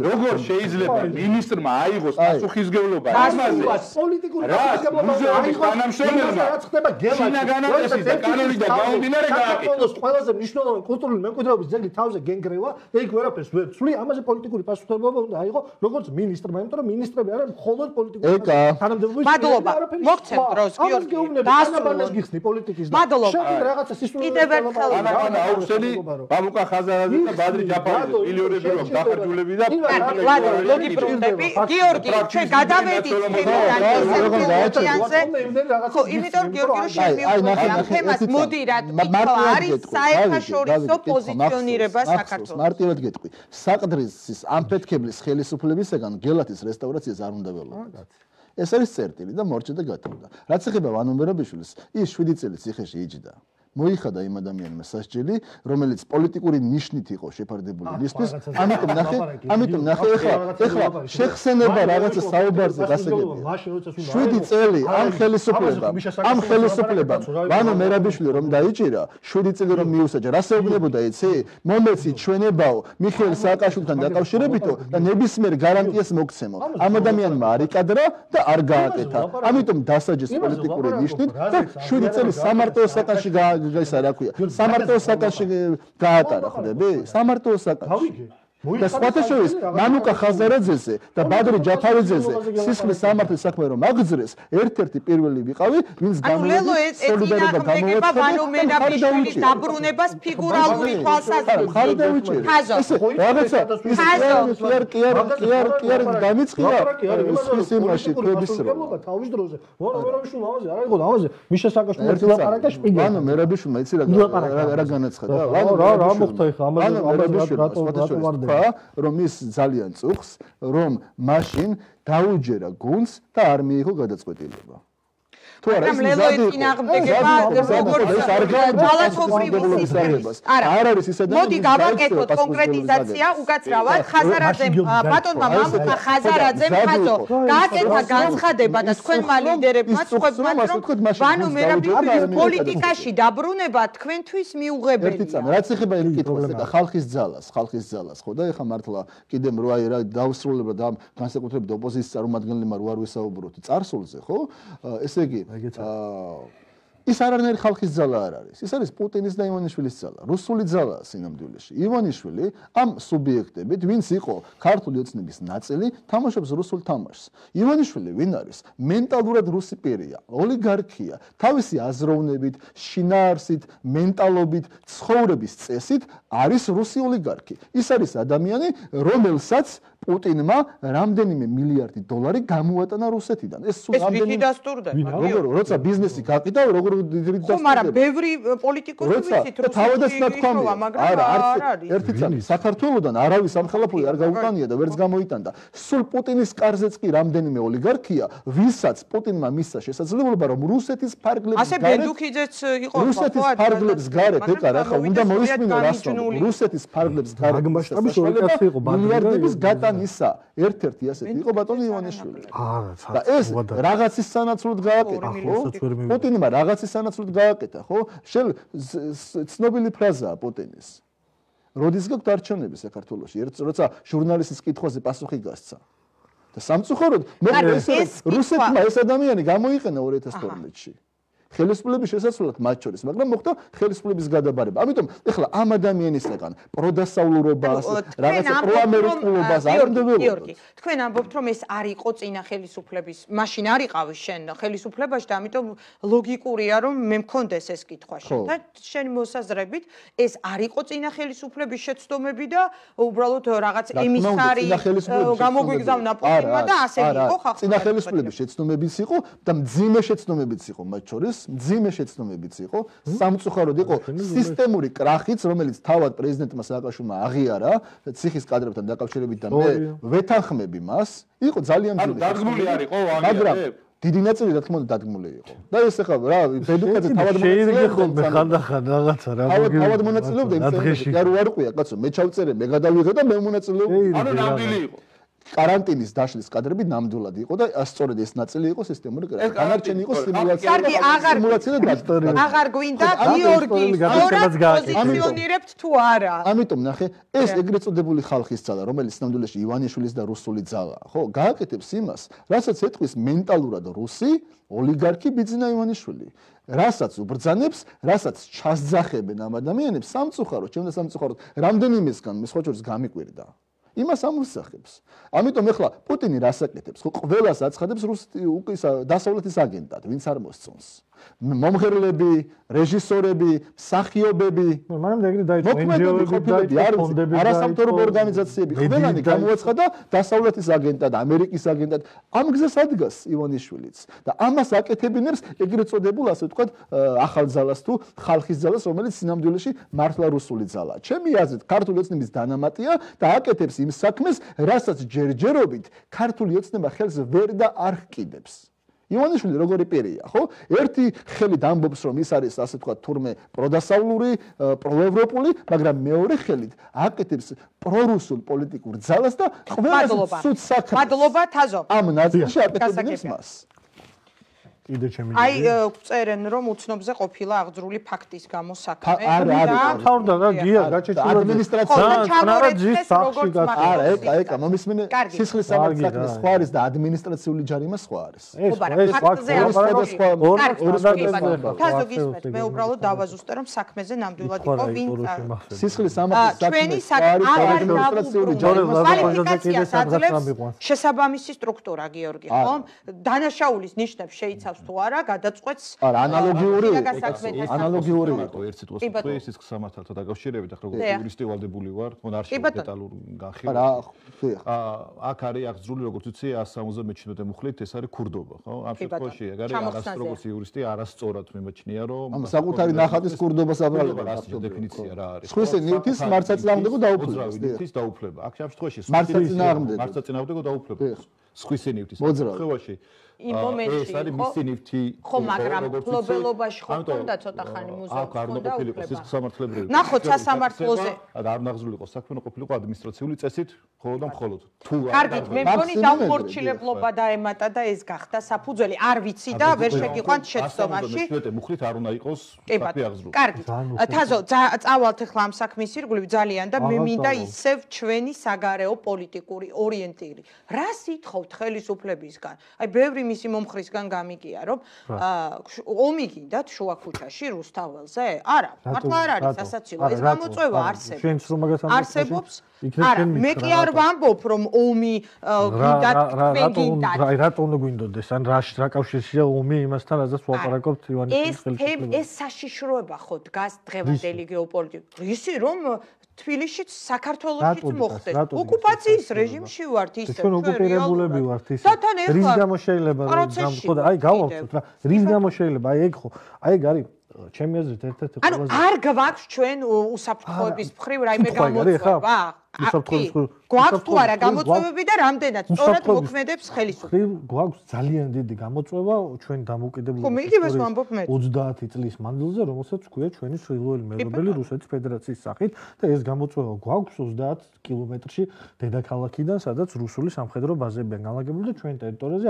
როგორ შეიძლება მინისტრმა აიღოს პასუხისმგებლობა ამაზე პოლიტიკური პასუხისმგებლობა აიღოს თანამშრომელმა რაც ხდება გელაძე და კანონი და გაუდინარე გააკეთოს ყველაზე მნიშვნელოვანი კულტურული მემკვიდრეობის ძეგლი თავზე გენგრევა და იქ ვერაფერს ვერ ცვლი ამაზე პოლიტიკური პასუხისმგებლობა უნდა აიღო როგორც მინისტრმა იმიტომ რომ მინისტრები არიან მხოლოდ პოლიტიკური თანამდებობის მადლობა მოგცემ დროს გიორგი დაასრულოს გიხსნი პოლიტიკის და შენ რაღაცა სისულელე კიდევ ერთხელ ანა აუხსენი ბაბუკა ხაზარაძე და ბადრი ჯაფარიძე მილიონები რომ დახარჯულები და მოგიბრუნდები გიორგი ჩვენ გადავედით თემიდან ხო იმიტომ გიორგი რომ შემიუყვება ამ თემას მოდი რა თქმა არის საერთაშორისო პოზიციონირება საქართველოს მარტივად გეტყვი საყდრის ამფეთქებლის ხელისუფლებისგან გელათის რესტავრაციას არ უნდა ველოდოთ ეს არის წერტილი და მორჩა და გათოვდა რაც ეხება ვანო მერაბიშვილს ის შვიდი წელი ციხეში იჯდა მოიხადა იმ ადამიანმა სასჯელი, რომელიც პოლიტიკური ნიშნით იყო შეფარდებული მისთვის. ამიტომ ნახე, ამიტომ ნახე ეხლა, ეხლა შეხსენება რაღაცა საუბარზე გასაგებია. შვიდი წელი ამ ხელისუფლებამ, ამ ხელისუფლებამ ვანო მერაბიშვილი რომ დაიჭირა, შვიდი წელი რომ მიუსაჯა, რა შეუგნებოდა იცი? მომეცი ჩვენებაო, მიხეილ სააკაშვილთან დაკავშირებითო და ნებისმიერ გარანტიას მოგცემო. ამ ადამიანმა არ იკადრა და არ გააკეთა. ამიტომ დასაჯეს პოლიტიკური ნიშნით და შვიდი წელი სამარტოო საკანში გაისა რა ქვია. სამარტოო საკანში გაატარა, ხვდები? სამარტოო საკანში. და სხვათა შორის მანუკა ხაზარაძეზე და ბადრი ჯაფარიძეზე სისხლის სამართლის საქმე რომ აგძრეს, ერთ-ერთი პირველი ვიყავი, ვინც გამოვიდა სოლიდარობა გამოვიდა ვანო მერაბიშვილის დაბრუნებას ფიგურალური თვალსაზრისით. ხაზო, რაღაცა ის კი არ კი არ კი არ კი არ გამიწყია ის იმაში ქვების რომ თავის დროზე ვანო მერაბიშვილმა ამაზე არა იყო ამაზე მიშა სააკაშვილი ერთი ლაპარაკა შპიგა ვანო მერაბიშვილმა იცი რა რა განაცხადა ვანო რა რა მოხდა ხა ამაზე ამაზე რატო რატო ვარდება რომ ის ძალიან წუხს, რომ მაშინ დაუჯერა გუნდს და არ მიიღო გადაწყვეტილება. თუ არა ეს მზადი წინააღმდეგება როგორც ძალათობრივი არა არ არის ისე და მოდი გავაკეთოთ კონკრეტიზაცია უკაცრავად ხაზარაძემ ბატონმა მამუკა ხაზარაძემ ხაზო გააკეთა განცხადება და თქვენმა ლიდერებმა სხვებმა რომ ვანო მერაბიშვილის პოლიტიკაში დაბრუნება თქვენთვის მიუღებელია. ერთი წამი რაც ეხება იმ კითხვას და ხალხის ძალას, ხალხის ძალას ხო და ეხა მართლა კიდე რო აი რა დაუსრულებლად ამ განსაკუთრებით ოპოზიციის წარმომადგენლებმა რო არ ვისაუბროთ წარსულზე ხო ესე იგი ის არანაირი ხალხის ძალა არ არის. ის არის პუტინის და ივანიშვილის ძალა. რუსული ძალაა სინამდვილეში. ივანიშვილი ამ სუბიექტებით, ვინც იყო ქართული ოცნების ნაწილი, თამაშობს რუსულ თამაშს. ივანიშვილი ვინ არის? მენტალურად რუსი პირია, ოლიგარქია, თავისი აზროვნებით, შინაარსით, მენტალობით, ცხოვრების წესით არის რუსი ოლიგარქი. ის არის ადამიანი, რომელსაც პუტინმა რამდენიმე მილიარდი დოლარი გამოატანა რუსეთიდან. ეს სულ რამდენი დასტურდა. როგორ როცა ბიზნესი გაკიდა, როგორ დიდი დასტურდა. ხო, მაგრამ ბევრი პოლიტიკოსი ვიცით, რომ თავადაც ნათქვამია. არა, არის ერთი წამი საქართველოსდან არავის სამხელაფო არ გაუტანია და ვერც გამოიტანდა. სულ პუტინის კარზეც კი რამდენიმე ოლიგარქია, ვისაც პუტინმა მისცა შესაძლებლობა, რომ რუსეთის ფარგლებს გარეთ ასე ბენდუქიძეც იყო ხო? რუსეთის ფარგლებს გარეთ ეკა რა ხა, უნდა მოისმინო რას რუსეთის ფარგლებს გარეთ. მაგმასშტაბის ორიენტაცია იყო მილიარდების გატანისა ერთ-ერთი ასეთი იყო ბატონი ივანიშვილი. არა, და ეს რაღაცის სანაცვლოდ გააკეთა, ხო? პუტინმა რაღაცის სანაცვლოდ გააკეთა, ხო? შენ ცნობილი ფრაზაა პუტინის. როდის გაქვთ არჩევნები საქართველოში? ერთ როცა ჟურნალისტის კითხვაზე პასუხი გასცა. და სამწუხაროდ, მოკლედ ეს რუსეთმა ეს ადამიანი გამოიყენა ორ ათას თორმეტში. ხელისუფლების შესაძლებლად მათ შორის, მაგრამ მოხდა ხელისუფლების გადაბარება. ამიტომ ეხლა ამ ადამიანისგან პროდასავლურობას, რაღაცა პროამერიკულობას არ უნდება. გიორგი, თქვენ ამბობთ, რომ ეს არ იყო წინა ხელისუფლების, მაშინ არ იყავი შენ ხელისუფლებაში და ამიტომ ლოგიკურია, რომ მე მქონდეს ეს კითხვა შენ და შენ მოსაზრებით, ეს არ იყო წინა ხელისუფლების შეცდომები და უბრალოდ რაღაც ემისარი გამოგვიგზავნა პუტინმა და ასე იყო ხახო. წინა ხელისუფლების შეცდომებიც იყო და მძიმე შეცდომებიც იყო მათ შორის. მძიმე შეცდომებიც იყო, სამწუხაროდ იყო სისტემური კრახიც, რომელიც თავად პრეზიდენტმა სააკაშვილმა აღიარა ციხის კადრებთან დაკავშირებით და მე ვეთანხმები მას, იყო ძალიან მძიმე. ანუ დადგმული არ იყო მაგრამ დიდი ნაწილი რა თქმა უნდა დადგმული იყო. და ეს ახლა რა ბედუკაძე თავად მონაწილეობდა ხანდახან რაღაცა რა მოგივიდა. თავად მონაწილეობდა იმ წელს. და რო არ ყვია, კაცო, მე ჩავწერე, მე გადავიღე და მე მონაწილეობდა. ანუ ნამდვილი იყო. карантиნის დაშლის კადრები ნამდვილად იყო და სწორედ ეს ნაწილი იყო სისტემური კრახი. განარჩენი იყო სიმულაცია. კარგი, აღარ სიმულაცია და აღარ გვინდა გიორგი, სწორად პოზიციონირებთ თუ არა. ამიტომ ნახე, ეს ეგრეთ წოდებული ხალხის ძალა, რომელიც ნამდვილად ივანიშვილის და რუსული ძალაა, ხო? გააკეთებს იმას, რასაც ეთქვის მენტალურად რუსი ოლიგარქი ბიძინა ივანიშვილი. რასაც უბრძანებს, რასაც ჩასძახებენ ამ ადამიანებს, სამწუხაროდ, ჩემდა სამწუხაროდ, რამდენიმესგან მე სხვა შორის გამიკვირდა. იმას ამოსახებს. ამიტომ ეხლა პუტინი რას აკეთებს? ხო, ყველას აცხადებს რუსეთის უკისა დასავლეთის აგენტად, ვინც არ მოსწონს. მომღერლები, რეჟისორები, მსახიობები, მაგრამ ეგრე დაიწყო ენჯიოები, დაიწყო ფონდები, არასამთავრობო ორგანიზაციები, ყველანი გამოაცხადა დასავლეთის აგენტად, ამერიკის აგენტად. ამ გზას ადგას ივანიშვილიც და ამას აკეთებინებს ეგრეთ წოდებულ, ასე ვთქვათ, ახალ ძალას თუ ხალხის ძალას, რომელიც სინამდვილეში მართლა რუსული ძალაა. ჩემი აზრით, ქართული ოცნების დანამატია და აკეთებს იმ საქმეს, რასაც ჯერჯერობით ქართული ოცნება ხელს ვერ და არ ჰკიდებს. ივანიშვილი როგორი პირია, ხო? ერთი ხელით ამბობს, რომ ის არის ასე თქვა თურმე პროდასავლური, პროევროპული, მაგრამ მეორე ხელით აკეთებს პრორუსულ პოლიტიკურ ძალას და ყველა სულ საქმეს. მადლობა თაზო. ამ ნაწილში აკეთებს მას. კიდე ჩემი აი წერენ რომ უცნობზე ყოფილა აღძრული ფაქტის გამო საქმე არა არა თავდა რა გია გაჩეჩულა ადმინისტრაციული სახში გასა არა ეკა ეკა მომისმენე სისხლის სამართლის სხვა არის და ადმინისტრაციული ჯარიმა სხვა არის ეს ეს ფაქტზე მე უბრალოდ დავაზუსტე რომ საქმეზე ნამდვილად იყო ვინ სისხლის სამართლის საქმე ადმინისტრაციული ჯარიმა შესაბამისი სტრუქტურა გიორგი ხო დანაშაულის ნიშნებს შეიცავს თუ არა გადაწყვეტს არა ანალოგიური ანალოგიური მარტო ერთ სიტყვას თქვი სისხლის სამართალთან დაკავშირებით ახლა როგორც იურისტი ვალდებული ვარ თქო არ შეიძლება დეტალურ განხილვა აქ არის აღძრული როგორც ვიცი εκατს სამოცდამეჩვიდმეტე მუხლით ეს არის ქურდობა ხო ამ შემთხვევაში ეგ არის არასდროს როგორც იურისტი არასწორად მიმაჩნია რომ ამ საკუთარი ნახატის ქურდობას აბრალება რა დეფინიცია რა არის სხვისი ნივთის მარცაწინააღმდეგო დაუფლება ნივთის დაუფლება აქ ამ შემთხვევაში მარცაწინააღმდეგო მარცაწინააღმდეგო დაუფლება სხვისი ნივთის მოძრაობაში იმ მომენტში ეს არის მისი ნივთი ხო მაგრამ ფლობელობაში ხო და ცოტა ხანი მუზეუმს ხონდა უფლება სისხლის სამართლებრივი ნახოთ სასამართლოზე და არ ნაღზულიყო საქმე ყოფილიყო ადმინისტრაციული წესით მხოლოდ და მხოლოდ თუ კარგით მე მგონი დამხორციელებლობა დაემატა და ეს გახდა საფუძველი არ ვიცი და ვერ შეგიყვანთ შეცდომაში მეშვიდე მუხლით არ უნდა იყოს საქმე აღზრული კარგით თაზო წავალთ ახლა ამ საქმის ირგვლივ ძალიან და მე მინდა ისევ ჩვენი საგარეო პოლიტიკური ორიენტირი რა სიტყვით ხელისუფლებისგან აი ბევრი მისი მომხრისგან გამიგია რომ ომი გინდათ შუა ქუჩაში რუსთაველზე? არა, მართლა არ არის სასაცილო. ეს გამოწვევა არსებობს. არსებობს? არა, მე კი არ ვამბობ რომ ომი გინდათ თქვენ გინდათ. რა რატო უნდა გვინდოდეს? ან რა რა კავშირშია ომი იმასთან, რაზეც ვაპარაკობთ ივანიშვილის ხელისუფლებას? ეს საშიშროება ხო დგას დღევანდელი გეოპოლიტიკა. ისი რომ თბილისშიც საქართველოშიც მოხდეს. ოკუპაციის რეჟიმში ვართ ისე. ჩვენ ოკუპირებულები ვართ ისე. რის გამო შეიძლება რომ გამხოდა? აი გავავსოთ რა. რის გამო შეიძლება? აი ეგ ხო. აი ეგ არის ჩემი აზრით ერთ-ერთი ყველაზე ანუ არ გვაქვს ჩვენ უსაფრთხოების მხრივ რაიმე გამოწვევა? გვაქვს თუ არა გამოწვევები და რამდენად სწორად მოქმედებს ხელისუფლება? გვაქვს ძალიან დიდი გამოწვევა ჩვენ დამოუკიდებლობის ოცდაათი წლის მანძილზე, რომელსაც ქვია ჩვენი სრულიად მეზობელი რუსეთის ფედერაციის სახით და ეს გამოწვევა გვაქვს ოცდაათ კილომეტრში დედაქალაქიდან, სადაც რუსული სამხედრო ბაზებია განლაგებული და ჩვენ ტერიტორიაზე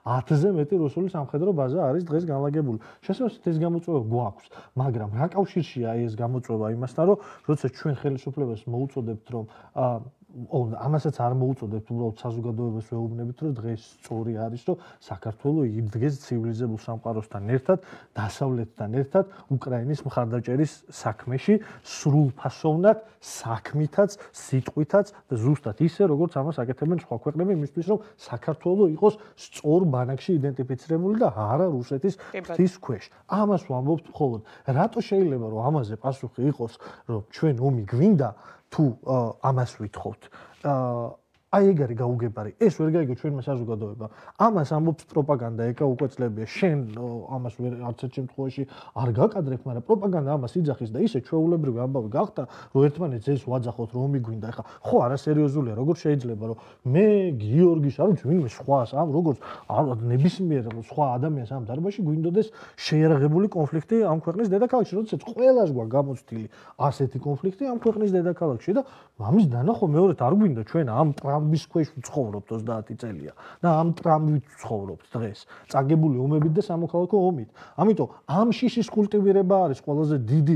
ათზე მეტი რუსული სამხედრო ბაზა არის დღეს განლაგებული. შესაძლოა ეს გამოწვევა გვაქვს, მაგრამ რა კავშირშია ეს გამოწვევა იმასთან, რომ როცა ჩვენ ხელისუფლებას მოუწოდებთ რომ ამასაც არ მოუწოდებთ უბრალოდ საზოგადოებას ვეუბნებით რომ დღეს სწორი არის რომ საქართველოს იდგეს ცივილიზებულ სამყაროსთან ერთად დასავლეთთან ერთად უკრაინის მხარდაჭერის საქმეში სრულფასოვნად საქმითაც სიტყვითაც და ზუსტად ისე როგორც ამას აკეთებენ სხვა ქვეყნები იმისთვის რომ საქართველოს იყოს სწორ ბანაკში იდენტიფიცირებული და არა რუსეთის ფთის ქვეშ ამას ვამბობთ მხოლოდ რატო შეიძლება რომ ამაზე პასუხი იყოს რომ ჩვენ ომი გვინდა თუ ამას ვითხოვთ აი ეგ არის გაუგებარი ეს ვერ გაიგო ჩვენმა საზოგადოებამ ამას ამბობს პროპაგანდა ეკა უკვე წლებია შენ ამას ვერ არც ერთ შემთხვევაში არ გაკადრებ მაგრამ პროპაგანდა ამას იძახის და ისე ჩვეულებრივი ამბავი გახდა რომ ერთმანეთს ეს ვაძახოთ რომ ომი გვინდა ეხა ხო არა სერიოზულია როგორ შეიძლება რომ მე გიორგის არ ვიცი ვინმე სხვას ამ როგორც ნებისმიერ სხვა ადამიანს ამ დარბაზში გვინდოდეს შეიარაღებული კონფლიქტი ამ ქვეყნის დედაქალაქში როდესაც ყველას გვაქვს გამოცდილი ასეთი კონფლიქტი ამ ქვეყნის დედაქალაქში და ამის დანახვა მეორედ არ გვინდა ჩვენ ამ ტრამვის ქვეშ ვცხოვრობთ ოცდაათი წელია და ამ ტრამვით ვცხოვრობთ დღეს წაგებული ომებით და სამოქალაქო ომით ამიტომ ამ შიშის კულტივირება არის ყველაზე დიდი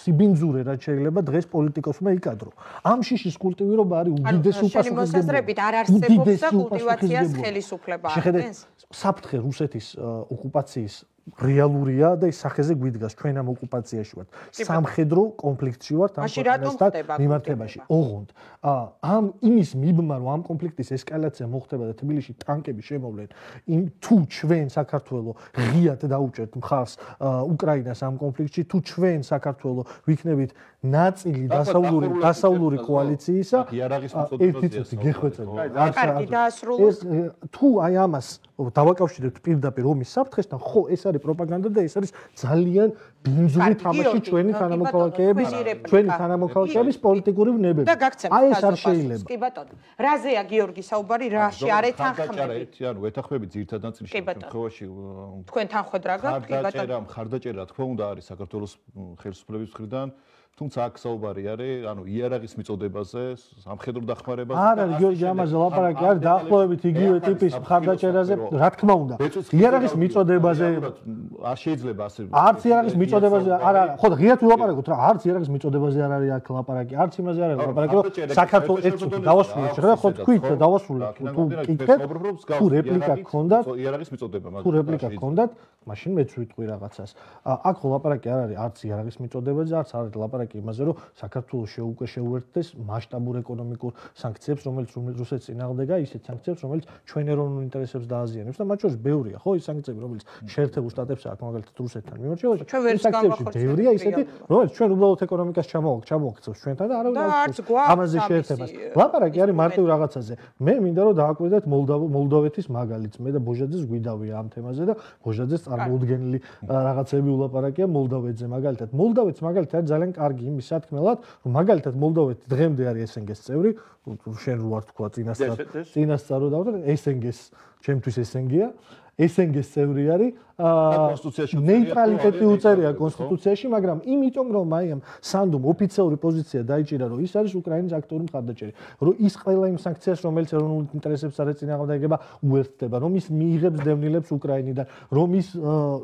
სიბინძურე რაც შეიძლება დღეს პოლიტიკოსმა იკადრო ამ შიშის კულტივირება არის უდიდესი უპასუხისმგებლობა არ არსებობს და კულტივაციას ხელისუფლება ახდენს საფრთხე რუსეთის ოკუპაციის რეალურია და ის სახეზე გვიდგას ჩვენ ამ ოკუპაციაში ვართ სამხედრო კონფლიქტში ვართ ამ ქვეყნასთან მიმართებაში ოღონდ ამ იმის მიბმა რომ ამ კონფლიქტის ესკალაცია მოხდება და თბილისში ტანკები შემოვლენ იმ თუ ჩვენ საქართველოს ღიად დაუჭერთ მხარს უკრაინას ამ კონფლიქტში თუ ჩვენ საქართველოს ვიქნებით ნაწილი დასავლური დასავლური კოალიციისა ერთი წუთი გეხვეწები კარგი დაასრულოს თუ აი ამას დავაკავშირებთ პირდაპირ ომის საფრთხესთან ხო ეს არის არის პროპაგანდა და ეს არის ძალიან ბინძური თამაში ჩვენი თანამოქალაქეების ჩვენი თანამოქალაქეების პოლიტიკური ვნებები. აი ეს არ შეიძლება. კი ბატონო. რაზეა გიორგი საუბარი, რაში არ ეთანხმები? ხარდაჭერა, ანუ ეთანხმები ძირითადად ნაწილში შემთხვევაში თქვენ თანხმედრა გაქვთ, კი ბატონო. ხარდაჭერა, ხარდაჭერა თქო უნდა არის საქართველოს ხელისუფლების მხრიდან. თუმცა აქ საუბარი არის, ანუ იარაღის მიწოდებაზე, სამხედრო დახმარებაზე. არ არის გიორგი ამაზე ლაპარაკი, არის დაახლოებით იგივე ტიპის ხარდაჭერაზე, რა თქმა უნდა. იარაღის მიწოდებაზე არ შეიძლება ასე. არც იარაღის მიწოდებაზე არ არის. ხო, ღიად ვილაპარაკოთ რა, არც იარაღის მიწოდებაზე არ არის აქ ლაპარაკი, არც იმაზე არ არის ლაპარაკი, რომ საქართველოს ერთ წუთი დავასრულოთ. შეხედა ხო თქვით და დავასრულოთ. თუ კითხეთ, თუ რეპლიკა გქონდათ, იარაღის მიწოდება, თუ რეპლიკა გქონდათ, მაშინ მეც ვიტყვი რაღაცას. აქ ხო ლაპარაკი არ არის არც იარაღის მიწოდებაზე, არც არ არის ლაპარაკი იმაზე, რომ საქართველოს შეუკვე შეუერთდეს მასშტაბურ ეკონომიკურ სანქციებს, რომელიც რუსეთს წინააღმდეგა, ისეთ სანქციებს, რომელიც ჩვენ ეროვნულ ინტერესებს დააზიანებს და მათ შორის ბევრია, ხო, ის სანქციები, რომელიც შეერთებულ შტატებს აქვს, მაგალითად რუსეთთან მიმორჩევაში. ის სანქციები ბევრია ისეთი, რომელიც ჩვენ უბრალოდ ეკონომიკას ჩამოვაქცევს ჩვენთან და არავინ არ აქვს ამაზე შეერთებას. ლაპარაკი არის მარტივ რაღაცაზე. მე მინდა რომ დააკვირდეთ მოლდოვეთის მაგალითს. მე და ბოჟაძეს გვიდავია ამ თემაზე და ბოჟაძეს წარმოუდგენელი რაღაცები ულაპარაკია მოლდოვეთზე მაგალითად. მოლდოვეთს მაგალითად ძალიან კარგი იმის სათქმელად, რომ მაგალითად მოლდოვეთი დღემდე არის ეს ენ გი-ს წევრი, შენ რო არ თქვა წინასწარ წინასწარ რო დავდო, ეს ენ გი-ს ჩემთვის ეს ენ გი-ა, ეს ენ გი-ს წევრი არის, ნეიტრალიტეტი უწერია კონსტიტუციაში, მაგრამ იმიტომ რომ აი ამ სანდუმ ოფიციალური პოზიცია დაიჭირა, რომ ის არის უკრაინის აქტიური მხარდაჭერი, რომ ის ყველა იმ სანქციას, რომელიც ეროვნულ ინტერესებს არ ეწინააღმდეგება, უერთდება, რომ ის მიიღებს დევნილებს უკრაინიდან, რომ ის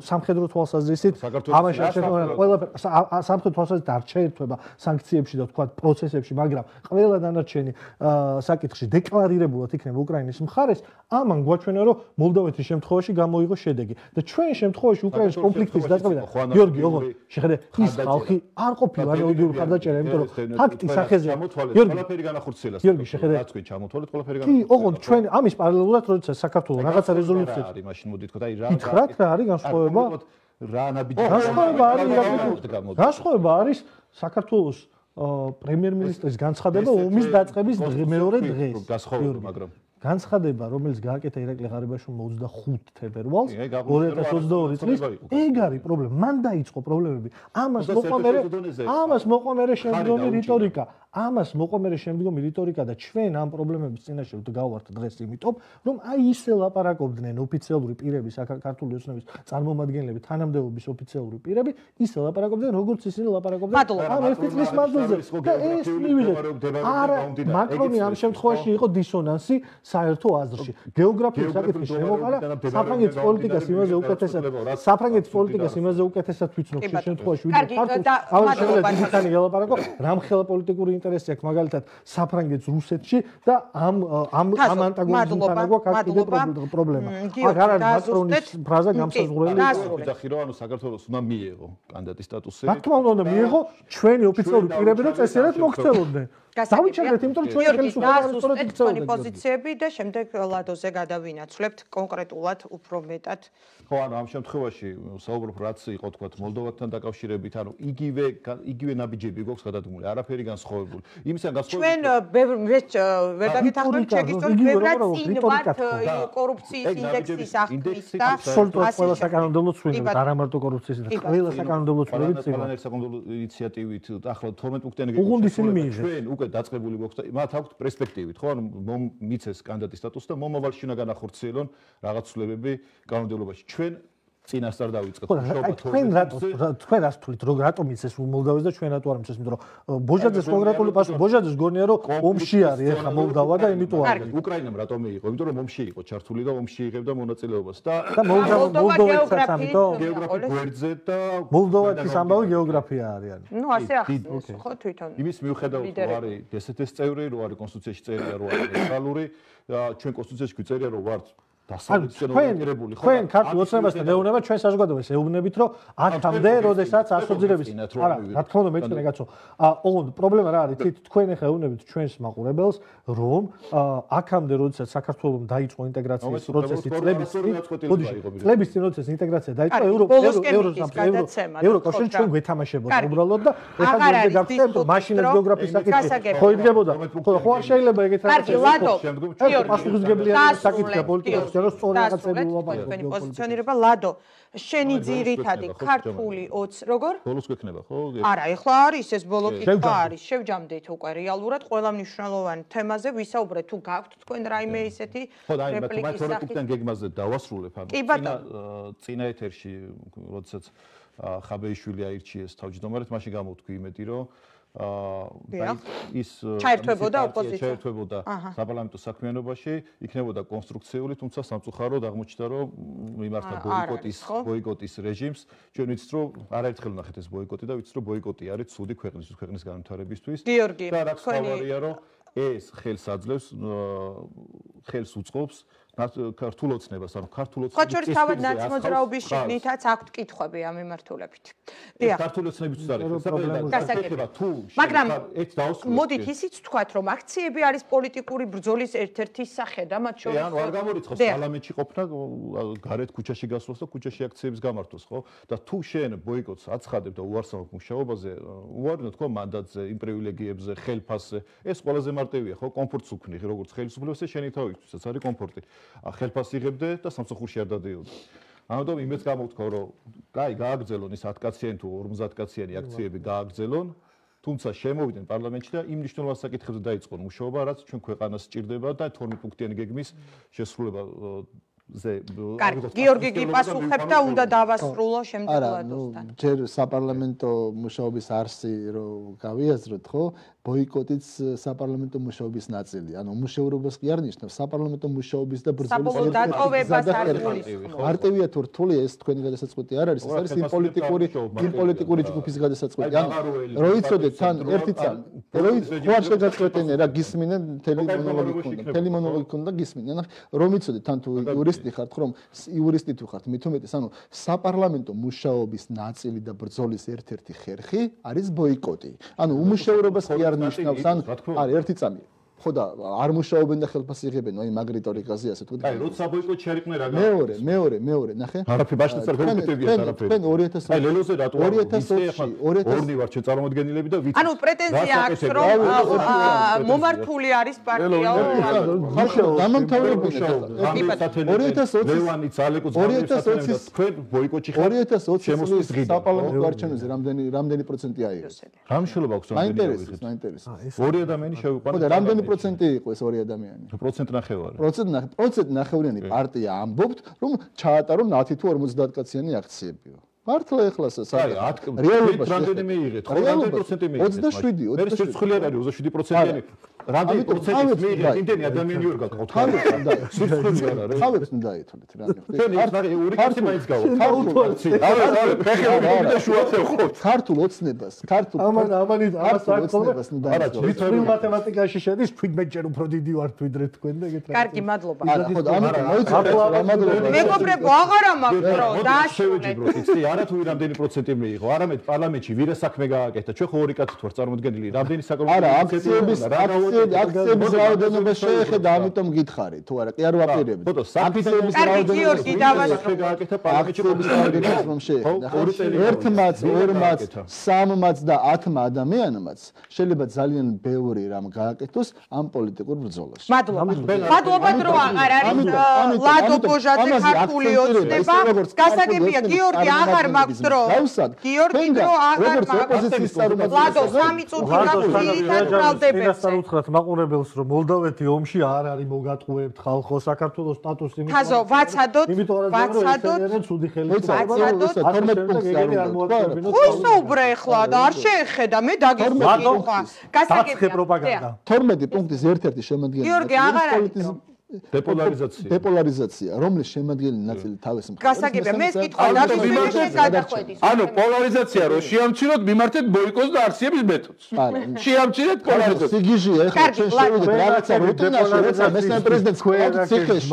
სამხედრო თვალსაზრისით ამაში არ შეერთება, ყველაფერი სამხედრო თვალსაზრისით არ შეერთება სანქციებში და თქვა პროცესებში, მაგრამ ყველა დანარჩენი საკითხში დეკლარირებულად იქნება უკრაინის მხარეს, ამან გვაჩვენა, რომ მოლდოვეთის შემთხვევაში გამოიღო შედეგი და ჩვენ ჩვენ შემთხვევაში უკრაინის კონფლიქტის დაწყებიდან გიორგი ოღონდ შეხედე ის ხალხი არ ყოფილა რელიგიური ხარდაჭერა იმიტომ რომ ფაქტის სახეზე გიორგი ყველაფერი განახორციელა გიორგი შეხედე რაც კი ჩამოთვალეთ ყველაფერი განახორციელა კი ოღონდ ჩვენ ამის პარალელურად როცა საქართველოს რაღაცა რეზოლუციებს არის მაშინ მოდი თქო და აი რა გითხრათ რა არის განსხვავება რა ნაბიჯი განსხვავება არის განსხვავება არის საქართველოს პრემიერ-მინისტრის განცხადება ომის დაწყების მეორე დღეს განსხვავება მაგრამ განცხადება, რომელიც გააკეთა ირაკლი ღარიბაშვილმა ოცდახუთი თებერვალს ორი ათას ოცდაორი წლის, ეგ არის პრობლემა. მან დაიწყო პრობლემები. ამას მოყვა მე ამას მოყვა მე შემდგომი რიტორიკა. ამას მოყვა მე შემდგომი რიტორიკა და ჩვენ ამ პრობლემების წინაშე ვდგავართ დღეს იმიტომ, რომ აი ისე ლაპარაკობდნენ ოფიციალური პირები, საქართველოს ოცნების წარმომადგენლები, თანამდებობის ოფიციალური პირები, ისე ლაპარაკობდნენ, როგორც ისინი ლაპარაკობდნენ ამ ერთი წლის მანძილზე. და ეს მივიღეთ. არა, მაკრონი ამ შემთხვევაში იყო დისონანსი საერთო აზრში. გეოგრაფიის საკითხი შემოყარა, საფრანგეთის პოლიტიკას იმაზე უკეთესად, საფრანგეთის პოლიტიკას იმაზე უკეთესად ვიცნობ შე შემთხვევაში, ვიდრე ქართულს. ამ შემთხვევაში დიდხანი ელაპარაკო, რამხელა პოლიტიკური ინტერესი აქვს მაგალითად საფრანგეთის რუსეთში და ამ ამ ამ ანტაგონიზმთან აქვს კიდე პრობლემა. აქ არ არის მაკრონის ფრაზა გამსაზღვრელი. ვიძახი რომ ანუ საქართველოს უნდა მიიღო კანდიდატის სტატუსი. რა თქმა უნდა მიიღო ჩვენი ოფიციალური პირები რომ წესიერად მოქცეულობდნენ. დავიჩერდეთ, იმიტომ რომ ჩვენი ხელისუფლება თქვენი პოზიციები და შემდეგ ლადოზე გადავინაცვლებთ კონკრეტულად უფრო მეტად. ხო, ანუ ამ შემთხვევაში საუბრობ რაც იყო თქვა მოლდოვასთან დაკავშირებით, ანუ იგივე იგივე ნაბიჯები გვაქვს გადადგმული, არაფერი განსხვავებული. იმისგან განსხვავებული. ჩვენ ვერ დაგეთახმებით შეგისწორეთ ბევრად წინ ვართ კორუფციის ინდექსის აღქმის და აბსოლუტურად ყველა საკანონმდებლო ცვლილებით, არა მარტო კორუფციის და ყველა საკანონმდებლო ცვლილებით წინ. ყველა საკანონმდებლო ინიციატივით ახლა თორმეტ პუნქტიანი უღუნდი ისინი მიიღეს. ჩვენ უკვე დაწყებული გვაქვს და მათ აქვთ პერსპექტივით, ხო? ანუ მიცეს კანდიდატის სტატუსი და მომავალში უნდა განახორციელონ რაღაც ცვლილებები კანონმდებლობაში. ჩვენ წინასწარ დავიწყეთ შობა თქვენ რატო თქვენ რას თulit რომ რატომ იცეს მოლდოვას და ჩვენ რატო არ მიცეს იმიტომ რომ ბოჟაძეს კონკრეტული პასუხი ბოჟაძეს გონია რომ ომში არის ახლა მოლდოვა და იმიტომ არის უკრაინამ რატომ მიიღო იმიტომ რომ ომში იყო ჩართული და ომში იღებდა მონაწილეობას და მოლდოვა მოლდოვასაც ამიტომ გეოგრაფიულ გვერდზე და მოლდოვეთის ამბავი გეოგრაფია არის ნუ ასე ახსნეს ხო თვითონ იმის მიუხედავად რომ არის დსთ-ს წევრი რომ არის კონსტიტუციაში წერია რომ არის ნეიტრალური და ჩვენ კონსტიტუციაში გვიწერია რომ ვართ დასავლეთისკენ თქვენ ქართულ ოცნებასთან ეუბნება ჩვენ საზოგადოებას ეუბნებით რომ აქამდე როდესაც ასოციირების არა რა თქმა უნდა მეწინე კაცო ოღონდ პრობლემა რა არის თვით თქვენ ახლა ეუბნებით ჩვენს მაყურებელს რომ აქამდე როდესაც საქართველოს დაიწყო ინტეგრაციის პროცესი წლების წინ წლების წინ როდესაც ინტეგრაცია დაიწყო ევროკავშირი ჩვენ გვეთამაშებოდა უბრალოდ და ეხლა გვერდზე გავხსენებთ რომ მაშინაც გეოგრაფიის საკითხი ხო იდგებოდა ხო არ შეიძლება ეგეთ რაღაცა შემდგომ პასუხისგებლიანი საკითხია პოლიტიკაში რომ სწორი რაღაცები ულაპარაკობ. თქვენი პოზიციონირება ლადო შენი ძირითადი ქართული ოც როგორ? ბოლოს გვექნება ხო? არა, ეხლა არის ეს ბოლო კითხვა არის. შევჯამდით უკვე რეალურად ყველა მნიშვნელოვანი თემაზე ვისაუბრეთ თუ გაქვთ თქვენ რაიმე ისეთი რეპლიკის სახით. ხო, აი, მაგრამ გეგმაზე დავასრულებ, ანუ წინა წინა ეთერში, როდესაც ხაბეიშვილი აირჩიეს თავმჯდომარედ, მაშინ გამოვთქვი იმედი, რომ აა ის ჩაერთვებოდა ოპოზიცია, ჩაერთვებოდა საპარლამენტო საქმიანობაში, იქნებოდა კონსტრუქციული, თუმცა სამწუხაროდ აღმოჩნდა, რომ მიმართა ბოიკოტის ბოიკოტის რეჟიმს, ჩვენ ვიცით, რომ არაერთხელ ვნახეთ ეს ბოიკოტი და ვიცით, რომ ბოიკოტი არის ცუდი ქვეყნის ქვეყნის განვითარებისთვის. გიორგი, და რაც თავარია, რომ ეს ხელს აძლევს, ხელს უწყობს ქართულ ოცნებას, ანუ ქართულ ოცნების ხო, ჩვენ თავად ნაცმოძრაობის შიგნითაც აქვთ კითხვები ამ მიმართულებით. დიახ. ქართულ ოცნების არის გასაგებია. მაგრამ მოდით ისიც ვთქვათ, რომ აქციები არის პოლიტიკური ბრძოლის ერთ-ერთი სახე და მათ შორის ანუ არ გამორიცხავს პარლამენტში ყოფნა, გარეთ ქუჩაში გასვლას და ქუჩაში აქციების გამართვას, ხო? და თუ შენ ბოიკოტს აცხადებ და უარსავებ მუშაობაზე, უარი თქვა მანდატზე, იმ პრივილეგიებზე, ხელფასზე, ეს ყველაზე მარტივია, ხო? კომფორტს უქმნი, როგორც ხელისუფლებაზე, შენი თავისთვისაც არის კომფორტი. ხელფასს იღებდე და სამსახურში არ დადიოდე. ამიტომ იმეც გამოვთქვა, რომ კაი, გააგრძელონ ის ათი კაციანი თუ ორმოცდაათი კაციანი აქციები გააგრძელონ, თუმცა შემოვიდნენ პარლამენტში და იმ მნიშვნელოვან საკითხებზე დაიწყონ მუშაობა, რაც ჩვენ ქვეყანას სჭირდება და თორმეტ პუნქტიანი გეგმის შესრულება ზე. კარგი, გიორგი გიპასუხებ და უნდა დავასრულო შემდგომლადოსთან. არა, ნუ ჯერ საპარლამენტო მუშაობის არსი რო გავიაზროთ, ხო? ბოიკოტიც საპარლამენტო მუშაობის ნაწილია. ანუ მუშაურობას კი არ ნიშნავს, საპარლამენტო მუშაობის და ბრძოლის დატოვებას არ გულისხმობს. მარტივია თუ რთული ეს თქვენი გადასაწყვეტი არ არის, ეს არის იმ პოლიტიკური იმ პოლიტიკური ჯგუფის გადასაწყვეტი. ანუ რო იცოდეთ თან ერთი წამი, რო ხო არ შეგაწყვეტენ რა გისმინენ მთელი მონოლოგი ქონდა, მთელი მონოლოგი ქონდა გისმინენ. ანუ რომ იცოდეთ თან თუ იურისტი ხართ, ხომ იურისტი თუ ხართ, მით უმეტეს, ანუ საპარლამენტო მუშაობის ნაწილი და ბრძოლის ერთ-ერთი ხერხი არის ბოიკოტი. ანუ უმუშაურობას კი არ ნიშნავს, ან არის ერთი წამი. ხო და არ მუშაობენ და ხელფასს იღებენ, აი მაგ რიტორიკაზე ასე თქვით. აი, როცა ბოიკოტში არ იყვნენ რა გა. მეორე, მეორე, მეორე, ნახე. არაფერი ბაშტაც არ გეკეთებია არაფერი. თქვენ ორი ათას აი, ლელოზე რატო არ ორი ათას ოცი ორნი ვარ ჩვენ წარმომადგენლები და ვიცით. ანუ პრეტენზია აქვს, რომ მომართული არის პარტია. ხაშო, დამამთავრებელი ორი ათას ოცი ლევანი ძალეკო ძალებს თქვენ ბოიკოტში ხართ. ორი ათას ოცი წლის საპარლამენტო არჩევნებზე რამდენი რამდენი პროცენტი აიღეს? რა მნიშვნელობა აქვს რამდენი? მაინტერესებს, მაინტერესებს. ორი ადამიანი შევიყვანეთ. ხო და რამდენი პროცენტი იყო ეს ორი ადამიანი? პროცენტ ნახევარი. პროცენტ ნახევარი. პროცენტ ნახევრიანი პარტია ამბობთ, რომ ჩაატარონ ათი თუ ორმოცდაათი კაციანი აქციებიო. მართლა ეხლა რეალობაში რამდენი მიიღეთ? რამდენი პროცენტი მიიღეთ? ოცდაშვიდი, მე სირცხული არ არის ოცდაშვიდი პროცენტიანი. რამდენი პროცენტი მიიღეთ? იმდენი ადამიანი ვერ გაკავთ. სირცხული არ არის. თავებს უნდა ეთოლეთ რა. თქვენ ის ნახე ორი კაცი მაინც გავთ. ქართულ ოცნებას, ქართულ ამან ამანი ამას ოცნებას უნდა. არა, თვითონ მათემატიკაში შედის, თვით მეჯერ უფრო დიდი ვარ თვითრე თქვენ და ეგეთ რა. კარგი, მადლობა. არა, ხო, ამიტომ მოიცადეთ რა მადლობა. მეგობრებო, აღარა მაქვს დრო, დააშევეჯი ბრო, იცი, არა თუ რამდენი პროცენტი მიიღო, არამედ პარლამენტში ვირა საქმე გააკეთა. ჩვენ ხო ორი კაცი ვართ წარმოდგენილი, რამდენი საკონტროლო არა, აქციების აქციების რაოდენობა შეეხება, ამიტომ გითხარი, თუ არა, კი არ ვაპირებდი. ხო, აქციების რაოდენობა საქმე გააკეთა პარლამენტში რომ შეეხება. ერთმაც, ორმაც, სამმაც და ათმა ადამიანმაც შეიძლება ძალიან ბევრი რამ გააკეთოს ამ პოლიტიკურ ბრძოლაში. მადლობა. მადლობა დრო აღარ არის ლადო ბოჟაძე ქართული ოცნება. გასაგებია გიორგი აღარ მაქვს დრო. გიორგი დრო აღარ მაქვს. ლადო სამი წუთი გაგვირითად ბრალდებებს. ესთან უთხრათ მაყურებელს რომ მოლდოვეთი ომში არ არის მოგატყუებთ ხალხო საქართველოს სტატუსი იმით. ხაზო ვაცადოთ, ვაცადოთ. ცუდი ხელისუფლება. თორმეტ პუნქტზე არ უნდა. ხო საუბრე ახლა და არ შეეხედა მე დაგიხვა. გასაგებია პროპაგანდა. თორმეტი პუნქტის ერთ-ერთი შემადგენელი. გიორგი აღარ არის. დეპოლარიზაცია. დეპოლარიზაცია, რომლის შემადგენელი ნაწილი თავის მხარეს. გასაგებია, მე ეს კითხვა დავისვენე გადახვედის. ანუ პოლარიზაცია რო შეამჩნიოთ, მიმართეთ ბოიკოტს და აქციების მეთოდს. შეამჩნიეთ პოლარიზაცია. სიგიჟია ეხლა ჩვენ შევიდეთ რაღაცა რუტინაში, როცა მესამე პრეზიდენტს კლავს ციხეში.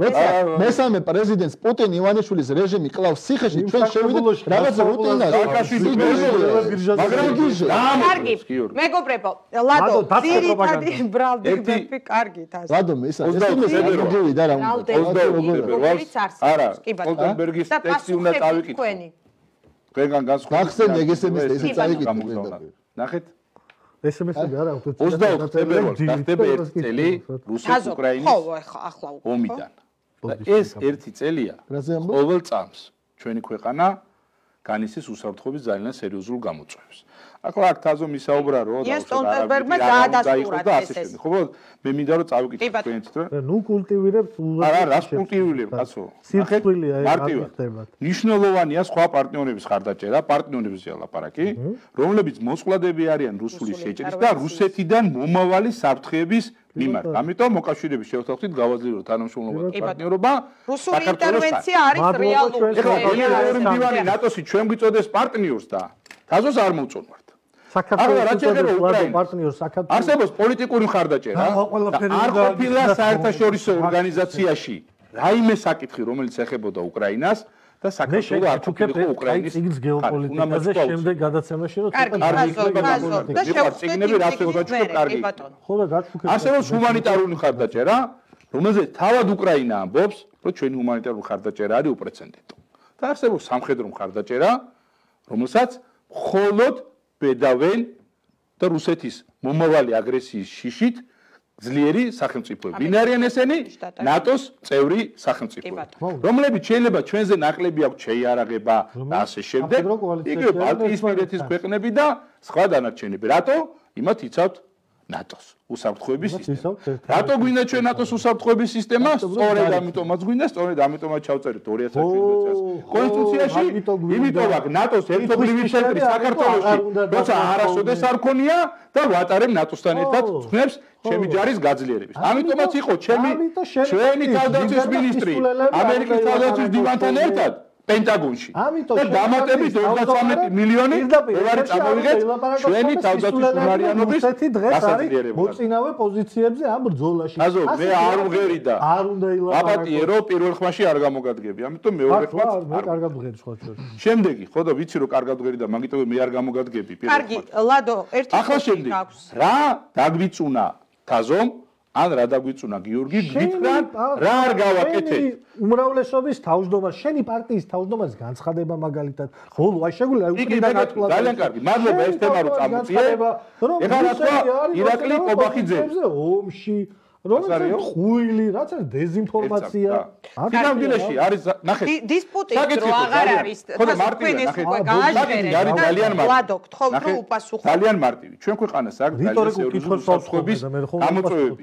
როცა მესამე პრეზიდენტს პუტინ ივანიშვილის რეჟიმი კლავს ციხეში, ჩვენ შევიდეთ რაღაცა რუტინაში. მაგრამ სიგიჟია. კარგი, მეგობრებო, ლადო, ძირითადი ბრალდებები კარგით ასე. ლადო, ისა გივიდა რა არა ოლდენბერგის ტექსტი უნდა წავიკითხო თქვენგან განსხვავებით გახსენე ეგესების ესე წავიკითხო ნახეთ ესემესები არა აქვთ ოცდაოთხ თებერვალს გახდება ერთი წელი რუსეთ-უკრაინის ომიდან ეს ერთი წელია ყოველ წამს ჩვენი ქვეყანა განიცდის უსაფრთხოების ძალიან სერიოზულ გამოწვევებს. ახლა აქ თაზო მისაუბრა რომ და სტოლტენბერგმა დაადასტურა ეს. ხო, მე მინდა რომ წავიკითხო თქვენით რომ ნუ კულტივირებთ უზარ. არა, რას კულტივირებ, კაცო? სირცხვილია ეს მარტივად. ნიშნულოვანია სხვა პარტნიორების ხარდაჭერა, პარტნიორებზეა ლაპარაკი, რომლებიც მოწყვლადები არიან რუსული შეჭრის და რუსეთიდან მომავალი საფრთხეების მიმართ. ამიტომ მოკავშირეების შევთავაზეთ გავაძლიეროთ თანამშრომლობა და პარტნიორობა. რუსული ინტერვენცია არის რეალური. ეხლა გენერალური მდივანი ნატოსი ჩვენ გვიწოდეს პარტნიორს და თაზოს არ მოვწონვართ. საქართველოს პარტნიორს საქართველოს არსებობს პოლიტიკური მხარდაჭერა. არ ყოფილა საერთაშორისო ორგანიზაციაში რაიმე საკითხი, რომელიც ეხებოდა უკრაინას და საქართველოს არ ყოფილიყო უკრაინის ციგნის გეოპოლიტიკაზე შემდეგ გადაცემაში რომ ციგნები რაც ეგოჩქო კარგი. ხო და გაჩუქებ. არსებობს ჰუმანიტარული მხარდაჭერა, რომელზეც თავად უკრაინა ამბობს, რომ ჩვენი ჰუმანიტარული მხარდაჭერა არის უპრეცედენტო. და არსებობს სამხედრო მხარდაჭერა, რომელსაც მხოლოდ ბედავენ და რუსეთის მომავალი აგრესიის შიშით ძლიერი სახელმწიფოები. ვინ არიან ესენი? ნატოს წევრი სახელმწიფოები. რომლებიც შეიძლება ჩვენზე ნაკლები აქვთ შეიარაღება და ასე შემდეგ. იგივე ბალტიისპირეთის ქვეყნები და სხვა დანარჩენები. რატო? იმათ იცავთ ნატოს უსაფრთხოების სისტემა. რატო გვინდა ჩვენ ნატოს უსაფრთხოების სისტემა? სწორედ ამიტომაც გვინდა, სწორედ ამიტომაც ჩავწერეთ ორი ათი შვიდ წელს კონსტიტუციაში. იმიტომ აქ ნატოს ერთობლივი ცენტრი საქართველოში, როცა არასოდეს არ ქონია და ვატარებ ნატოსთან ერთად ხმებს ჩემი ჯარის გაძლიერების. ამიტომაც იყო ჩემი ჩვენი თავდაცვის მინისტრი ამერიკის თავდაცვის დივანთან ერთად პენტაგონში. და დამატებით ოცდათვრამეტი მილიონი დოლარი წამოვიღეთ ჩვენი თავდაცვის უმარიანობის გასაძლიერებლად. მოწინავე პოზიციებზე ამ ბრძოლაში. აზო, მე არ ვღერი და არ უნდა ილაპარაკო. აპატიერო პირველ ხმაში არ გამოგადგები. ამიტომ მეორე ხმაც მე კარგად ვღერი სხვა შორის. შემდეგი, ხო და ვიცი რომ კარგად ვღერი და მაგიტომ მე არ გამოგადგები პირველ ხმაში. კარგი, ლადო, ერთი ახლა შემდეგი. რა დაგვიწუნა თაზომ? ან რა დაგვიწუნა გიორგი, გითხრან რა არ გავაკეთეთ? უმრავლესობის თავმჯდომარე, შენი პარტიის თავმჯდომარის განცხადება მაგალითად, ხოლო აი შეგვიძლია უკრიდან ატყუა. ძალიან კარგი. მადლობა ეს თემა რომ წამოწიე. ეხლა რა ირაკლი კობახიძე ომში რომელიც ხუილი, რაც არის დეზინფორმაცია. ფინალში არის ნახეთ. დისპუტი რო აღარ არის, თქვენ ეს უკვე გააჟღერეთ. ლადო, გთხოვთ რომ უპასუხოთ. ძალიან მარტივი. ჩვენ ქვეყანას აქვს რიტორიკულ საფრთხოების გამოწვევები.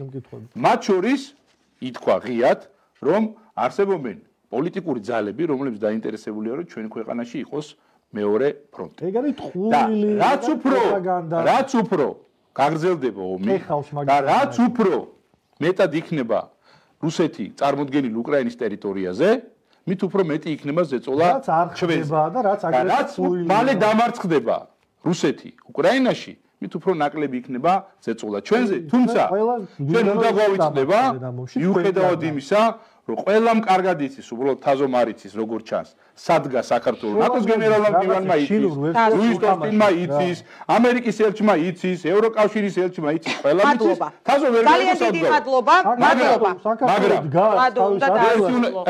მათ შორის ითქვა ღიად, რომ არსებობენ პოლიტიკური ძალები, რომლებიც დაინტერესებულია, რომ ჩვენ ქვეყანაში იყოს მეორე ფრონტი. ეგ არის ხუილი, რაც უფრო რაც უფრო გაგრძელდება ომი და რაც უფრო მეტად იქნება რუსეთი წარმოდგენილი უკრაინის ტერიტორიაზე, მით უფრო მეტი იქნება ზეწოლა ჩვენზე. და რაც აგრესიული მალე დამარცხდება რუსეთი უკრაინაში, მით უფრო ნაკლები იქნება ზეწოლა ჩვენზე. თუმცა ჩვენ უნდა გავიწდება მიუხედავად იმისა, რომ ყველამ კარგად იცის, უბრალოდ თაზომ არ იცის, როგორ ჩანს, სადგა საქართველოს ნატოს გენერალურ მდივანმა იცის, ლუის ტოსტინმა იცის, ამერიკის ელჩმა იცის, ევროკავშირის ელჩმა იცის, ყველამ იცის. თაზო ვერ გაგოსავდა. ძალიან დიდი მადლობა, მადლობა. მაგრამ ლადო, უნდა დაასრულოთ.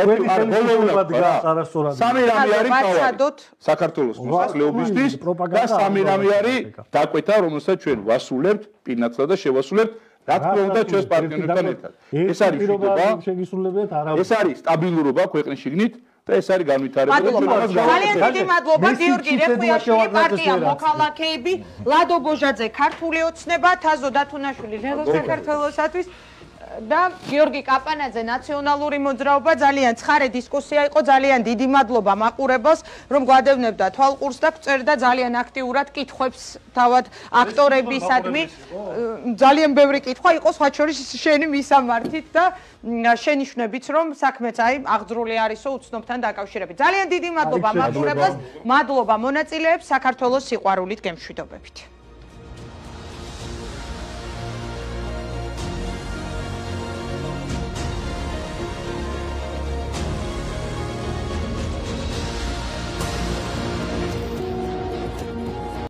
სამი რამე არის თავად. საქართველოს მოსახლეობისთვის და სამი რამე არის დაკვეთა, რომელსაც ჩვენ ვასრულებთ, პირნათლად და შევასრულებთ. რა თქმა უნდა ჩვენს პარტნიორებთან ერთად. ეს არის მშვიდობა, შეგისრულებათ არა. ეს არის სტაბილურობა ქვეყნის შიგნით და ეს არის განვითარება. ძალიან დიდი მადლობა გიორგი რეხვიაშვილი, პარტია მოქალაქეები, ლადო ბოჟაძე, ქართული ოცნება, თაზო დათუნაშვილი, ნელო საქართველოსათვის და გიორგი კაპანაძე, ნაციონალური მოძრაობა. ძალიან ცხარე დისკუსია იყო, ძალიან დიდი მადლობა მაყურებელს, რომ გვადევნებდა თვალყურს და გწერდა ძალიან აქტიურად კითხვებს თავად აქტორებისადმი. ძალიან ბევრი კითხვა იყო, სხვა შორის შენი მისამართით და შენიშვნებით, რომ საქმეც აი აღძრული არისო უცნობთან დაკავშირებით. ძალიან დიდი მადლობა მაყურებელს, მადლობა მონაწილეებს, საქართველოს სიყვარულით გემშვიდობებით.